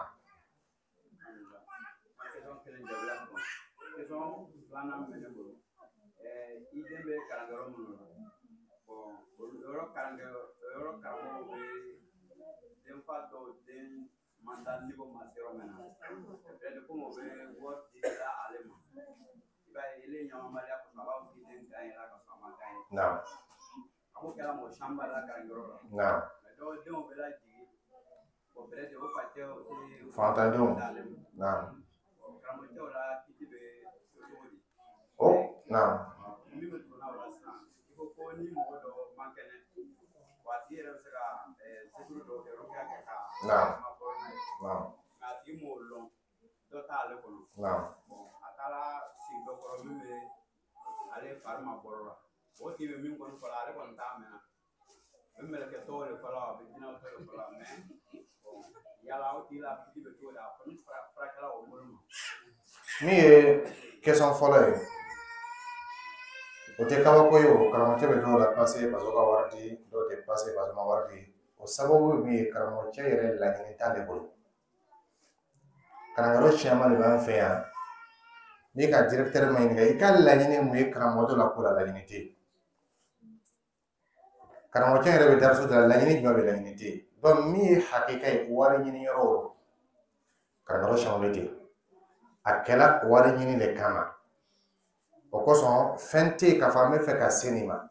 Speaker 4: Question filanan bɛ ne bolo. I den bɛ kalankɛyɔrɔ minnu na, bon, olu yɔrɔ yɔrɔ karamɔgɔw bɛ denfa dɔw den man taa niveau ma se yɔrɔ min na, peut-être komi o bɛ wari di la ale ma, i b'a ye ele ɲamabaliya kosɔn a b'a fɔ k'i den gagnera ka sɔrɔ a ma gagner.
Speaker 1: Naam.
Speaker 4: A ko kɛra mɔgɔ caman la kalankɛyɔrɔ la.
Speaker 1: Naam.
Speaker 4: Mais dɔw denw bɛ lajigin, bon, peut-être o facɛw tɛ
Speaker 1: Fantandenw.
Speaker 4: d'ale ma.
Speaker 1: Naam.
Speaker 4: Karamɔgɔcɛw la kiti bɛ cogo di?
Speaker 1: O, naam.
Speaker 4: Min bɛ tugu n'a o la sisan, i ko ko ni mɔgɔ dɔ man kɛnɛ, wa a tigi yɛrɛ bɛ se ka zikiri dɔw kɛ, rukiya kɛ ka
Speaker 1: Naam.
Speaker 4: ma bɔ n'a ye.
Speaker 1: Naam.
Speaker 4: Nka a tigi m'o lɔn, dɔ t'ale kɔnɔ.
Speaker 1: Naam.
Speaker 4: Bon, a taara sigi dɔ kɔrɔ min bɛ ale fari ma bɔ la. O tigi bɛ min kɔni fɔ la, ale kɔni t'a mɛn. A bɛ mɛlɛkɛ tɔw de fɔ la, a bɛ jinɛw tɔw de fɔ la, mais bon, yala o tigi la kiti bɛ cogo di? A kɔni furakɛla o bolo ma.
Speaker 1: Min ye question fɔlɔ ye, O tɛ kabako ye o, karamɔgɔcɛ bɛ dɔw la pase parce que ka wari di, dɔw tɛ pase parce que ma wari di. O sababu ye min ye, karamɔgɔcɛ yɛrɛ laɲini t'ale bolo. Kalanyɔrɔ caman de b'an fɛ yan. N'i ka directeur ma ɲininka i ka laɲini mun ye karamɔgɔ dɔ la ko la, laɲini tɛ yen. Karamɔgɔcɛ yɛrɛ bɛ dariso de la, laɲini jumɛn bɛ, laɲini tɛ yen. Donc min ye hakika ye, wari ɲini yɔrɔ o, kalanyɔrɔ caman bɛ ten. A kɛla wari ɲini de kama. O kosɔn fɛn tɛ yen k'a fɔ an bɛ fɛ ka se nin ma.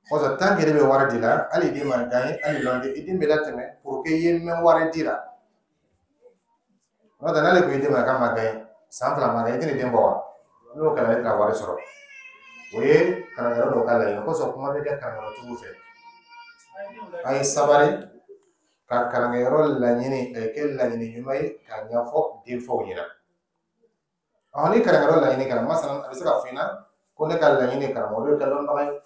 Speaker 1: Kosɔn tant que ne bɛ wari di la, hali i den ma gagné, hali lɔn i den bɛ latɛmɛ pour que i ye mɛn wari di la. N'o tɛ n'ale ko i den ma k'a ma gagné, san 2 ma gagné, i tɛna den bɔ wa? N'o kɛra e tɛna wari sɔrɔ. O ye kalanyɔrɔ dɔw ka laɲini. Kosɔn kuma bɛ kɛ kalanyɔrɔtigiw fɛ. A ye sabali ka kalankɛyɔrɔ laɲini a ye kɛ laɲini ɲuman ye k'a ɲɛfɔ denfaw ɲɛna. Ni kalankɛyɔrɔ laɲini kɛra, masalan a bɛ se ka f'i ɲɛna ko ne ka laɲini ye karamɔgɔ dɔ kɛ dɔnbaga ye.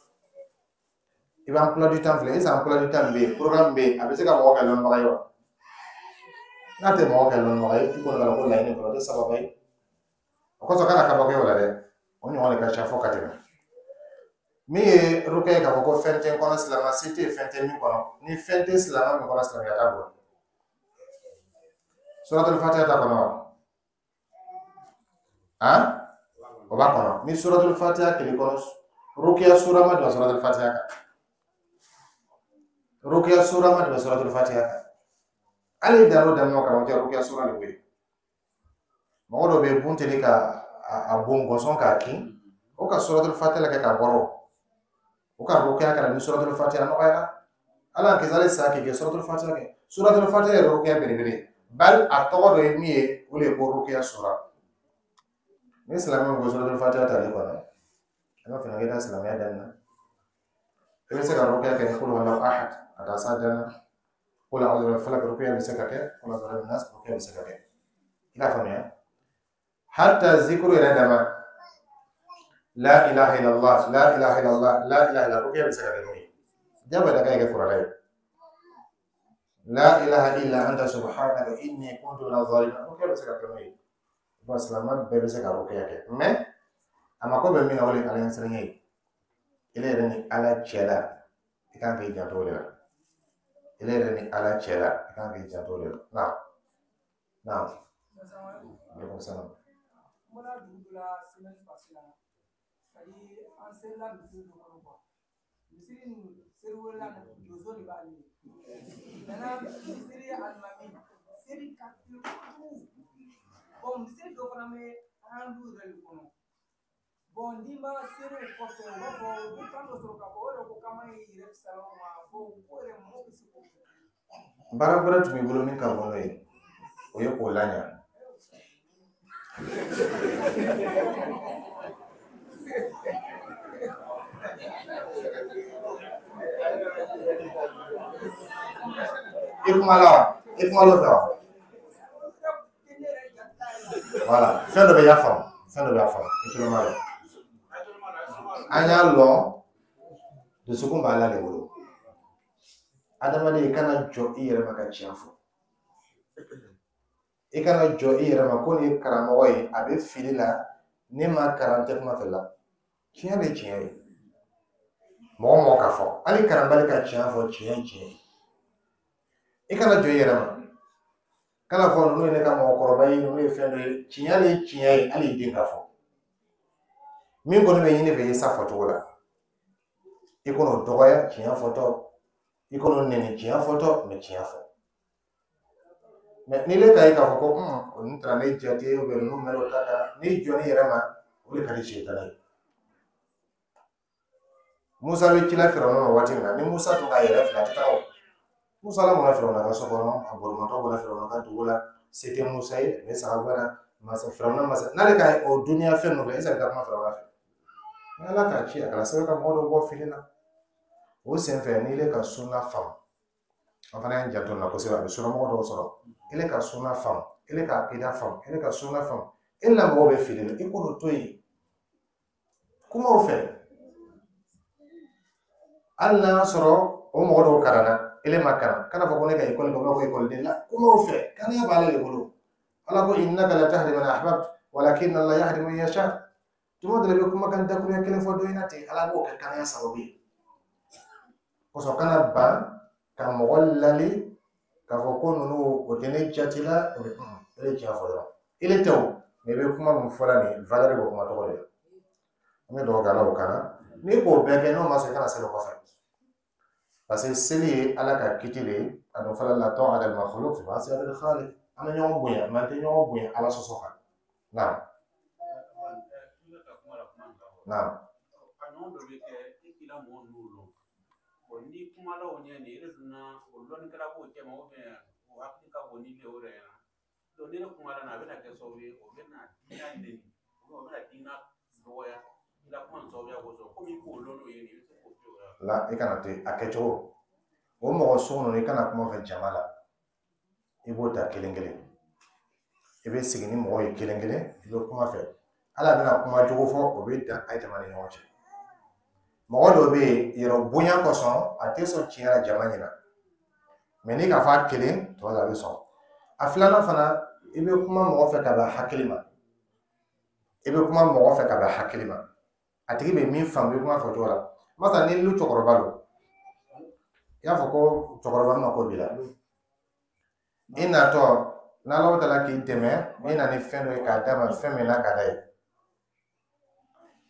Speaker 1: I bɛ emploi du temps filɛ, est-ce que emploi du temps bɛ yen, programme bɛ yen, a bɛ se ka mɔgɔ kɛ dɔnbaga ye wa? N'a tɛ mɔgɔ kɛ dɔnbaga ye, i kɔni ka ko laɲini kɔnɔ, o tɛ sababa ye. O kosɔn kana kabako o la dɛ, o ɲɔgɔn de ka ca fo ka tɛmɛ. Min ye rukɛ ye k'a fɔ ko fɛn tɛ n kɔnɔ, silamɛ se tɛ yen, fɛn tɛ min kɔnɔ. Ni fɛn tɛ silamɛ min kɔnɔ, silamɛya t'a bolo. Suratul Fatiha t'a kɔnɔ wa? Han? O b'a kɔnɔ. Ni Suratul Fatiha kelen kɔnɔ, rukiya sura ma tɛmɛ Suratul Fatiha kan. Rukiya sura ma tɛmɛ Suratul Fatiha kan. Hali dan o dan karamɔgɔcɛ rukiya sura de bɛ yen. Mɔgɔ dɔ bɛ yen bun teli ka a bon gɔsɔn k'a kin, o ka Suratul Fatiha kɛ ka bɔrɔ. O ka rukiya kɛra ni Suratul Fatiha nɔgɔyara. Ala k'i hali sa k'i kɛ Suratul Fatiha kɛ. Suratul Fatiha ye rukiya belebele. Bali a tɔgɔ dɔ ye min ye, o de ye ko rukiya sura. Ni silamɛw ko Suratul Fatiha t'ale kɔnɔ, an b'a fɔ k'i ka silamɛya daminɛ. I bɛ se ka rukiya kɛ ni kul huwallahu ahad ka taa s'a dan na. Kul a'udhu birabbil falaq rukiya bɛ se ka kɛ, kul a'udhu birabbin nas rukiya bɛ se ka kɛ. I k'a faamuya? Hatta zikuru yɛrɛ dama, la ilaha illallah, la ilaha illallah, la ilaha illallah, rukiya bɛ se ka kɛ n'o ye. Jagoya da k'a kɛ kuranɛ ye. La ilaha illa anta subhanaka inni kuntu minaz zalimin, rukiya bɛ se ka kɛ n'o ye. Bon, silamɛ bɛɛ bɛ se ka rukiya kɛ, mais a mako bɛ min na, o de ye Ala ɲɛsiranɲɛ ye. Ele yɛrɛ ni Ala cɛ la, i kan k'i janto o de la. Ele yɛrɛ ni Ala cɛ la, i kan k'i janto o de la. Naam. Naam. Aleykum salaam.
Speaker 5: N bɔra dugu dɔ la semaine passée la, c'est-à-dire an selila misiri dɔ kɔnɔ quoi. Misiri nin seli wɛrɛ la, donso de b'ale ye. Maintenant misiri alimami seli ka teli kojugu. Bon, misiri dɔ fana bɛ an du yɛrɛ de kɔnɔ. Bon, n'i ma seli o kɔfɛ, u b'a fɔ u bɛ kan dɔ sɔrɔ k'a fɔ o yɛrɛ ko k'an ma y'i yɛrɛ fisaya o ma. Bon, ko yɛrɛ mɔgɔw bɛ se k'o kɛ.
Speaker 1: Baara wɛrɛ tun b'i bolo min ka bon n'o ye, o ye k'o laɲa. I kuma la wa? I kuma l'o fɛ wa? Voilà, fɛn dɔ bɛ y'a faamu, fɛn dɔ bɛ y'a faamu, i tulo b'a la. An y'a lɔn, dusukun b'Ala de bolo. Adamaden, i kana jɔ i yɛrɛ ma ka tiɲɛ fɔ. I kana jɔ i yɛrɛ ma ko nin ye karamɔgɔ ye, a bɛ fili la, ne ma kalan tɛ kuma fɛ la. Tiɲɛ de tiɲɛ ye. Mɔgɔ mɔgɔ k'a fɔ, hali kalanbali ka tiɲɛ fɔ, tiɲɛ ye tiɲɛ ye. I kana jɔ i yɛrɛ ma. Kana fɔ ninnu ye ne ka mɔgɔkɔrɔba ye, ninnu ye fɛn dɔ ye. Tiɲɛ de ye tiɲɛ ye, hali i den k'a fɔ. Min kɔni bɛ ɲini fɛ, i ye sa fɔcogo la. I kan'o dɔgɔya tiɲɛ fɔtɔ, i kan'o nɛni tiɲɛ fɔtɔ, mais tiɲɛ fɔ. Mais n'i le k'a ye k'a fɔ ko nin taara ne jate, ninnu mɛn'o ta kan, n'i jɔn'i yɛrɛ ma, o de ka di sɛtanɛ ye. Musa bɛ ci la Firawuna ma waati min na, ni Musa tun k'a yɛrɛ filɛ, a tɛ taa o. Musa lamɔna Firawuna ka so kɔnɔ, a bolimatɔ bɔra Firawuna ka dugu la, se tɛ Musa ye, a bɛ saga bɔ masa Firawuna masa n'ale ka o duniya fɛn ninnu filɛ, est-ce que a bɛ taa kuma Firawuna fɛ? Ni Ala k'a ci, a kana sɛbɛn ka mɔgɔ dɔw bɔ fili la. O senfɛ, n'i le ka sunna faamu, an fana y'an janto nin na kosɛbɛ, a bɛ sunnamɔgɔ dɔw sɔrɔ. Ele ka sunna faamu, ele ka akida faamu, ele ka sunna faamu, e la mɔgɔw bɛ fili la, i k'olu to yen. Kumaw fɛ. Hali n'a y'a sɔrɔ o mɔgɔ dɔw kalanna, ele ma kalan, kana fɔ ko ne ka ekɔli kɛ, u b'a fɔ ko ekɔliden la, kumaw fɛ, kaniya b'ale de bolo. Ala ko innaka la tahdi man ahbabta walakinna Allah yahdi man yasha. Tuma dɔ la i bɛ kumakan dakuruɲɛ kelen fɔ dɔ ɲɛna ten, Ala b'o kɛ kanaya sababu ye. Kosɔn kana ban ka mɔgɔ lali k'a fɔ ko ninnu o tɛ ne jate la, o bɛ e de tiɲɛ fɔ dɔrɔn. I le tɛ o, mais i bɛ kuma min fɔ la nin valeur b'o kuma tɔgɔ de la. An bɛ dugawu kɛ Ala k'o k'an na. N'i k'o bɛɛ kɛ n'o ma sɔn, i kana seli o kɔfɛ. Parce que seli ye Ala ka kiti de ye, a dun fɔla la ta'ata lil makhluq fi ma'siyatil khaliq. An bɛ ɲɔgɔn bonya, mais an tɛ ɲɔgɔn bonya Ala sɔsɔ kan. Naam. Naam.
Speaker 4: A ɲɔgɔn dɔ bɛ kɛ e k'i la mɔgɔ ninnu lɔn. Bon, ni kumala o ɲɛ nin, e donna o lɔnnikɛla b'o cɛma o hakili ka bon ni o yɛrɛ ɲɛna. Donc ni ne kumala na, a bɛna kɛ sababu ye o bɛna diinɛ neni, o bɛna diinɛ dɔgɔya i la kuma nin sababuya kosɔn. Komi i k'o lɔn n'o ye nin, i bɛ se k'o to yen.
Speaker 1: La, i kana to yen, a kɛcogo. O mɔgɔ sugu ninnu, i kana kuma fɛ jama la. I b'o ta kelen kelen. I bɛ sigi ni mɔgɔw ye kelen kelen, i bɛ kuma fɛ. Ala bɛna kuma jugu fɔ, o bɛ dan a jama ni ɲɔgɔn cɛ. Mɔgɔ dɔ bɛ yen, yɛrɛ bonya kosɔn, a tɛ sɔn tiɲɛ la jama ɲɛna. Mais n'i k'a fɔ a kelen, tuma dɔ la a bɛ sɔn. A filanan fana, i bɛ kuma mɔgɔ fɛ ka bɛn hakili ma. I bɛ kuma mɔgɔ fɛ ka bɛn hakili ma. A tigi bɛ min faamu, i bɛ kuma fɔ cogo la. Masa ni lu cɛkɔrɔba don, i y'a fɔ ko cɛkɔrɔba mako b'i la. I natɔ, n'Ala taala k'i dɛmɛ, i na ni fɛn dɔ ye k'a d'a ma, fɛn min n'a ka d'a ye.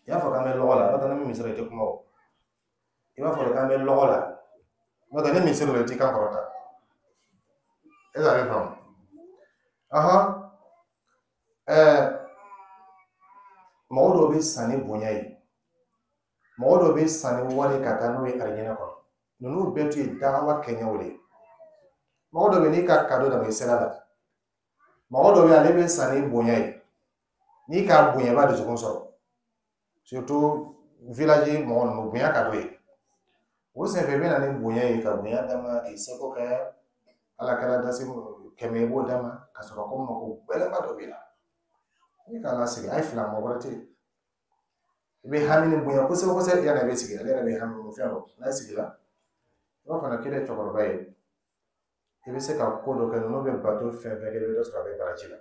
Speaker 1: I b'a fɔ k'an bɛ lɔgɔ la, n'o tɛ ni misiri i tɛ kuma o. I b'a fɔ k'an bɛ lɔgɔ la, n'o tɛ ni misiri la i t'i kan kɔrɔta. E b'a faamu? Ahan, mɔgɔ dɔw bɛ san ni bonya ye, mɔgɔ dɔw bɛ san ni wari ka taa n'o ye arijinɛ kɔnɔ. Ninnu bɛɛ tun ye dawa kɛɲɛw de ye. Mɔgɔ dɔ bɛ n'i ka kado d'a ma, i sera la. Mɔgɔ dɔ bɛ ale bɛ san ni bonya ye, n'i k'a bonya i b'a dusukun sɔrɔ. Surtout village mɔgɔ ninnu, bonya ka d'o ye. O senfɛ i bɛ na ni bonya ye, ka bonya d'a ma, k'i seko kɛ, Ala kɛra dasi 100 i b'o d'a ma, ka sɔrɔ ko mako gɛlɛnba dɔ b'i la. N'i k'a lasigi, a ye fila, mɔgɔ wɛrɛ tɛ yen. I bɛ hami ni bonya kosɛbɛ kosɛbɛ, yanni a bɛ sigi, ale yɛrɛ bɛ hami ni fɛn dɔ. N'a sigila, i b'a fɔ k'e ye cɛkɔrɔba ye, i bɛ se ka ko dɔ kɛ, ninnu bɛ bato fɛn fɛn kɛ, i bɛ dɔ sɔrɔ a bɛ baraji la.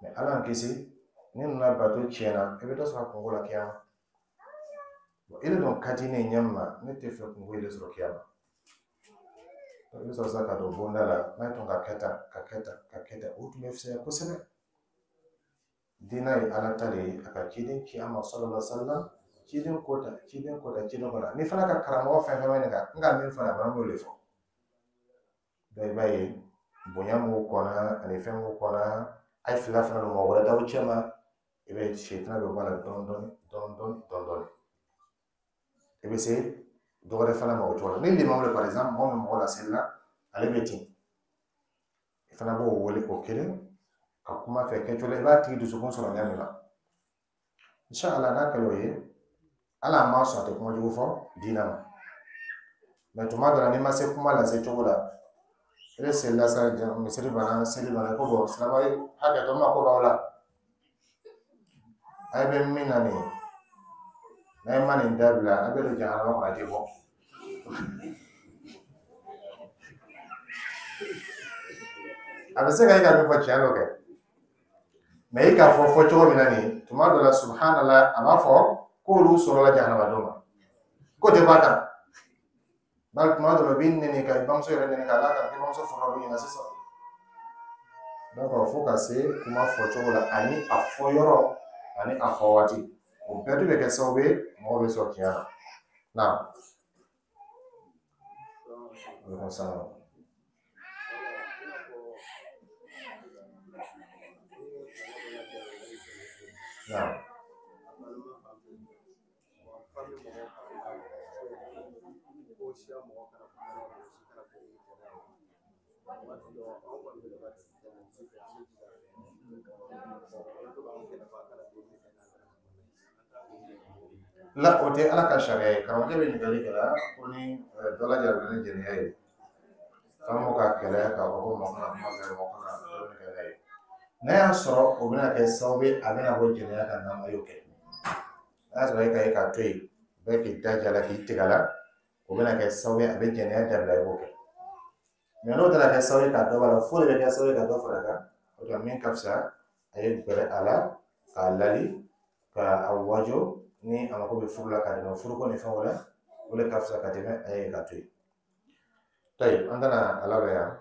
Speaker 1: Mais Ala y'an kisi, ni ninnu ka bato tiɲɛna, i bɛ dɔ sɔrɔ a kungo la kiyama. E de dun ka di ne ye ɲɛ min ma, ne tɛ fɛ kungo de sɔrɔ kiyama. I bɛ sɔrɔ sisan ka don bonda la, n'a tun ka kɛ tan, ka kɛ tan, ka kɛ tan, o tun bɛ fisaya kosɛbɛ. Diinɛ ye Ala ta de ye, a ka ciden ci an ma sallallahu alaihi wa sallam, ciden ko ta, ciden ko ta, ciden ko ta. N'i fana ka karamɔgɔ fɛn fɛn bɛ nin kan, n ka min fɔ a fana b'o de fɔ. Donc i b'a ye bonya m'u kɔnna ani fɛn m'u kɔnna, a ye fila fana don mɔgɔ wɛrɛ t'aw cɛ ma, i bɛ sitanɛ bɛ bɔ a la dɔɔni dɔɔni dɔɔni dɔɔni dɔɔni dɔɔni. I bɛ se dɔ wɛrɛ fana ma o cogo la. Ni limamu de par exemple, mɔgɔ min mɔgɔ laseli la, ale bɛ ten. I fana b'o wele o kelen ka kuma fɛ kɛcogo la, i b'a tigi dusukun sɔrɔ ɲɛ min na. Inshallah n'a kɛra o ye, Ala m'a sɔn a tɛ kuma jugu fɔ diinɛ ma. Mais tuma dɔ la n'i ma se kuma lase cogo la, e bɛ selila sa, misiri banna, seli banna, ko bɔn silamɛ hakɛ to n ma ko b'aw la. A bɛ min na nin ye, n'a ma nin dabila, a bɛ don jahanama kɔnɔ, a tɛ bɔ. A bɛ se ka e ka min fɔ tiɲɛ dɔ kɛ. Mais i k'a fɔ fɔ cogo min na nin, tuma dɔ la subhanallah, a b'a fɔ k'olu sɔrɔla jahanama don ma. K'o tɛ bɔ a kan. Bari tuma dɔ la u b'i nɛni ka i bamuso yɛrɛ nɛni k'a d'a kan k'i bamuso fɔra olu ɲɛna sisan. Donc fo ka se kuma fɔcogo la ani a fɔ yɔrɔ ani a fɔ waati. O bɛɛ de bɛ kɛ sababu ye mɔgɔw bɛ sɔrɔ tiɲɛ na. Naam. Aleykum salaam. Naam. La, o tɛ Ala ka sariya ye. Karamɔgɔkɛ bɛ ɲininkali kɛ la ko ni dɔ lajarabila ni jɛnɛya ye, f'an ka kɛlɛ k'a fɔ ko mɔgɔ kana kuma fɛ, mɔgɔ kana dumuni kɛ n'a ye. N'a y'a sɔrɔ o bɛna kɛ sababu ye a bɛna bɔ jɛnɛya kan n'an ma y'o kɛ. N'a y'a sɔrɔ e ka ye k'a to yen, bɛɛ k'i da ja la k'i tigɛ la, o bɛna kɛ sababu ye a bɛ jɛnɛya dabila, i b'o kɛ. Mais n'o taara kɛ sababu ye ka dɔ b'a la, fo de bɛ kɛ sababu ye ka dɔ fara a kan. O tuma min ka fisa, a ye gɛrɛ a la k'a lali. Ka a wajo ni a mako bɛ furu la ka dɛmɛ furuko ni fɛnw la, o de ka fisa ka tɛmɛ a ye ka to yen. Tayi, an tɛna a labɛn yan.